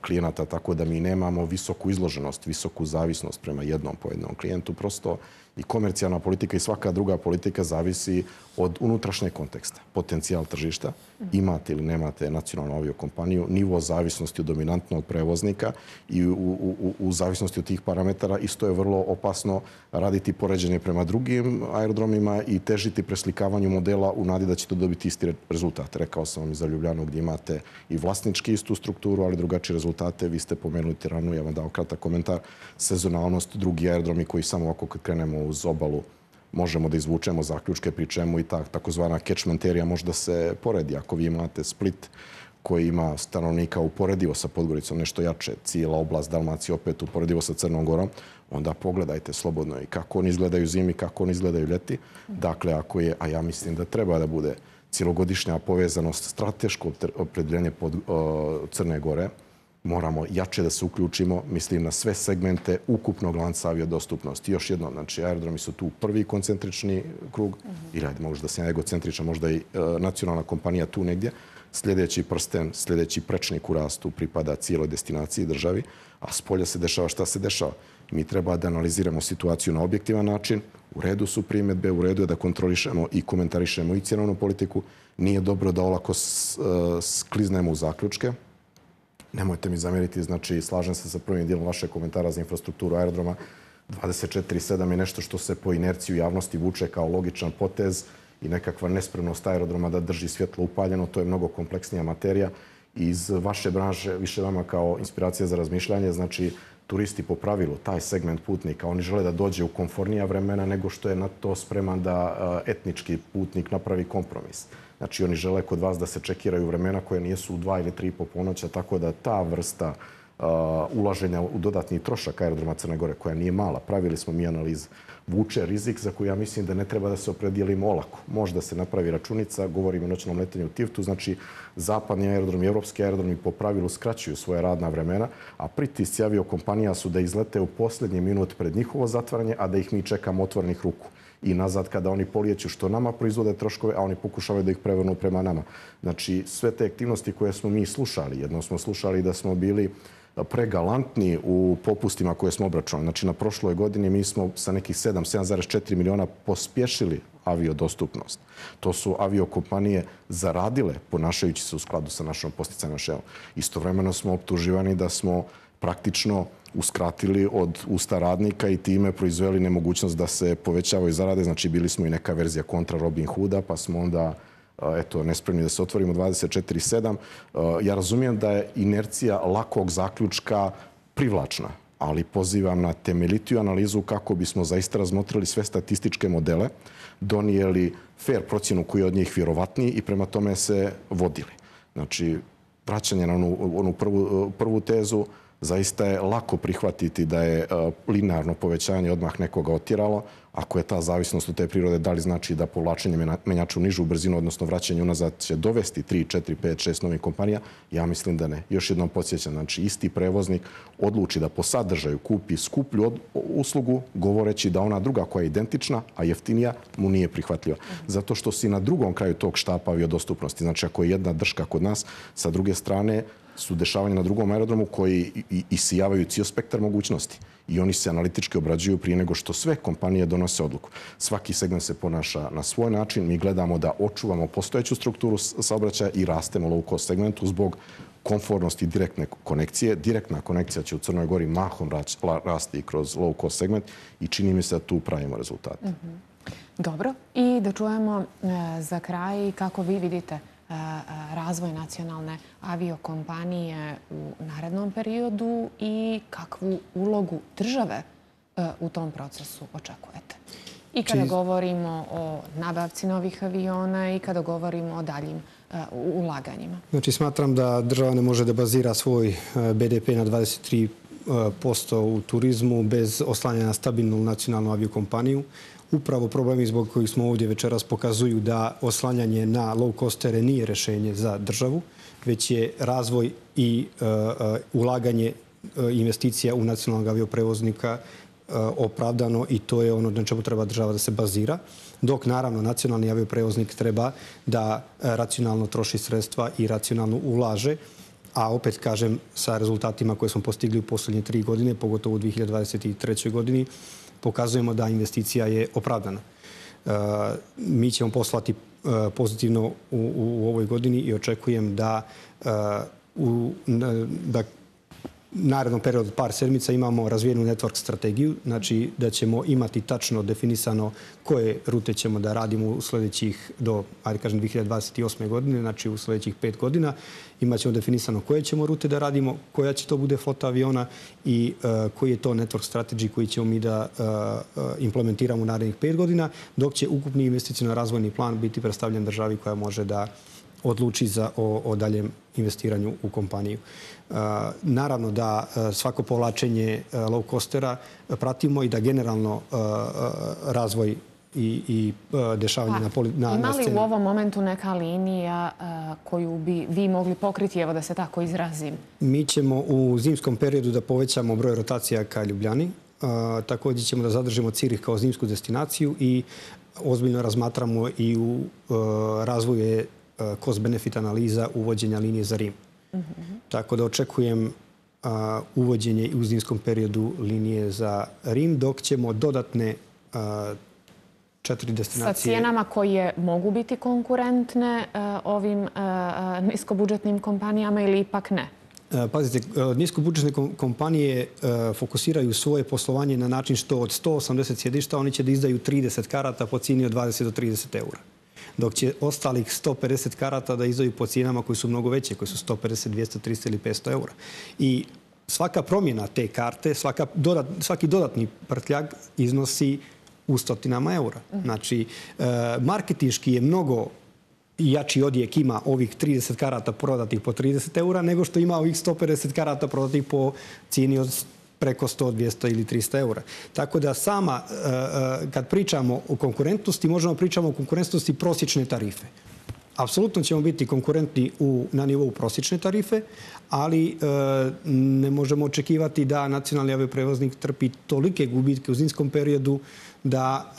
klijenata, tako da mi nemamo visoku izloženost, visoku zavisnost prema jednom pojedinom klijentu. Prosto i komercijalna politika i svaka druga politika zavisi od unutrašnjeg konteksta. Potencijal tržišta, imate ili nemate nacionalnu aviokompaniju, nivo zavisnosti od dominantnog prevoznika i u zavisnosti od tih parametara isto je vrlo opasno raditi poređenje prema drugim aerodromima i težiti preslikavanju modela u nadi da ćete dobiti isti rezultat. Rekao sam vam i za Ljubljanu gdje imate i vlasnički istu strukturu, ali drugačije rezultate. Vi ste pomenuli Tiranu, ja vam dao kratak komentar. Sezonalnost, drugi aerodromi koji samo ovako kad krenemo uz obalu možemo da izvučemo zaključke, pri čemu i ta takozvana catchment area može da se poredi. Ako vi imate Split koji ima stanovnika uporedivo sa Podgoricom, nešto jače, cijela oblast Dalmacije opet uporedivo sa Crnom Gorom, onda pogledajte slobodno i kako oni izgledaju zimi, kako oni izgledaju ljeti. Dakle, ako je, a ja mislim da treba da bude cijelogodišnja povezanost, strateško opredjeljenje Crne Gore, moramo jače da se uključimo, mislim na sve segmente ukupnog lanca aviodostupnosti. Još jedno, znači aerodromi su tu prvi koncentrični krug, ili ajde možda sam egocentričan, možda i nacionalna kompanija tu negdje. Sljedeći prsten, sljedeći prečnik u rastu pripada cijeloj destinaciji državi, a s polja se dešava šta se dešava. Mi treba da analiziramo situaciju na objektivan način, u redu su primjedbe, u redu je da kontrolišemo i komentarišemo i cjenovnu politiku. Nije dobro da olako skliznemo u zaključke. Nemojte mi zamjeriti, znači slažem se sa prvim dijelom vašeg komentara za infrastrukturu aerodroma. 24/7 je nešto što se po inerciji u javnosti vuče kao logičan potez i nekakva nespremnost aerodroma da drži svjetlo upaljeno. To je mnogo kompleksnija materija. Iz vaše branže, više vama kao inspiracija za razmišljanje, znači turisti po pravilu, taj segment putnika, oni žele da dođe u komfornija vremena nego što je na to spreman da etnički putnik napravi kompromis. Znači, oni žele kod vas da se čekiraju vremena koje nijesu u 2 ili 3 po ponoća, tako da ta vrsta ulaženja u dodatni trošak aerodroma Crne Gore, koja nije mala, pravili smo mi analiz, vuče rizik za koju ja mislim da ne treba da se opredijelimo olako. Možda se napravi računica, govorimo o noćnom letenju u Tivtu, znači zapadni aerodromi i evropski aerodromi po pravilu skraćuju svoje radna vremena, a pritisci aviokompanija su da izlete u posljednji minut pred njihovo zatvaranje, a da ih mi čekamo otvorenih ruku i nazad kada oni polijeću, što nama proizvode troškove, a oni pokušavaju da ih prevrnu prema nama. Znači, sve te aktivnosti koje smo mi slušali, jednom smo slušali da smo bili pregalantni u popustima koje smo obračunali. Znači, na prošloj godini mi smo sa nekih 7,4 miliona pospješili aviodostupnost. To su aviokompanije zaradile ponašajući se u skladu sa našom podsticajnom šemom. Istovremeno smo optuživani da smo praktično uskratili od usta radnika i time proizveli nemogućnost da se povećavaju zarade. Znači, bili smo i neka verzija kontra Robin Hooda, pa smo onda nespremni da se otvorimo 24/7. Ja razumijem da je inercija lakog zaključka privlačna, ali pozivam na temeljitiju analizu kako bismo zaista razmotrili sve statističke modele, donijeli fair procjenu koji je od njih vjerovatniji i prema tome se vodili. Znači, vraćanje na onu prvu tezu, zaista je lako prihvatiti da je linearno povećanje odmah nekoga otjeralo. Ako je ta zavisnost od te prirode, da li znači da povlačenje menjača u nižu brzinu, odnosno vraćanje unazad, će dovesti 3, 4, 5, 6 novih kompanija? Ja mislim da ne. Još jednom podsjećam, znači isti prevoznik odluči da po sadržaju kupi skuplju uslugu, govoreći da ona druga koja je identična, a jeftinija, mu nije prihvatljiva. Zato što si na drugom kraju tog štapa aviodostupnosti. Znači, ako je jedna drška kod nas, sa druge strane su dešavanja na drugom aerodromu koji isijavaju cijel spektar mogućnosti. I oni se analitički obrađuju prije nego što sve kompanije donose odluku. Svaki segment se ponaša na svoj način. Mi gledamo da očuvamo postojeću strukturu saobraćaja i rastemo low cost segmentu zbog komfornosti direktne konekcije. Direktna konekcija će u Crnoj Gori mahom rasti kroz low cost segment i čini mi se da tu pravimo rezultate. Dobro. I da čujemo za kraj kako vi vidite razvoj nacionalne aviokompanije u narednom periodu i kakvu ulogu države u tom procesu očekujete. I kada govorimo o nabavci novih aviona i kada govorimo o daljim ulaganjima. Znači, smatram da država ne može da bazira svoj BDP na 23% u turizmu bez oslanjanja na stabilnu nacionalnu aviokompaniju. Upravo problemi zbog kojih smo ovdje večeras pokazuju da oslanjanje na low-costere nije rješenje za državu, već je razvoj i ulaganje investicija u nacionalnog avioprevoznika opravdano i to je ono na čemu treba država da se bazira. Dok, naravno, nacionalni avioprevoznik treba da racionalno troši sredstva i racionalno ulaže, a opet kažem sa rezultatima koje smo postigli u posljednje 3 godine, pogotovo u 2023. godini, pokazujemo da investicija je opravdana. Mi ćemo poslati pozitivno u ovoj godini i očekujem da u narednom periodu par sedmica imamo razvijenu network strategiju, znači da ćemo imati tačno definisano koje rute ćemo da radimo u sljedećih do, 2028. godine, znači u sljedećih 5 godina. Imat ćemo definisano koje ćemo rute da radimo, koja će to bude flota aviona i koji je to network strategy koji ćemo mi da implementiramo u narednih 5 godina, dok će ukupni investicijno razvojni plan biti predstavljen državi koja može da odluči o daljem investiranju u kompaniju. Naravno da svako povlačenje low-costera pratimo i da generalno razvoj i dešavanje na sceni. Ima li u ovom momentu neka linija koju bi vi mogli pokriti, evo da se tako izrazim? Mi ćemo u zimskom periodu da povećamo broj rotacija ka Ljubljani. Također ćemo da zadržimo Cirih kao zimsku destinaciju i ozbiljno razmatramo i u razvoju cost-benefit analiza uvođenja linije za Rim. Tako da očekujem uvođenje u zimskom periodu linije za Rim, dok ćemo dodatne 4 destinacije... Sa cijenama koje mogu biti konkurentne ovim niskobudžetnim kompanijama ili ipak ne? Pazite, niskobudžetne kompanije fokusiraju svoje poslovanje na način što od 180 sjedišta oni će da izdaju 30 karata po cijeni od 20 do 30 eura. Dok će ostalih 150 karata da izdaju po cijenama koji su mnogo veće, koji su 150, 200, 300 ili 500 eura. I svaka promjena te karte, svaki dodatni prtljag iznosi u stotinama eura. Znači, marketinški je mnogo jači odjek ima ovih 30 karata prodatih po 30 eura nego što ima ovih 150 karata prodatih po cijeni od preko 100, 200 ili 300 eura. Tako da kad pričamo o konkurentnosti, možemo pričamo o konkurentnosti prosječne tarife. Apsolutno ćemo biti konkurentni na nivou prosječne tarife, ali ne možemo očekivati da nacionalni avioprevoznik trpi tolike gubitke u zimskom periodu da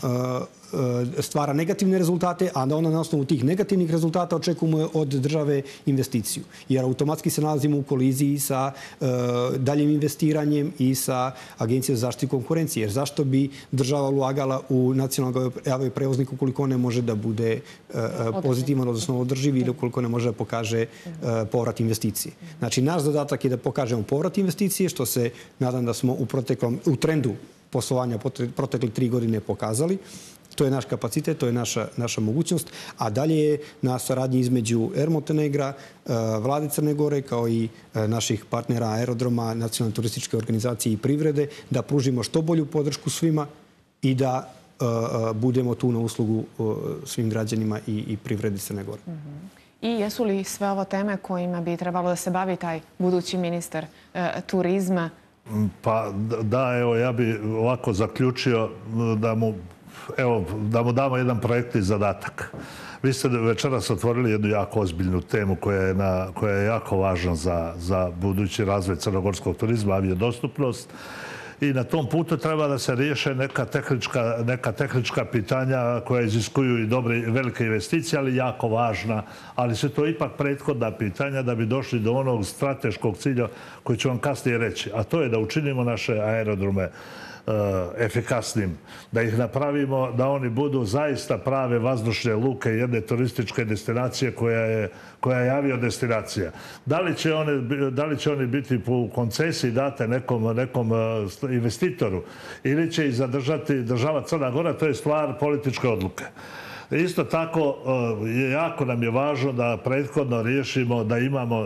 stvara negativne rezultate, a da onda na osnovu tih negativnih rezultata očekujemo od države investiciju. Jer automatski se nalazimo u koliziji sa daljim investiranjem i sa Agencijom za zaštitu konkurencije. Jer zašto bi država ulagala u nacionalnog avioprevoznika ukoliko ne može da bude pozitivan, odnosno održiv, ili ukoliko ne može da pokaže povrat investicije. Znači, naš zadatak je da pokažemo povrat investicije, što se nadam da smo u trendu poslovanja protekle 3 godine pokazali. To je naš kapacitet, to je naša mogućnost. A dalje je na saradnji između Air Montenegra, Vlade Crne Gore, kao i naših partnera aerodroma, nacionalne turističke organizacije i privrede, da pružimo što bolju podršku svima i da budemo tu na uslugu svim građanima i privredi Crne Gore. I jesu li sve ovo teme kojima bi trebalo da se bavi taj budući ministar turizma? Pa da, evo, ja bi ovako zaključio da mu damo jedan projektni zadatak. Vi ste večeras otvorili jednu jako ozbiljnu temu koja je jako važna za budući razvoj crnogorskog turizma, aviodostupnost. I na tom putu treba da se riješe neka tehnička pitanja koja iziskuju i dobre velike investicije, ali jako važna. Ali su to ipak prethodna pitanja da bi došli do onog strateškog cilja koji ću vam kasnije reći. A to je da učinimo naše aerodrome efikasnim, da ih napravimo da oni budu zaista prave vazdušne luke jedne turističke destinacije koja je aviodestinacija. Da li će oni biti po koncesiji date nekom investitoru ili će ih zadržati država Crna Gora, to je stvar političke odluke. Isto tako, jako nam je važno da prethodno riješimo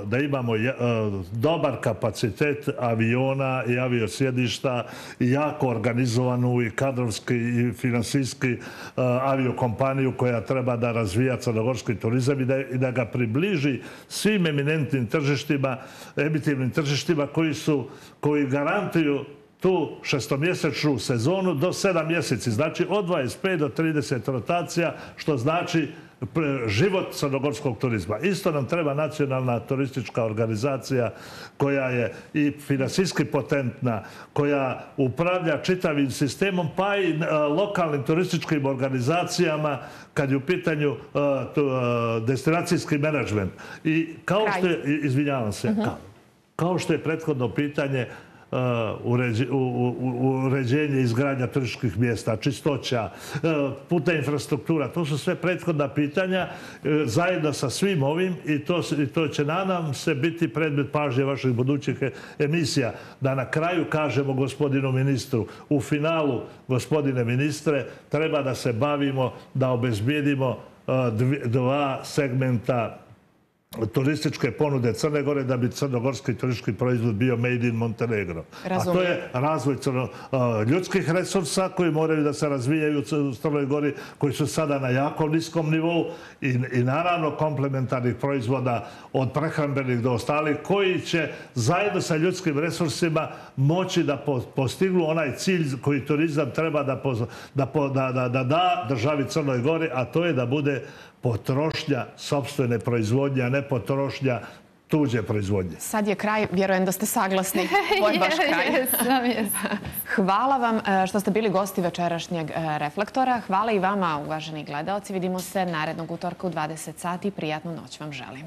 da imamo dobar kapacitet aviona i aviosjedišta i jako organizovanu i kadrovski i finansijski aviokompaniju koja treba da razvija crnogorski turizam i da ga približi svim eminentnim tržištima, emitivnim tržištima koji garantuju tu šestomjesečnu sezonu do 7 mjeseci. Znači od 25 do 30 rotacija, što znači život crnogorskog turizma. Isto nam treba nacionalna turistička organizacija koja je i finansijski potentna, koja upravlja čitavim sistemom, pa i lokalnim turističkim organizacijama kad je u pitanju destinacijski menadžment. I kao što je, izvinjavam se, kao što je prethodno pitanje uređenje izgradnja turističkih mjesta, čistoća, putna infrastruktura. To su sve prethodna pitanja zajedno sa svim ovim i to će nadam se biti predmet pažnje vaših budućih emisija. Da na kraju kažemo gospodinu ministru, u finalu, gospodine ministre, treba da se bavimo da obezbijedimo 2 segmenta turističke ponude Crne Gore da bi crnogorski turistički proizvod bio made in Montenegro. A to je razvoj ljudskih resursa koji moraju da se razvijaju u Crnoj Gori, koji su sada na jako niskom nivou i naravno komplementarnih proizvoda od prehrambenih do ostalih koji će zajedno sa ljudskim resursima moći da postignu onaj cilj koji turizam treba da da državi Crnoj Gori, a to je da bude potrošnja sopstvene proizvodnje, a ne potrošnja tuđe proizvodnje. Sad je kraj, vjerujem da ste saglasni. Ovo je baš kraj. Hvala vam što ste bili gosti večerašnjeg Reflektora. Hvala i vama, uvaženi gledaoci. Vidimo se narednog utorka u 20 sati. Prijatnu noć vam želim.